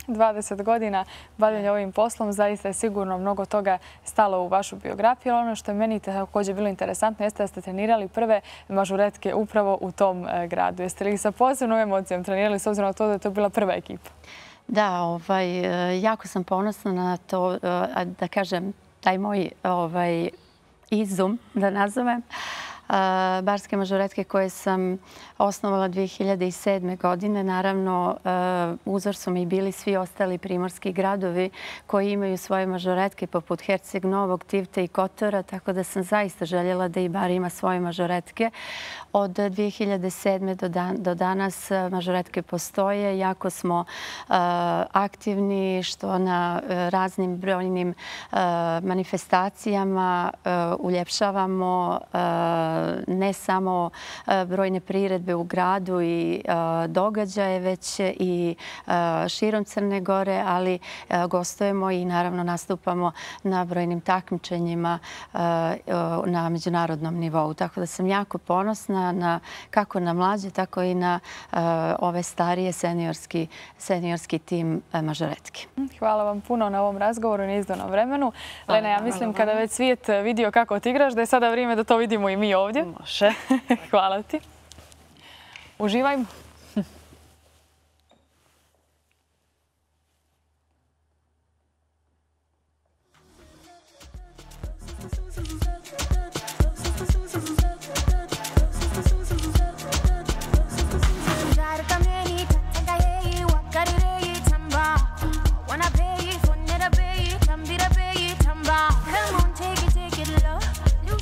dvadeset godina bavljenja ovim poslom, zaista je sigurno mnogo toga stalo u vašu biografiju, ali ono što je meni također bilo interesantno jeste da ste trenirali prve mažuretke upravo u tom gradu. Jeste li sa posebnom emocijom trenirali s obzirom na to da je to bila prva ekipa? Da, ovaj, jako sam ponosna na to, da kažem, taj moj ovaj, izum, da nazovem, barske mažoretke koje sam osnovala dvije hiljade sedme. godine. Naravno, uzor su mi bili svi ostali primorski gradovi koji imaju svoje mažoretke poput Herceg Novog, Tivte i Kotora, tako da sam zaista željela da i bar ima svoje mažoretke. Od dvije hiljade sedme. do, dan, do danas mažoretke postoje. Jako smo uh, aktivni što na uh, raznim brojnim uh, manifestacijama uh, uljepšavamo uh, ne samo uh, brojne priredbe u gradu i uh, događaje, već i uh, širom Crne Gore, ali uh, gostujemo i naravno nastupamo na brojnim takmičenjima uh, uh, na međunarodnom nivou. Tako da sam jako ponosna na, kako na mlađe, tako i na uh, ove starije seniorski, seniorski tim uh, mažoretki. Hvala vam puno na ovom razgovoru i na izdvojenom vremenu. Lena, ja mislim kada već svijet vidio kako ti igraš, da je sada vrijeme da to vidimo i mi ovdje. Može. Hvala ti. Uživajmo.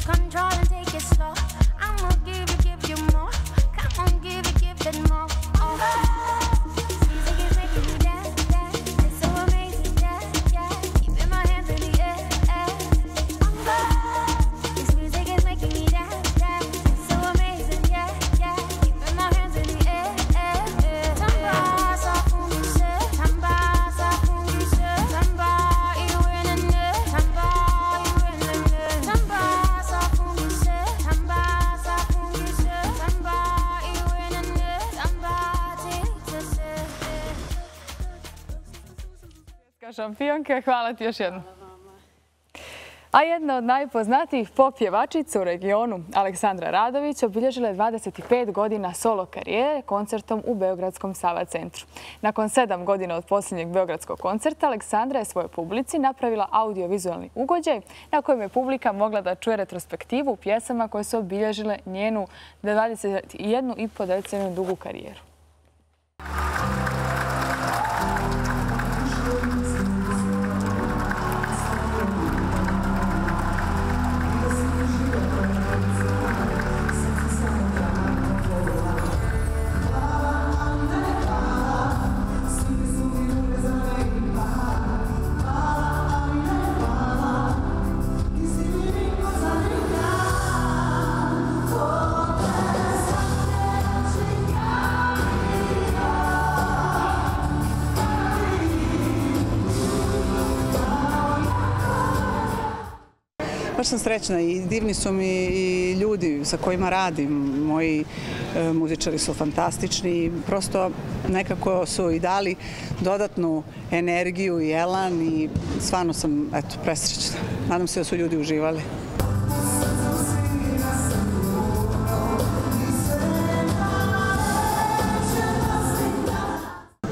Control and take it slow. I'ma give it, give you more. Come on, give it, give it more. šampionke, hvala ti još jednom. A jedna od najpoznatijih pop pjevačica u regionu, Aleksandra Radović, obilježila je dvadeset pet godina solo karijere koncertom u Beogradskom Sava centru. Nakon sedam godina od posljednjeg beogradskog koncerta, Aleksandra je svojoj publici napravila audiovizualni ugođaj na kojem je publika mogla da čuje retrospektivu u pjesama koje su obilježile njenu dvadeset jednu i po deceniju dugu karijeru. Baš sam srećna i divni su mi i ljudi sa kojima radim. Moji muzičari su fantastični. Prosto nekako su i dali dodatnu energiju i elan i stvarno sam presrećna. Nadam se da su ljudi uživali.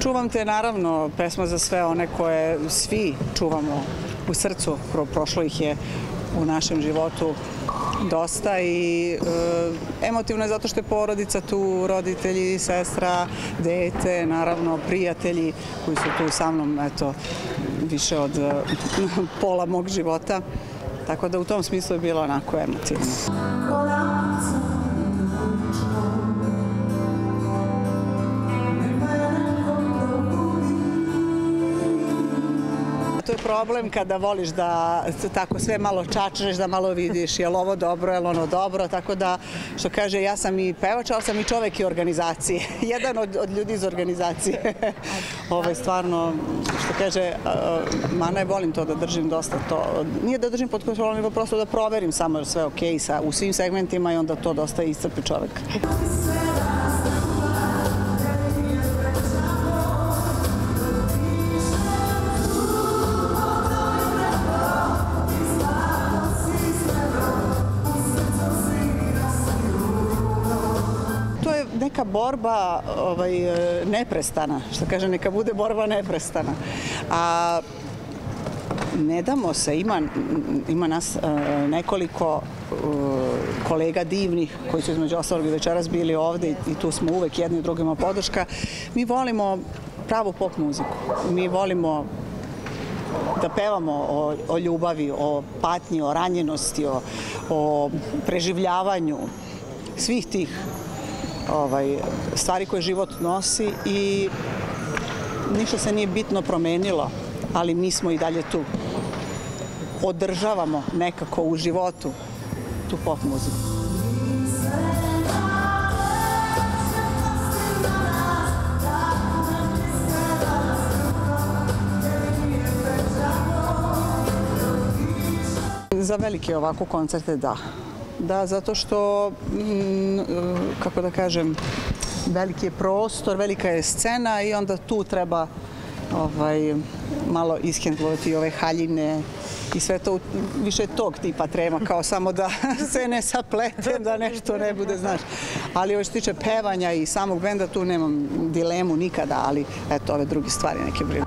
Čuvam te, naravno, pesma za sve one koje svi čuvamo u srcu. Prošlo ih je u našem životu dosta i emotivno je zato što je porodica tu, roditelji, sestra, dete, naravno prijatelji koji su tu sa mnom, eto, više od pola mog života. Tako da u tom smislu je bilo onako emotivno. To je problem kada voliš da tako sve malo čačneš, da malo vidiš je li ovo dobro, je li ono dobro, tako da, što kaže, ja sam i pevač, ali sam i čovek i organizacije. Jedan od ljudi iz organizacije. Ovo je stvarno, što kaže, ma ne volim to da držim dosta to. Nije da držim pod kontrolom, nego prosto da proverim samo je sve okej u svim segmentima i onda to dosta iscrpi čovek. Neka borba neprestana, što kaže, neka bude borba neprestana. A ne damo se, ima nas nekoliko kolega divnih koji su između ostalog i večeras bili ovde i tu smo uvek jedni drugima podrška. Mi volimo pravu pop muziku. Mi volimo da pevamo o ljubavi, o patnji, o ranjenosti, o preživljavanju svih tih stvari koje život nosi i ništa se nije bitno promenilo, ali mi smo i dalje tu. Održavamo nekako u životu tu pop muziku. Za velike ovako koncerte da. Da, zato što, kako da kažem, veliki je prostor, velika je scena i onda tu treba malo ishendlovati ove haljine i sve to, više tog tipa trema, kao samo da se ne sapletem, da nešto ne bude, znaš. Ali ovo što tiče pevanja i samog benda, tu nemam dilemu nikada, ali eto, ove druge stvari neke brinu.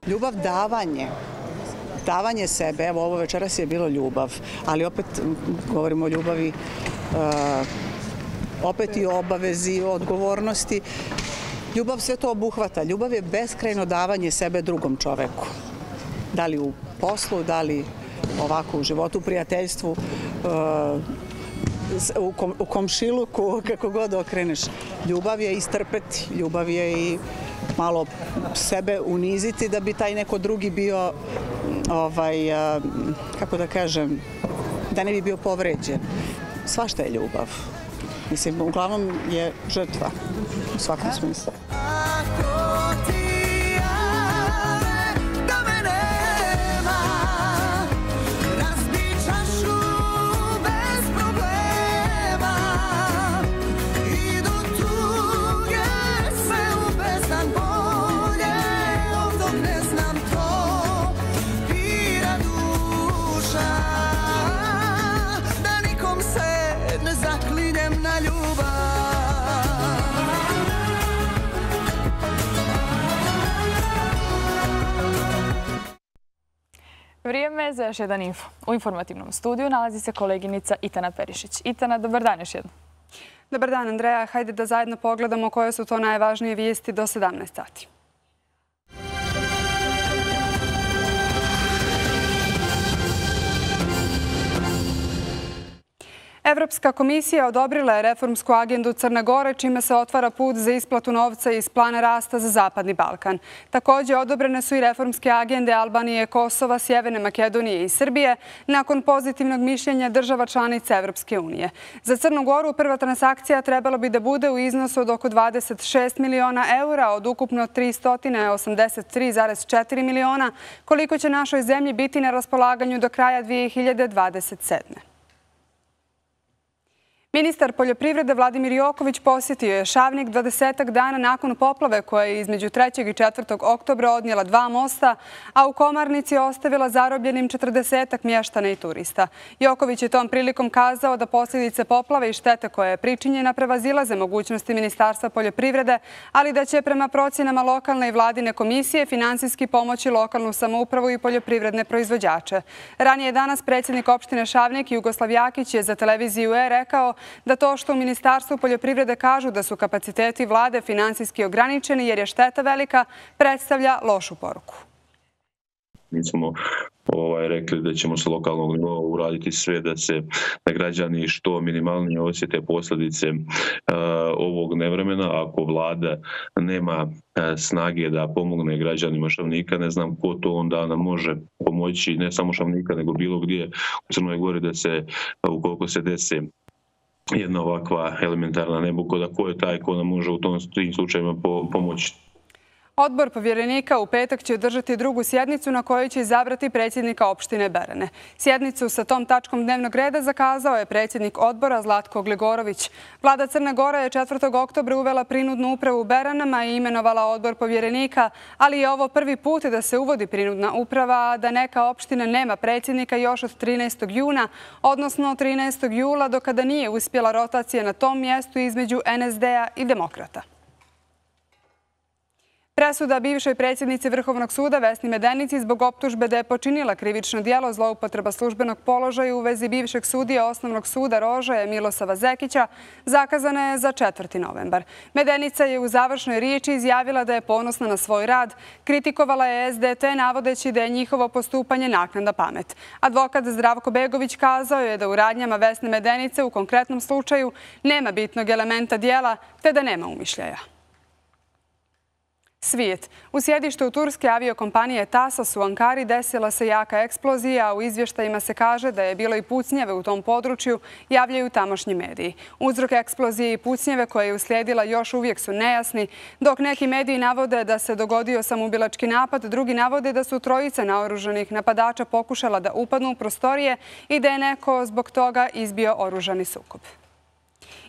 Ljubav, davanje, davanje sebe, evo ovo večeras je bilo ljubav, ali opet govorimo o ljubavi, opet i o obavezi, o odgovornosti. Ljubav sve to obuhvata. Ljubav je beskrajno davanje sebe drugom čoveku. Da li u poslu, da li ovako u životu, u prijateljstvu, u komšiluku, kako god okreneš. Ljubav je istrpeti, ljubav je i malo sebe uniziti da bi taj neko drugi bio, kako da kažem, da ne bi bio povređen. Svašta je ljubav. Mislim, uglavnom je žrtva u svakom smislu. Vrijeme za još jedan info. U informativnom studiju nalazi se koleginica Itana Perišić. Itana, dobar dan još jednom. Dobar dan, Andreja. Hajde da zajedno pogledamo koje su to najvažnije vijesti do sedamnaest sati. Evropska komisija odobrila je reformsku agendu Crne Gore, čime se otvara put za isplatu novca iz plana rasta za Zapadni Balkan. Također odobrene su i reformske agende Albanije, Kosova, Sjeverne Makedonije i Srbije nakon pozitivnog mišljenja država članica Evropske unije. Za Crnu Goru prva transakcija trebalo bi da bude u iznosu od oko dvadeset šest miliona eura od ukupno tristo osamdeset tri zarez četiri miliona, koliko će našoj zemlji biti na raspolaganju do kraja dvije hiljade dvadeset sedme. Ministar poljoprivrede Vladimir Joković posjetio je Šavnik dvadesetak dana nakon poplave koja je između trećeg i četvrtog oktobra odnijela dva mosta, a u Komarnici ostavila zarobljenim četrdesetak mještana i turista. Joković je tom prilikom kazao da posljedice poplave i štete koja je pričinjena prevazilaze mogućnosti Ministarstva poljoprivrede, ali da će prema procjenama lokalne i vladine komisije finansijski pomoći lokalnu samoupravu i poljoprivredne proizvođače. Ranije danas predsjednik opštine Šavnik Jugoslav Jakić je za televiziju E rekao da to što u Ministarstvu poljoprivrede kažu da su kapaciteti vlade finansijski ograničeni jer je šteta velika, predstavlja lošu poruku. Mi smo ovaj, rekli da ćemo sa lokalnog nivoa uraditi sve da se da građani što minimalnije osjete posljedice uh, ovog nevremena. Ako vlada nema uh, snage da pomogne građanima Šavnika, ne znam ko to onda nam može pomoći, ne samo Šavnika, nego bilo gdje u Crnoj Gori da se, ukoliko se desi jedna ovakva elementarna nepogoda, ko je taj ko nam može u tom tim slučajima pomoći. Odbor povjerenika u petak će održati drugu sjednicu na kojoj će izabrati predsjednika opštine Berane. Sjednicu sa tom tačkom dnevnog reda zakazao je predsjednik odbora Zlatko Gligorović. Vlada Crne Gore je četvrtog oktobra uvela prinudnu upravu u Beranama i imenovala odbor povjerenika, ali je ovo prvi put da se uvodi prinudna uprava, a da neka opština nema predsjednika još od trinaestog juna, odnosno trinaestog jula, do kada nije uspjela rotacija na tom mjestu između N S D-a i Demokrata. Presuda bivšoj predsjednici Vrhovnog suda Vesni Medenici zbog optužbe da je počinila krivično djelo zloupotreba službenog položaja u vezi bivšeg sudija Osnovnog suda Rožaje Milosava Zekića zakazana je za četvrti novembar. Medenica je u završnoj riječi izjavila da je ponosna na svoj rad. Kritikovala je S D T navodeći da je njihovo postupanje naknadna pamet. Advokat Zdravko Begović kazao je da u radnjama Vesne Medenice u konkretnom slučaju nema bitnog elementa djela te da nema umišljaja. Svijet. U sjedištu turske aviokompanije Tasos u Ankari desila se jaka eksplozija, a u izvještajima se kaže da je bilo i pucnjeve u tom području, javljaju tamošnji mediji. Uzrok eksplozije i pucnjeve koje je uslijedila još uvijek su nejasni, dok neki mediji navode da se dogodio samoubilački napad, drugi navode da su trojice naoružanih napadača pokušala da upadnu u prostorije i da je neko zbog toga izbio oružani sukob.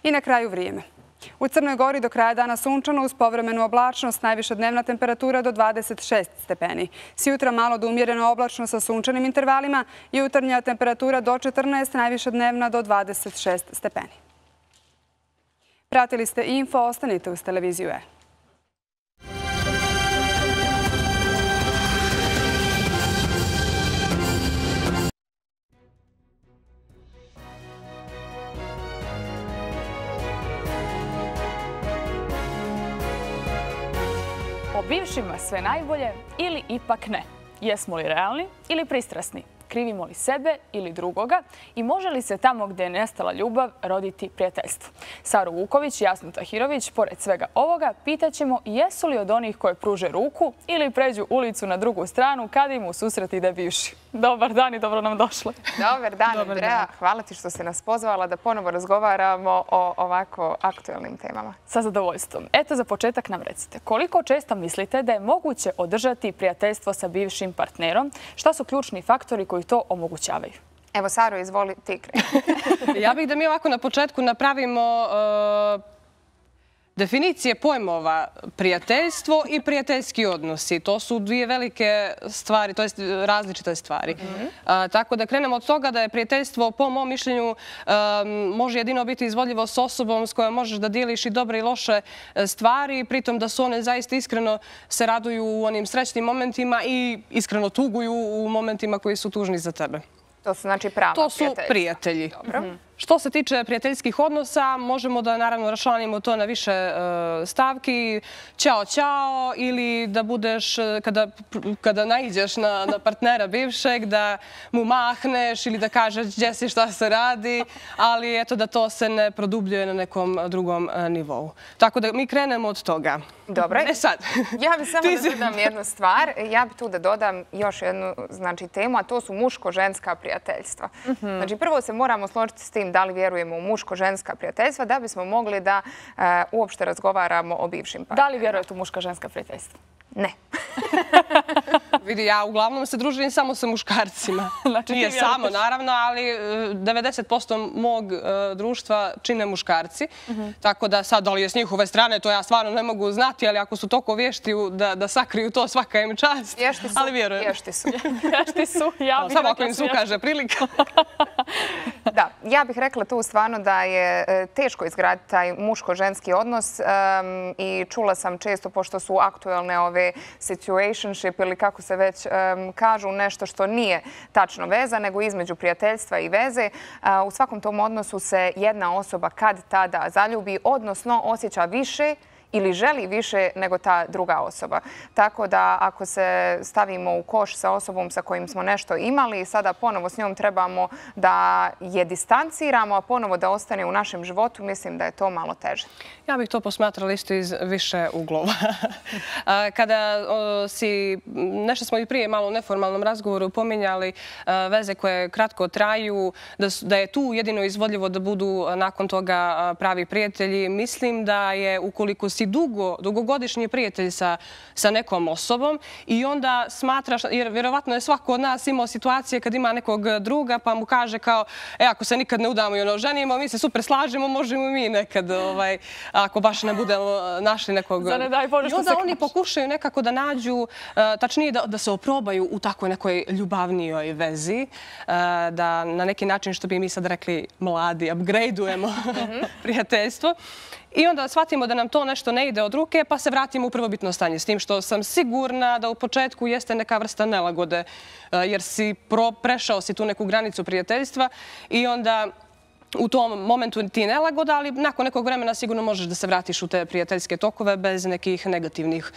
I na kraju vrijeme. U Crnoj Gori do kraja dana sunčano uz povremenu oblačnost, najviša dnevna temperatura do dvadeset šest stepeni. Sjutra malo do umjereno oblačno sa sunčanim intervalima, jutarnja temperatura do četrnaest, najviša dnevna do dvadeset šest stepeni. Pratili ste info, ostanite uz televiziju E. O bivšima sve najbolje ili ipak ne? Jesmo li realni ili pristrasni? Krivimo li sebe ili drugoga? I može li se tamo gdje je nestala ljubav roditi prijateljstvo? Saru Vuković i Jasnu Tahirović, pored svega ovoga, pitaćemo jesu li od onih koje pruže ruku ili pređu ulicu na drugu stranu kad im u susret ide bivši. Dobar dan i dobro nam došli. Dobar dan, Andreja. Hvala ti što si nas pozvala da ponovo razgovaramo o ovako aktualnim temama. Sa zadovoljstvom. Eto, za početak nam recite, koliko često mislite da je moguće održati prijateljstvo sa bivšim partnerom? Šta su ključni faktori koji to omogućavaju? Evo, Saro, izvoli ti kreni. Ja bih da mi ovako na početku napravimo definicije pojmova prijateljstvo i prijateljski odnosi. To su dvije velike stvari, to je različite stvari. Tako da krenemo od toga da je prijateljstvo, po mom mišljenju, može jedino biti izvodljivo s osobom s kojom možeš da dijeliš i dobre i loše stvari, pritom da su one zaista iskreno se raduju u onim srećnim momentima i iskreno tuguju u momentima koji su tužni za tebe. To su znači prava prijatelji. To su prijatelji. Što se tiče prijateljskih odnosa, možemo da naravno raščlanimo to na više stavki. Ćao, ćao, ili da budeš, kada naiđeš na partnera bivšeg, da mu mahneš ili da kažeš gdje si, šta se radi, ali eto da to se ne produbljuje na nekom drugom nivou. Tako da mi krenemo od toga. Dobro. E sad. Ja bih samo da dodam jednu stvar. Ja bih tu da dodam još jednu temu, a to su muško-ženska prijateljstva. Znači, prvo se moramo složiti s tim da li vjerujemo u muško-ženska prijateljstva, da bismo mogli da uopšte razgovaramo o bivšim partnerima. Da li vjerujete u muško-ženska prijateljstva? Ne. Vidi, ja uglavnom se družim samo sa muškarcima. Nije samo, naravno, ali devedeset posto mog društva čine muškarci. Tako da sad, da li je s njihove strane, to ja stvarno ne mogu znati, ali ako su toliko vješti da sakriju to, svaka im čast. Ali vjerujem. Vješti su. Vješti su. Samo ako im se ukaže prilika. Da, ja bih rekla tu stvarno da je teško izgraditi taj muško-ženski odnos i čula sam često, pošto su aktuelne ove situationship ili kako se već kažu, nešto što nije tačno veza, nego između prijateljstva i veze. U svakom tom odnosu se jedna osoba kad tada zaljubi, odnosno osjeća više ili želi više nego ta druga osoba. Tako da ako se stavimo u koš sa osobom sa kojim smo nešto imali, sada ponovo s njom trebamo da je distanciramo, a ponovo da ostane u našem životu, mislim da je to malo teže. Ja bih to posmatrala isto iz više uglova. Kada si, nešto smo i prije malo u neformalnom razgovoru pominjali, veze koje kratko traju, da je tu jedino izvodljivo da budu nakon toga pravi prijatelji, mislim da je ukoliko si dugogodišnji prijatelj sa nekom osobom i onda smatraš, jer vjerovatno je svako od nas imao situacije kad ima nekog druga pa mu kaže kao, e, ako se nikad ne udamo i ono ženimo, mi se super slažemo, možemo mi nekad, ako baš ne budemo našli nekog. I onda oni pokušaju nekako da nađu, tačnije da se oprobaju u takvoj nekoj ljubavnijoj vezi, da na neki način, što bi mi sad rekli mladi, upgradeujemo prijateljstvo. I onda shvatimo da nam to nešto ne ide od ruke, pa se vratimo u prvobitno stanje. S tim što sam sigurna da u početku jeste neka vrsta nelagode, jer si prešao si tu neku granicu prijateljstva i onda u tom momentu ti nelagoda, ali nakon nekog vremena sigurno možeš da se vratiš u te prijateljske tokove bez nekih negativnih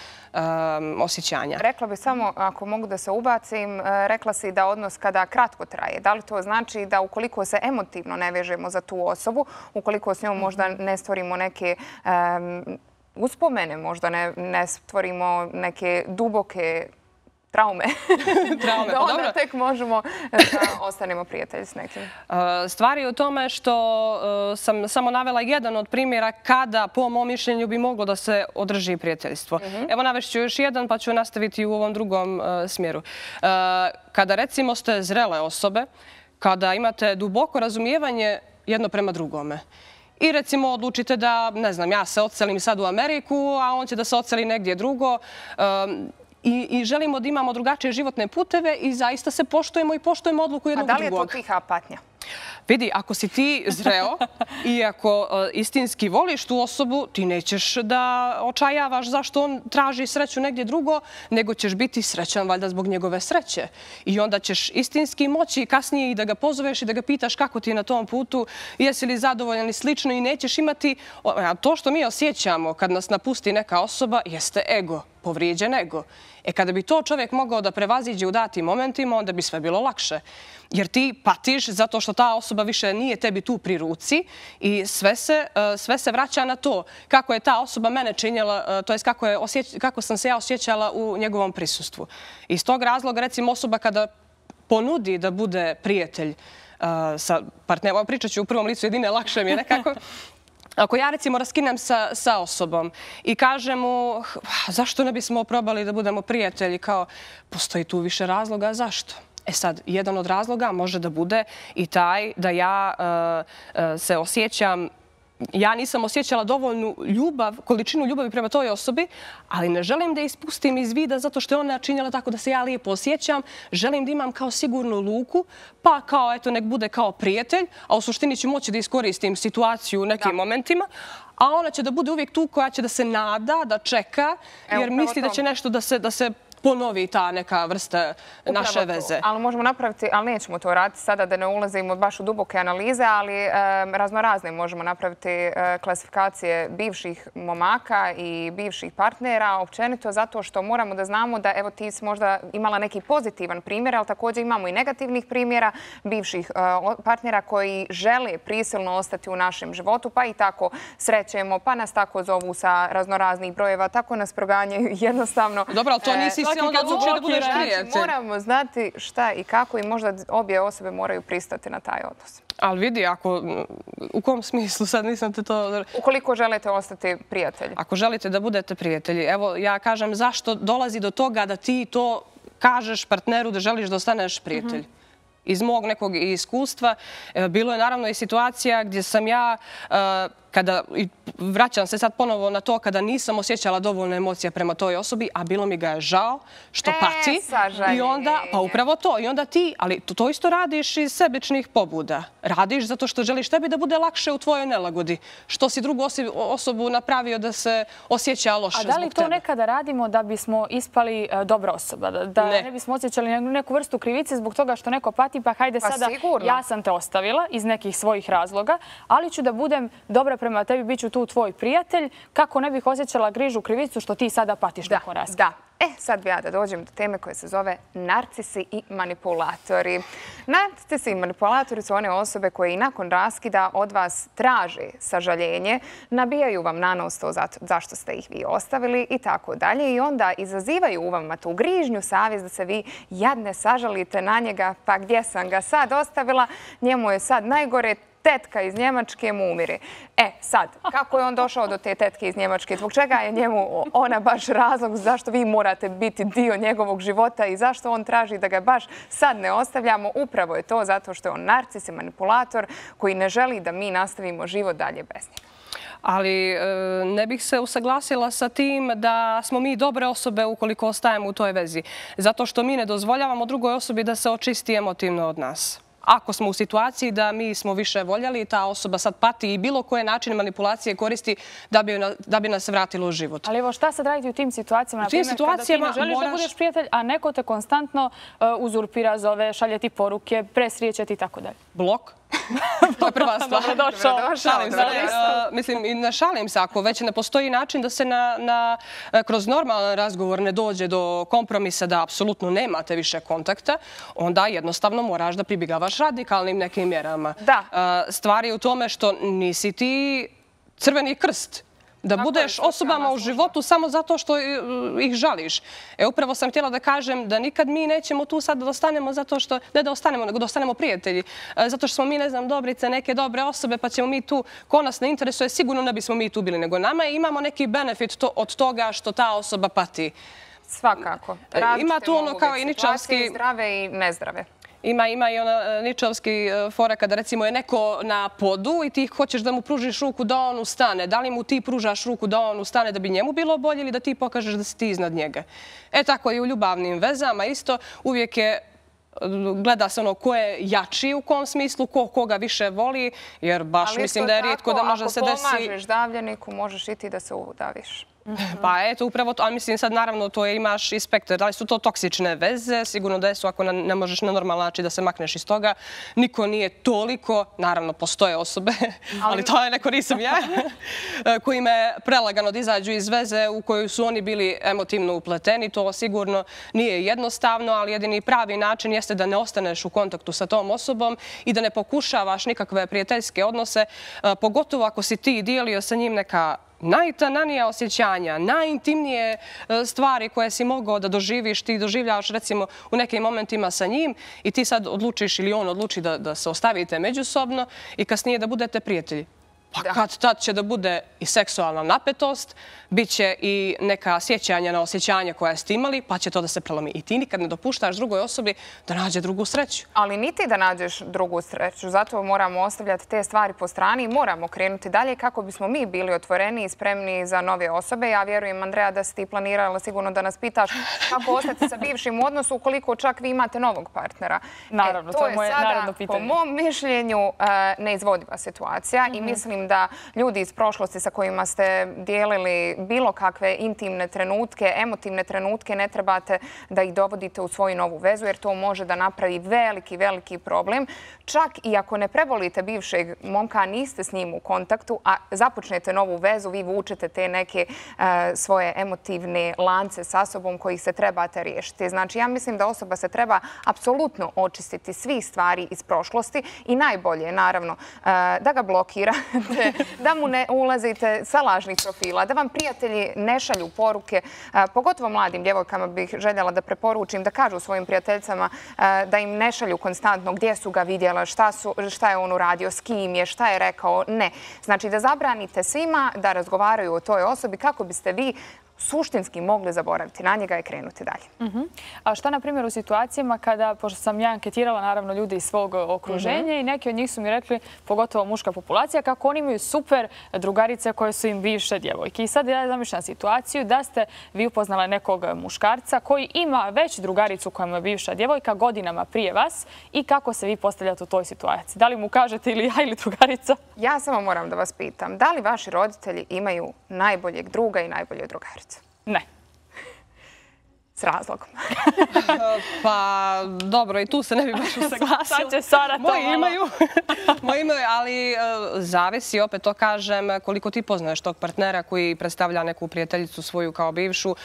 osjećanja. Rekla bih samo, ako mogu da se ubacim, rekla si da odnos kada kratko traje. Da li to znači da ukoliko se emotivno ne vežemo za tu osobu, ukoliko s njom možda ne stvorimo neke uspomene, možda ne stvorimo neke duboke traume, da onda tek možemo da ostanemo prijatelji s nekim. Stvar je u tome što sam samo navela jedan od primjera kada, po mom mišljenju, bi moglo da se održi prijateljstvo. Evo navešću još jedan, pa ću nastaviti u ovom drugom smjeru. Kada, recimo, ste zrele osobe, kada imate duboko razumijevanje jedno prema drugome, i recimo odlučite da, ne znam, ja se odselim sad u Ameriku, a on će da se odseli negdje drugo, i želimo da imamo drugačije životne puteve i zaista se poštujemo i poštujemo odluku jednog drugog. A da li je to tiha patnja? Vidi, ako si ti zreo i ako istinski voliš tu osobu, ti nećeš da očajavaš zašto on traži sreću negdje drugo, nego ćeš biti srećan valjda zbog njegove sreće. I onda ćeš istinski moći kasnije i da ga pozoveš i da ga pitaš kako ti je na tom putu, jesi li zadovoljan i slično, i nećeš imati... To što mi osjećamo kad nas napusti neka osoba jeste ego, povrijeđen ego. E kada bi to čovjek mogao da prevaziđe u datim momentima, onda bi sve bilo lakše. Jer ti patiš zato što ta osoba više nije tebi tu pri ruci i sve se, sve se vraća na to kako je ta osoba mene činjela, to jest kako, je osjeć, kako sam se ja osjećala u njegovom prisustvu. Iz tog razloga, recimo, osoba kada ponudi da bude prijatelj sa partnerom, pričat ću u prvom licu jedine, lakše mi je nekako. Ako ja, recimo, raskinem sa, sa osobom i kažem mu zašto ne bismo probali da budemo prijatelji, kao postoji tu više razloga, zašto? E sad, jedan od razloga može da bude i taj da ja uh, uh, se osjećam ja nisam osjećala dovoljnu ljubav, količinu ljubavi prema toj osobi, ali ne želim da ispustim iz vida zato što je ona činjela tako da se ja lijepo osjećam. Želim da imam kao sigurnu luku, pa kao, eto, nek bude kao prijatelj, a u suštini ću moći da iskoristim situaciju u nekim momentima, a ona će da bude uvijek tu koja će da se nada, da čeka, jer misli da će nešto da se ponovi ta neka vrsta naše veze. Ali možemo napraviti, ali nećemo to raditi sada da ne ulazimo baš u duboke analize, ali raznorazne možemo napraviti klasifikacije bivših momaka i bivših partnera, općenito zato što moramo da znamo da, evo, ti si možda imala neki pozitivan primjer, ali također imamo i negativnih primjera bivših partnera koji žele prisilno ostati u našem životu, pa i tako srećemo, pa nas tako zovu sa raznoraznih brojeva, tako nas proganjaju jednostavno. Dobro, ali to nisi moramo znati šta i kako i možda obje osobe moraju pristati na taj odnos. Ali vidi, ako, u kom smislu sad nisam te to... Ukoliko želite ostati prijatelji. Ako želite da budete prijatelji, evo ja kažem zašto dolazi do toga da ti to kažeš partneru da želiš da ostaneš prijatelj. Iz mog nekog iskustva bilo je naravno i situacija gdje sam ja, kada, vraćam se sad ponovo na to, kada nisam osjećala dovoljno emocija prema toj osobi, a bilo mi ga je žao što pati. I onda, pa upravo to, i onda ti, ali to isto radiš iz sebičnih pobuda. Radiš zato što želiš tebi da bude lakše u tvojoj nelagodi. Što si drugu osobu napravio da se osjeća loše zbog tebe. A da li to nekada radimo da bismo ispali dobra osoba? Da ne bismo osjećali neku vrstu krivice zbog toga što neko pati, pa hajde sada, ja sam te ostavila iz nekih svojih razloga, ali ću da budem dobra prema tebi, bit ću tu tvoj prijatelj, kako ne bih osjećala grižu, krivicu što ti sada patiš nakon raskida. Da. E, sad bi ja da dođem do teme koja se zove narcisi i manipulatori. Narcisi i manipulatori su one osobe koje i nakon raskida od vas traže sažaljenje, nabijaju vam na nos to zašto ste ih vi ostavili i tako dalje. I onda izazivaju u vama tu grižnju, savjest da se vi jadne sažalite na njega, pa gdje sam ga sad ostavila, njemu je sad najgore, tetka iz Njemačke mu umire. E, sad, kako je on došao do te tetke iz Njemačke? Zbog čega je njemu ona baš razlog zašto vi morate biti dio njegovog života i zašto on traži da ga baš sad ne ostavljamo? Upravo je to zato što je on narcis i manipulator koji ne želi da mi nastavimo život dalje bez njega. Ali ne bih se usaglasila sa tim da smo mi dobre osobe ukoliko ostajemo u toj vezi. Zato što mi ne dozvoljavamo drugoj osobi da se očisti emotivno od nas. Ako smo u situaciji da mi smo više voljeli, ta osoba sad pati i bilo koje načine manipulacije koristi da bi nas vratilo u život. Ali evo šta sad raditi u tim situacijama? U tim situacijama kada ti ne želiš da budeš prijatelj, a neko te konstantno uzurpira, zove, šalje ti poruke, presrijeće ti i tako dalje. Blok. To je prva stvar. Dobrodošao. Šalim se. Mislim, i ne šalim se. Ako već ne postoji način da se kroz normalan razgovor ne dođe do kompromisa da apsolutno nemate više kontakta, onda jednostavno moraš da pribjegavaš radikalnim nekim mjerama. Stvar je u tome što nisi ti Crveni krst. Da budeš osobama u životu samo zato što ih žališ. E, upravo sam htjela da kažem da nikad mi nećemo tu sad da ostanemo zato što, ne da ostanemo, nego da ostanemo prijatelji. Zato što smo mi, ne znam, dobrice, neke dobre osobe, pa ćemo mi tu, ko nas ne interesuje, sigurno ne bismo mi tu bili, nego nama imamo neki benefit od toga što ta osoba pati. Svakako. Ima tu ono kao i ničavski... Zdrave i nezdrave. Ima, ima i ona ničovski fora kada recimo je neko na podu i ti hoćeš da mu pružiš ruku da on ustane. Da li mu ti pružaš ruku da on ustane da bi njemu bilo bolje ili da ti pokažeš da si ti iznad njega? E tako je u ljubavnim vezama isto. Uvijek je, gleda se ono ko je jači u kom smislu, ko koga više voli, jer baš mislim da je rijetko da može se desi... Ako pomažeš davljeniku, možeš i ti da se udaviš. Pa eto, upravo to, ali mislim sad naravno to je, imaš i spektar, da li su to toksične veze, sigurno da su ako ne možeš na normalan način da se makneš iz toga, niko nije toliko, naravno postoje osobe, ali to je neko nisam ja, kojima je prelagano da izađu iz veze u koju su oni bili emotivno upleteni, to sigurno nije jednostavno, ali jedini pravi način jeste da ne ostaneš u kontaktu sa tom osobom i da ne pokušavaš nikakve prijateljske odnose, pogotovo ako si ti dijelio sa njim neka najtananija osjećanja, najintimnije stvari koje si mogao da doživiš, ti doživljavaš recimo u nekim momentima sa njim i ti sad odlučiš ili on odluči da se ostavite međusobno i kasnije da budete prijatelji. Pa kad tad će da bude i seksualna napetost, bit će i neka sjećanja na osjećanje koja ste imali, pa će to da se prelomi. I ti nikad ne dopuštaš drugoj osobi da nađe drugu sreću. Ali ni ti da nađeš drugu sreću. Zato moramo ostavljati te stvari po strani i moramo krenuti dalje kako bismo mi bili otvoreni i spremni za nove osobe. Ja vjerujem, Andreja, da si ti planirala sigurno da nas pitaš kako ostati sa bivšim u odnosu ukoliko čak vi imate novog partnera. Naravno, to je moje naredno pitanje. Po mom mišljenju neizvodiva situacija i mislim da ljudi iz prošlosti sa kojima ste dijelili bilo kakve intimne trenutke, emotivne trenutke, ne trebate da ih dovodite u svoju novu vezu, jer to može da napravi veliki, veliki problem. Čak i ako ne prevolite bivšeg momka, niste s njim u kontaktu, a započnete novu vezu, vi vučete te neke svoje emotivne lance sa sobom kojih se trebate riješiti. Znači, ja mislim da osoba se treba apsolutno očistiti svih stvari iz prošlosti i najbolje je, naravno, da ga blokirate, da mu ne ulazite sa lažnih profila, da vam prijatelji ne šalju poruke. Pogotovo mladim djevojkama bih željela da preporučim da kažu svojim prijateljicama da im ne šalju konstantno gdje su ga vidjela, šta je on uradio, s kim je, šta je rekao. Ne. Znači da zabranite svima da razgovaraju o toj osobi kako biste vi suštinski mogli zaboraviti na njega i krenuti dalje. A šta, na primjer, u situacijama kada, pošto sam ja anketirala naravno ljudi iz svog okruženja i neki od njih su mi rekli, pogotovo muška populacija, kako oni imaju super drugarice koje su im bivše djevojke. I sad ja zamišljam situaciju da ste vi upoznala nekog muškarca koji ima već drugaricu koja mu je bivša djevojka godinama prije vas i kako se vi postavljate u toj situaciji? Da li mu kažete ili ja ili drugarica? Ja samo moram da vas pitam, da li vaši roditelji imaju najboljeg druga i najbolje drugarice? Ne. S razlogom. Pa dobro, i tu se ne bi baš usaglasila. Sad će Sara to Moji imaju. Moji imaju, ali zavisi, opet to kažem, koliko ti poznaješ tog partnera koji predstavlja neku prijateljicu svoju kao bivšu,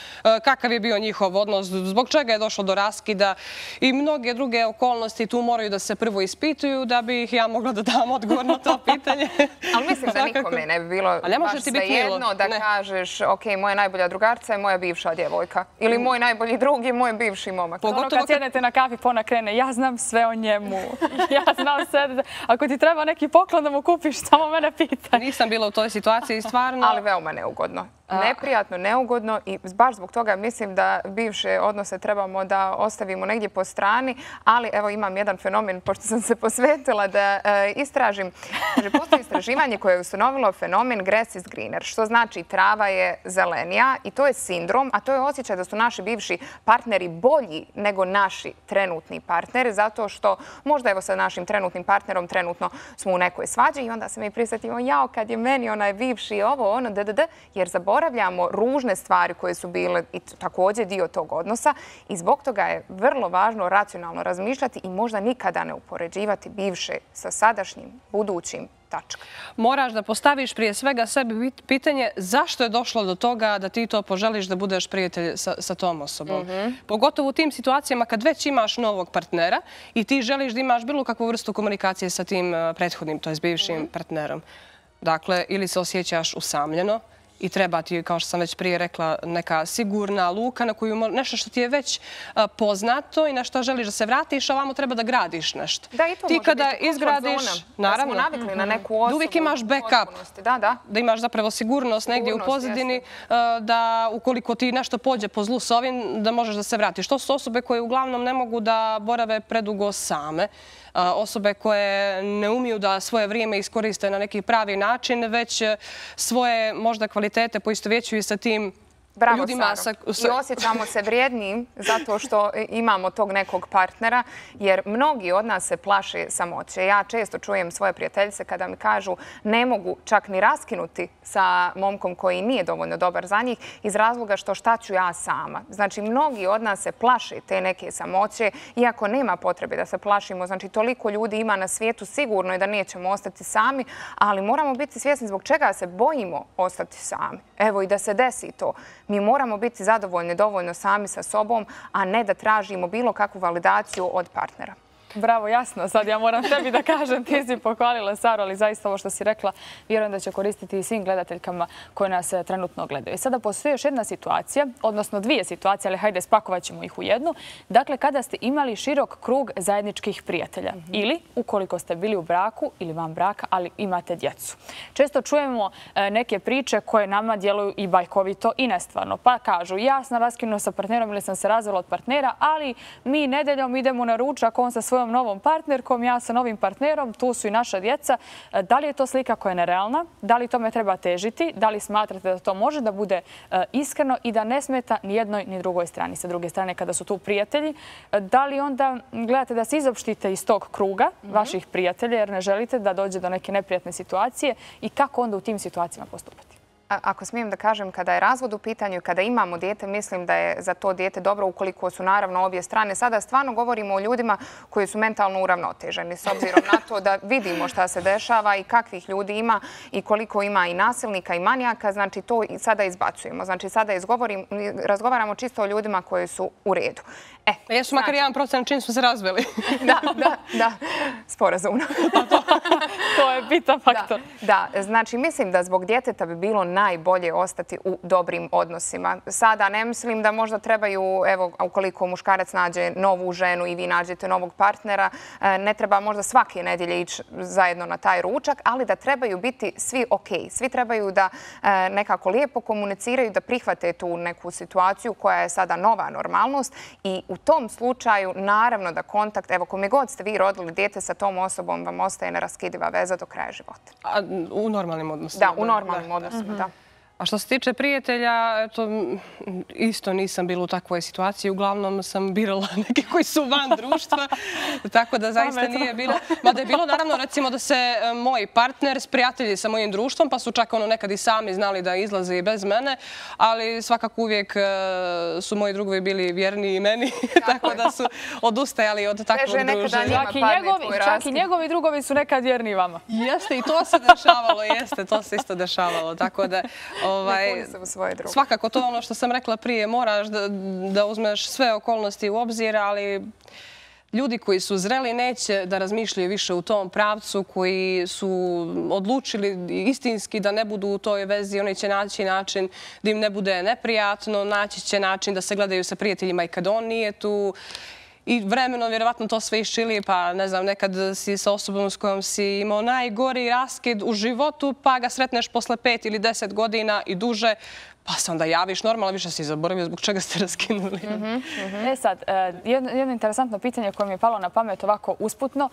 kakav je bio njihov odnos, zbog čega je došlo do raskida i mnoge druge okolnosti tu moraju da se prvo ispituju da bi ih ja mogla da dam odgovor na to pitanje. Ali mislim da nikome ne bi bilo baš svejedno da kažeš ok, moja najbolja drugarca je moja bivša djevojka ili moj najbolji i drugi moj bivši momak. Ono kad sjednete na kafi, ona krene, ja znam sve o njemu. Ja znam sve. Ako ti treba neki poklon da mu kupiš, samo mene pita. Nisam bila u toj situaciji, stvarno. Ali veoma neugodno. Neprijatno, neugodno i baš zbog toga mislim da bivše odnose trebamo da ostavimo negdje po strani, ali evo imam jedan fenomen, pošto sam se posvetila da istražim. Postoji istraživanje koje je ustanovilo fenomen grass is greener, što znači trava je zelenija i to je sindrom, a to je osjećaj da su naši bivši partneri bolji nego naši trenutni partneri, zato što možda evo sa našim trenutnim partnerom trenutno smo u nekoj svađi i onda se mi prisjetimo, jao, kad je meni onaj bivši ovo, ono, dddd, jer zaboravljamo ružne stvari koje su bile i također dio tog odnosa i zbog toga je vrlo važno racionalno razmišljati i možda nikada ne upoređivati bivše sa sadašnjim, budućim tačka. Moraš da postaviš prije svega sebi pitanje zašto je došlo do toga da ti to poželiš da budeš prijatelj sa, sa tom osobom. Mm-hmm. Pogotovo u tim situacijama kad već imaš novog partnera i ti želiš da imaš bilo kakvu vrstu komunikacije sa tim prethodnim, to je s bivšim mm-hmm. partnerom. Dakle, ili se osjećaš usamljeno i treba ti, kao što sam već prije rekla, neka sigurna luka na koju nešto što ti je već poznato i na što želiš da se vratiš, a ovamo treba da gradiš nešto. Da, i to ti može kada biti izgradiš, naravno, da smo navikli na neku osobu. Da uvijek imaš backup, da, da. da imaš zapravo sigurnost negdje u pozadini, da ukoliko ti nešto pođe po zlu s ovim, da možeš da se vratiš. To su osobe koje uglavnom ne mogu da borave predugo same. Osobe koje ne umiju da svoje vrijeme iskoriste na neki pravi način, već svoje možda kvalitete poistovjećuju sa tim Bravo, ljudima. Saro. I osjećamo se vrijednim zato što imamo tog nekog partnera, jer mnogi od nas se plaše samoće. Ja često čujem svoje prijateljice kada mi kažu ne mogu čak ni raskinuti sa momkom koji nije dovoljno dobar za njih iz razloga što šta ću ja sama. Znači, mnogi od nas se plaše te neke samoće, iako nema potrebe da se plašimo. Znači, toliko ljudi ima na svijetu, sigurno je da nećemo ostati sami, ali moramo biti svjesni zbog čega se bojimo ostati sami. Evo i da se desi to. Mi moramo biti zadovoljni dovoljno sami sa sobom, a ne da tražimo bilo kakvu validaciju od partnera. Bravo, jasno. Sad ja moram tebi da kažem, ti si pohvalila Saru, ali zaista ovo što si rekla, vjerujem da će koristiti i svim gledateljkama koje nas trenutno gledaju. I sada postoji još jedna situacija, odnosno dvije situacije, ali hajde spakovat ćemo ih u jednu. Dakle, kada ste imali širok krug zajedničkih prijatelja ili ukoliko ste bili u braku ili van braka, ali imate djecu. Često čujemo neke priče koje nama djeluju i bajkovito i nestvarno. Pa kažu, ja sam raskinuo sa partnerom ili sam se razvela od partnera, ali mi nedeljom idemo na ručak, on sa svojom novom partnerkom, ja sa novim partnerom, tu su i naša djeca. Da li je to slika koja je nerealna? Da li tome treba težiti? Da li smatrate da to može da bude iskreno i da ne smeta ni jednoj ni drugoj strani? Sa druge strane, kada su tu prijatelji, da li onda gledate da se izopštite iz tog kruga vaših prijatelja jer ne želite da dođe do neke neprijatne situacije i kako onda u tim situacijama postupati? Ako smijem da kažem, kada je razvod u pitanju, kada imamo dijete, mislim da je za to dijete dobro ukoliko su naravno obje strane. Sada stvarno govorimo o ljudima koji su mentalno uravnoteženi s obzirom na to da vidimo šta se dešava i kakvih ljudi ima i koliko ima i nasilnika i manijaka. Znači to sada izbacujemo. Znači sada razgovaramo čisto o ljudima koji su u redu. E, jesu makar jedan procent čim smo se razveli. Da, da, da. Sporazumno. To je bitan faktor. Da, znači mislim da zbog djeteta bi bilo najbolje ostati u dobrim odnosima. Sada ne mislim da možda trebaju, evo, ukoliko muškarac nađe novu ženu i vi nađete novog partnera, ne treba možda svake nedjelje ići zajedno na taj ručak, ali da trebaju biti svi okej. Svi trebaju da nekako lijepo komuniciraju, da prihvate tu neku situaciju koja je sada nova normalnost i u tom slučaju naravno da kontakt, evo kome god ste vi rodili dijete sa tom osobom, vam ostaje neraskidiva veza do kraja života. A u normalnim odnosima? Da, u normalnim odnosima, da. A što se tiče prijatelja, eto, isto nisam bila u takvoj situaciji. Uglavnom sam birala neke koji su van društva, tako da zaista nije bilo. Mada je bilo naravno recimo da se moj partner sprijatelji sa mojim društvom, pa su čak ono nekad i sami znali da izlaze i bez mene, ali svakako uvijek su moji drugovi bili vjerniji meni, tako da su odustajali od takvog druženja. Čak i njegovi drugovi su nekad vjerniji vama. Jeste, i to se dešavalo, jeste, to se isto dešavalo, tako da svakako to ono što sam rekla prije, moraš da uzmeš sve okolnosti u obzir, ali ljudi koji su zreli neće da razmišljaju više u tom pravcu, koji su odlučili istinski da ne budu u toj vezi, oni će naći način da im ne bude neprijatno, naći će način da se gledaju sa prijateljima i kad on nije tu. I vremenom vjerovatno to sve iščili, pa ne znam, nekad si sa osobom s kojom si imao najgori raskid u životu, pa ga sretneš posle pet ili deset godina i duže, pa se onda javiš normalno, više si zaboravio zbog čega ste raskinuli. E sad, jedno interesantno pitanje koje mi je palo na pamet ovako usputno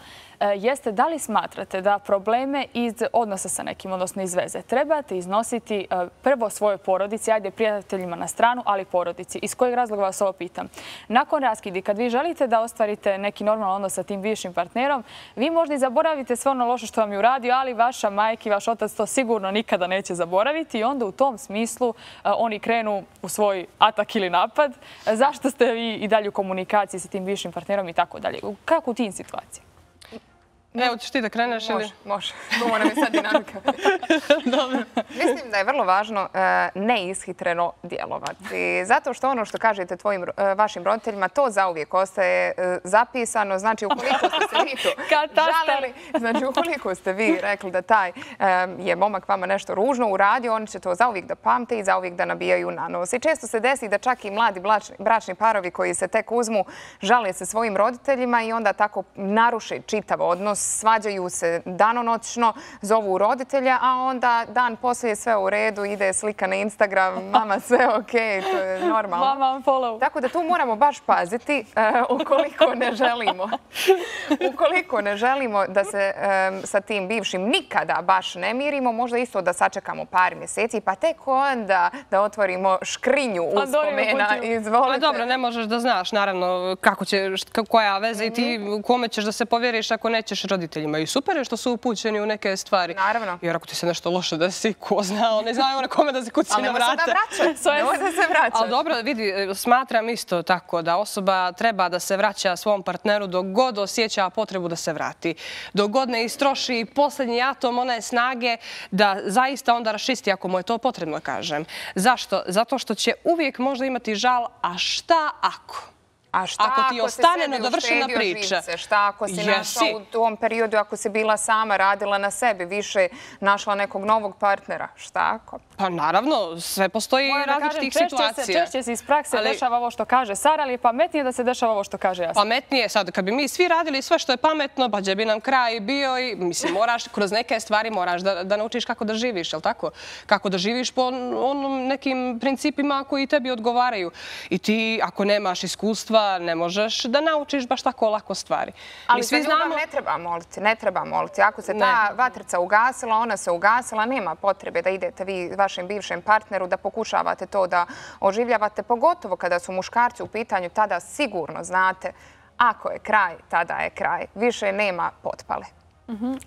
jeste da li smatrate da probleme iz odnosa sa nekim, odnosno iz veze, trebate iznositi prvo svojoj porodici, ajde prijateljima na stranu, ali porodici. Iz kojeg razloga vas ovo pitam? Nakon raskidi, kad vi želite da ostvarite neki normalan odnos sa tim bivšim partnerom, vi možda i zaboravite sve ono loše što vam je uradio, ali vaša majka i vaš otac to sigurno nikada neće zaboraviti i onda u tom smislu oni krenu u svoj atak ili napad. Zašto ste vi i dalje u komunikaciji sa tim bivšim partnerom i tako dalje? Kako u tim situacijama? Evo, ćeš ti da kreneš ili? Može, može. Ovo mi sad dinamika. Mislim da je vrlo važno neishitreno djelovati. Zato što ono što kažete tvojim, vašim roditeljima, to zauvijek ostaje zapisano. Znači, ukoliko ste se vi tu žalili, znači, ukoliko ste vi rekli da taj je momak vama nešto ružno uradio, oni će to zauvijek da pamte i zauvijek da nabijaju na nos. I često se desi da čak i mladi bračni parovi koji se tek uzmu žale se svojim roditeljima i onda tako naruše čitav odnos, svađaju se danonoćno, zovu roditelja, a onda dan poslije je sve u redu, ide slika na Instagram, mama sve okej, to je normalno. Mama follow. Tako da tu moramo baš paziti ukoliko ne želimo. Ukoliko ne želimo da se sa tim bivšim nikada baš ne mirimo, možda isto da sačekamo par mjeseci, pa tek onda da otvorimo škrinju uspomena. Izvolite. Dobro, ne možeš da znaš, naravno, kako će, koja veza i ti kome ćeš da se povjeriš ako nećeš roditeljima. I super je što su upućeni u neke stvari. Naravno. Jer ako ti se nešto loše desi, ko zna, ne znaju na kome da se kuci na vrata. Ali nemoj se da se vraća. Ali dobro, vidi, smatram isto tako da osoba treba da se vraća svom partneru dok god osjeća potrebu da se vrati. Dok god ne istroši posljednji atom one snage da zaista onda raščisti ako mu je to potrebno, kažem. Zašto? Zato što će uvijek možda imati žal, a šta ako? A šta ako ti ostane nedovršena priča? Šta ako si našla u tom periodu, ako si bila sama, radila na sebi, više našla nekog novog partnera? Šta ako? Pa naravno, sve postoji različitih situacija. Češće se iz prakse dešava ovo što kaže Sara, ali je pametnije da se dešava ovo što kaže Jasna. Pametnije, sad, kad bi mi svi radili sve što je pametno, pa gdje bi nam kraj bio i, mislim, moraš, kroz neke stvari moraš da naučiš kako da živiš, jel tako? Kako da živiš po onom nekim principima koji tebi odgovaraju. I ti, ako nemaš iskustva, ne možeš da naučiš baš tako lako stvari. Ali za ljubav ne treba moliti, ne treba moliti. Ako se ta vatrica ugasila, ona se ugasila, nema potrebe da idete vi vašem bivšem partneru, da pokušavate to da oživljavate, pogotovo kada su muškarci u pitanju, tada sigurno znate, ako je kraj, tada je kraj. Više nema potpale.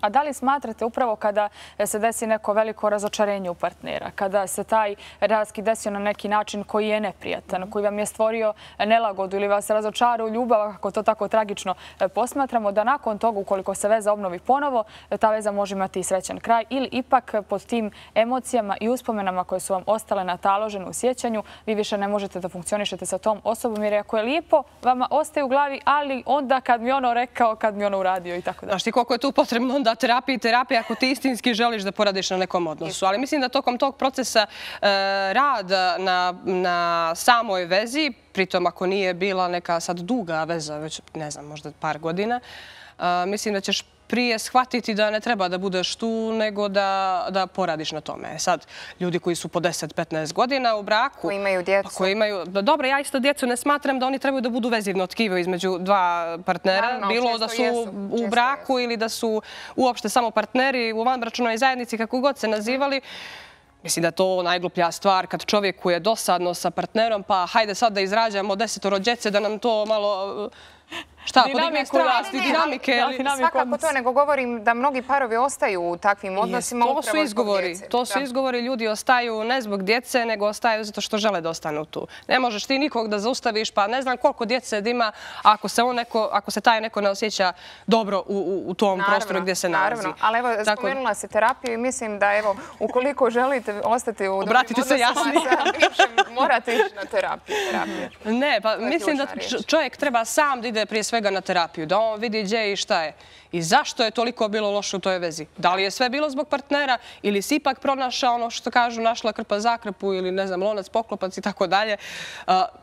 A da li smatrate upravo kada se desi neko veliko razočarenje u partnera, kada se taj raskid desio na neki način koji je neprijatan, koji vam je stvorio nelagodu ili vas razočara u ljubav, kako to tako tragično posmatramo, da nakon toga, ukoliko se veza obnovi ponovo, ta veza može imati i srećan kraj ili ipak pod tim emocijama i uspomenama koje su vam ostale nataložene u sjećanju, vi više ne možete da funkcionišete sa tom osobom, jer ako je lijepo, vama ostaje u glavi, ali onda kad mi ono rekao, kad mi ono uradio i tako da. Znaš ti koliko je tu potrebno onda terapija i terapija ako ti istinski želiš da poradiš na nekom odnosu. Ali mislim da tokom tog procesa rada na samoj vezi, pritom ako nije bila neka sad duga veza, već ne znam, možda par godina, mislim da ćeš prije shvatiti da ne treba da budeš tu, nego da poradiš na tome. Sad, ljudi koji su po deset do petnaest godina u braku... Koji imaju djecu. Koji imaju... Dobro, ja isto djecu ne smatram da oni trebaju da budu vezivno tkivo između dva partnera. Bilo da su u braku ili da su uopšte samo partneri u vanbračnoj zajednici, kako god se nazivali. Mislim da je to najgluplja stvar kad čovjeku je dosadno sa partnerom, pa hajde sad da izrađamo desetoro djece, da nam to malo... Šta, podigne strasti, dinamike? Svakako to, nego govorim da mnogi parovi ostaju u takvim odnosima upravo zbog djece. To su izgovori. Ljudi ostaju ne zbog djece, nego ostaju zato što žele da ostanu tu. Ne možeš ti nikog da zaustaviš, pa ne znam koliko djece ima ako se taj neko ne osjeća dobro u tom prostoru gdje se nalazi. Naravno, ali evo, spomenula se terapiju i mislim da evo, ukoliko želite ostati u dobrim odnosima sa bivšem, morate ići na terapiju. Ne, pa mislim da čovjek treba sam da ide prije svega na terapiju, da on vidi gdje i šta je i zašto je toliko bilo loše u toj vezi. Da li je sve bilo zbog partnera ili si ipak pronašao ono što kažu našla krpa za krpu ili ne znam, lonac poklopac i tako dalje.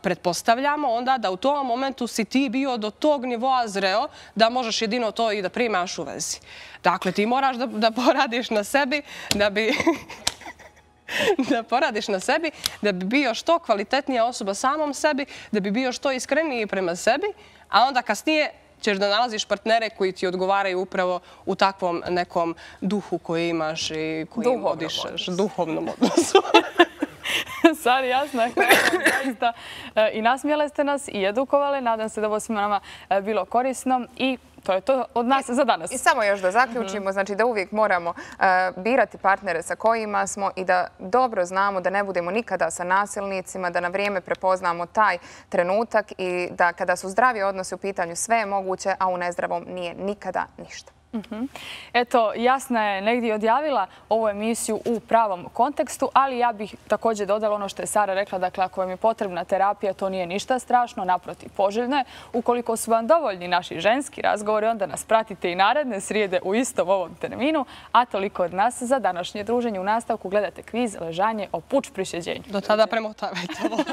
Pretpostavljamo onda da u tom momentu si ti bio do tog nivoa zreo da možeš jedino to i da primaš u vezi. Dakle, ti moraš da poradiš na sebi da bi... da poradiš na sebi, da bi bio što kvalitetnija osoba samom sebi, da bi bio što iskreniji prema sebi, a onda kasnije ćeš da nalaziš partnere koji ti odgovaraju upravo u takvom nekom duhu koji imaš i kojim odišeš. Duhovnom odnosu. Sari, Jasna, zaista i nasmijele ste nas i edukovale. Nadam se da ovo svima nama bilo korisno i to je to od nas za danas. I samo još da zaključimo, znači da uvijek moramo birati partnere sa kojima smo i da dobro znamo da ne budemo nikada sa nasilnicima, da na vrijeme prepoznamo taj trenutak i da kada su zdravi odnosi u pitanju sve je moguće, a u nezdravom nije nikada ništa. Eto, Jasna je negdje odjavila ovu emisiju u pravom kontekstu, ali ja bih također dodala ono što je Sara rekla, dakle, ako vam je potrebna terapija, to nije ništa strašno, naprotiv, poželjno je. Ukoliko su vam dovoljni naši ženski razgovori, onda nas pratite i naredne srijede u istom ovom terminu, a toliko od nas za današnje druženje. U nastavku gledate kviz Ležanje o puč prišeđenju. Do tada premotavajte ovo.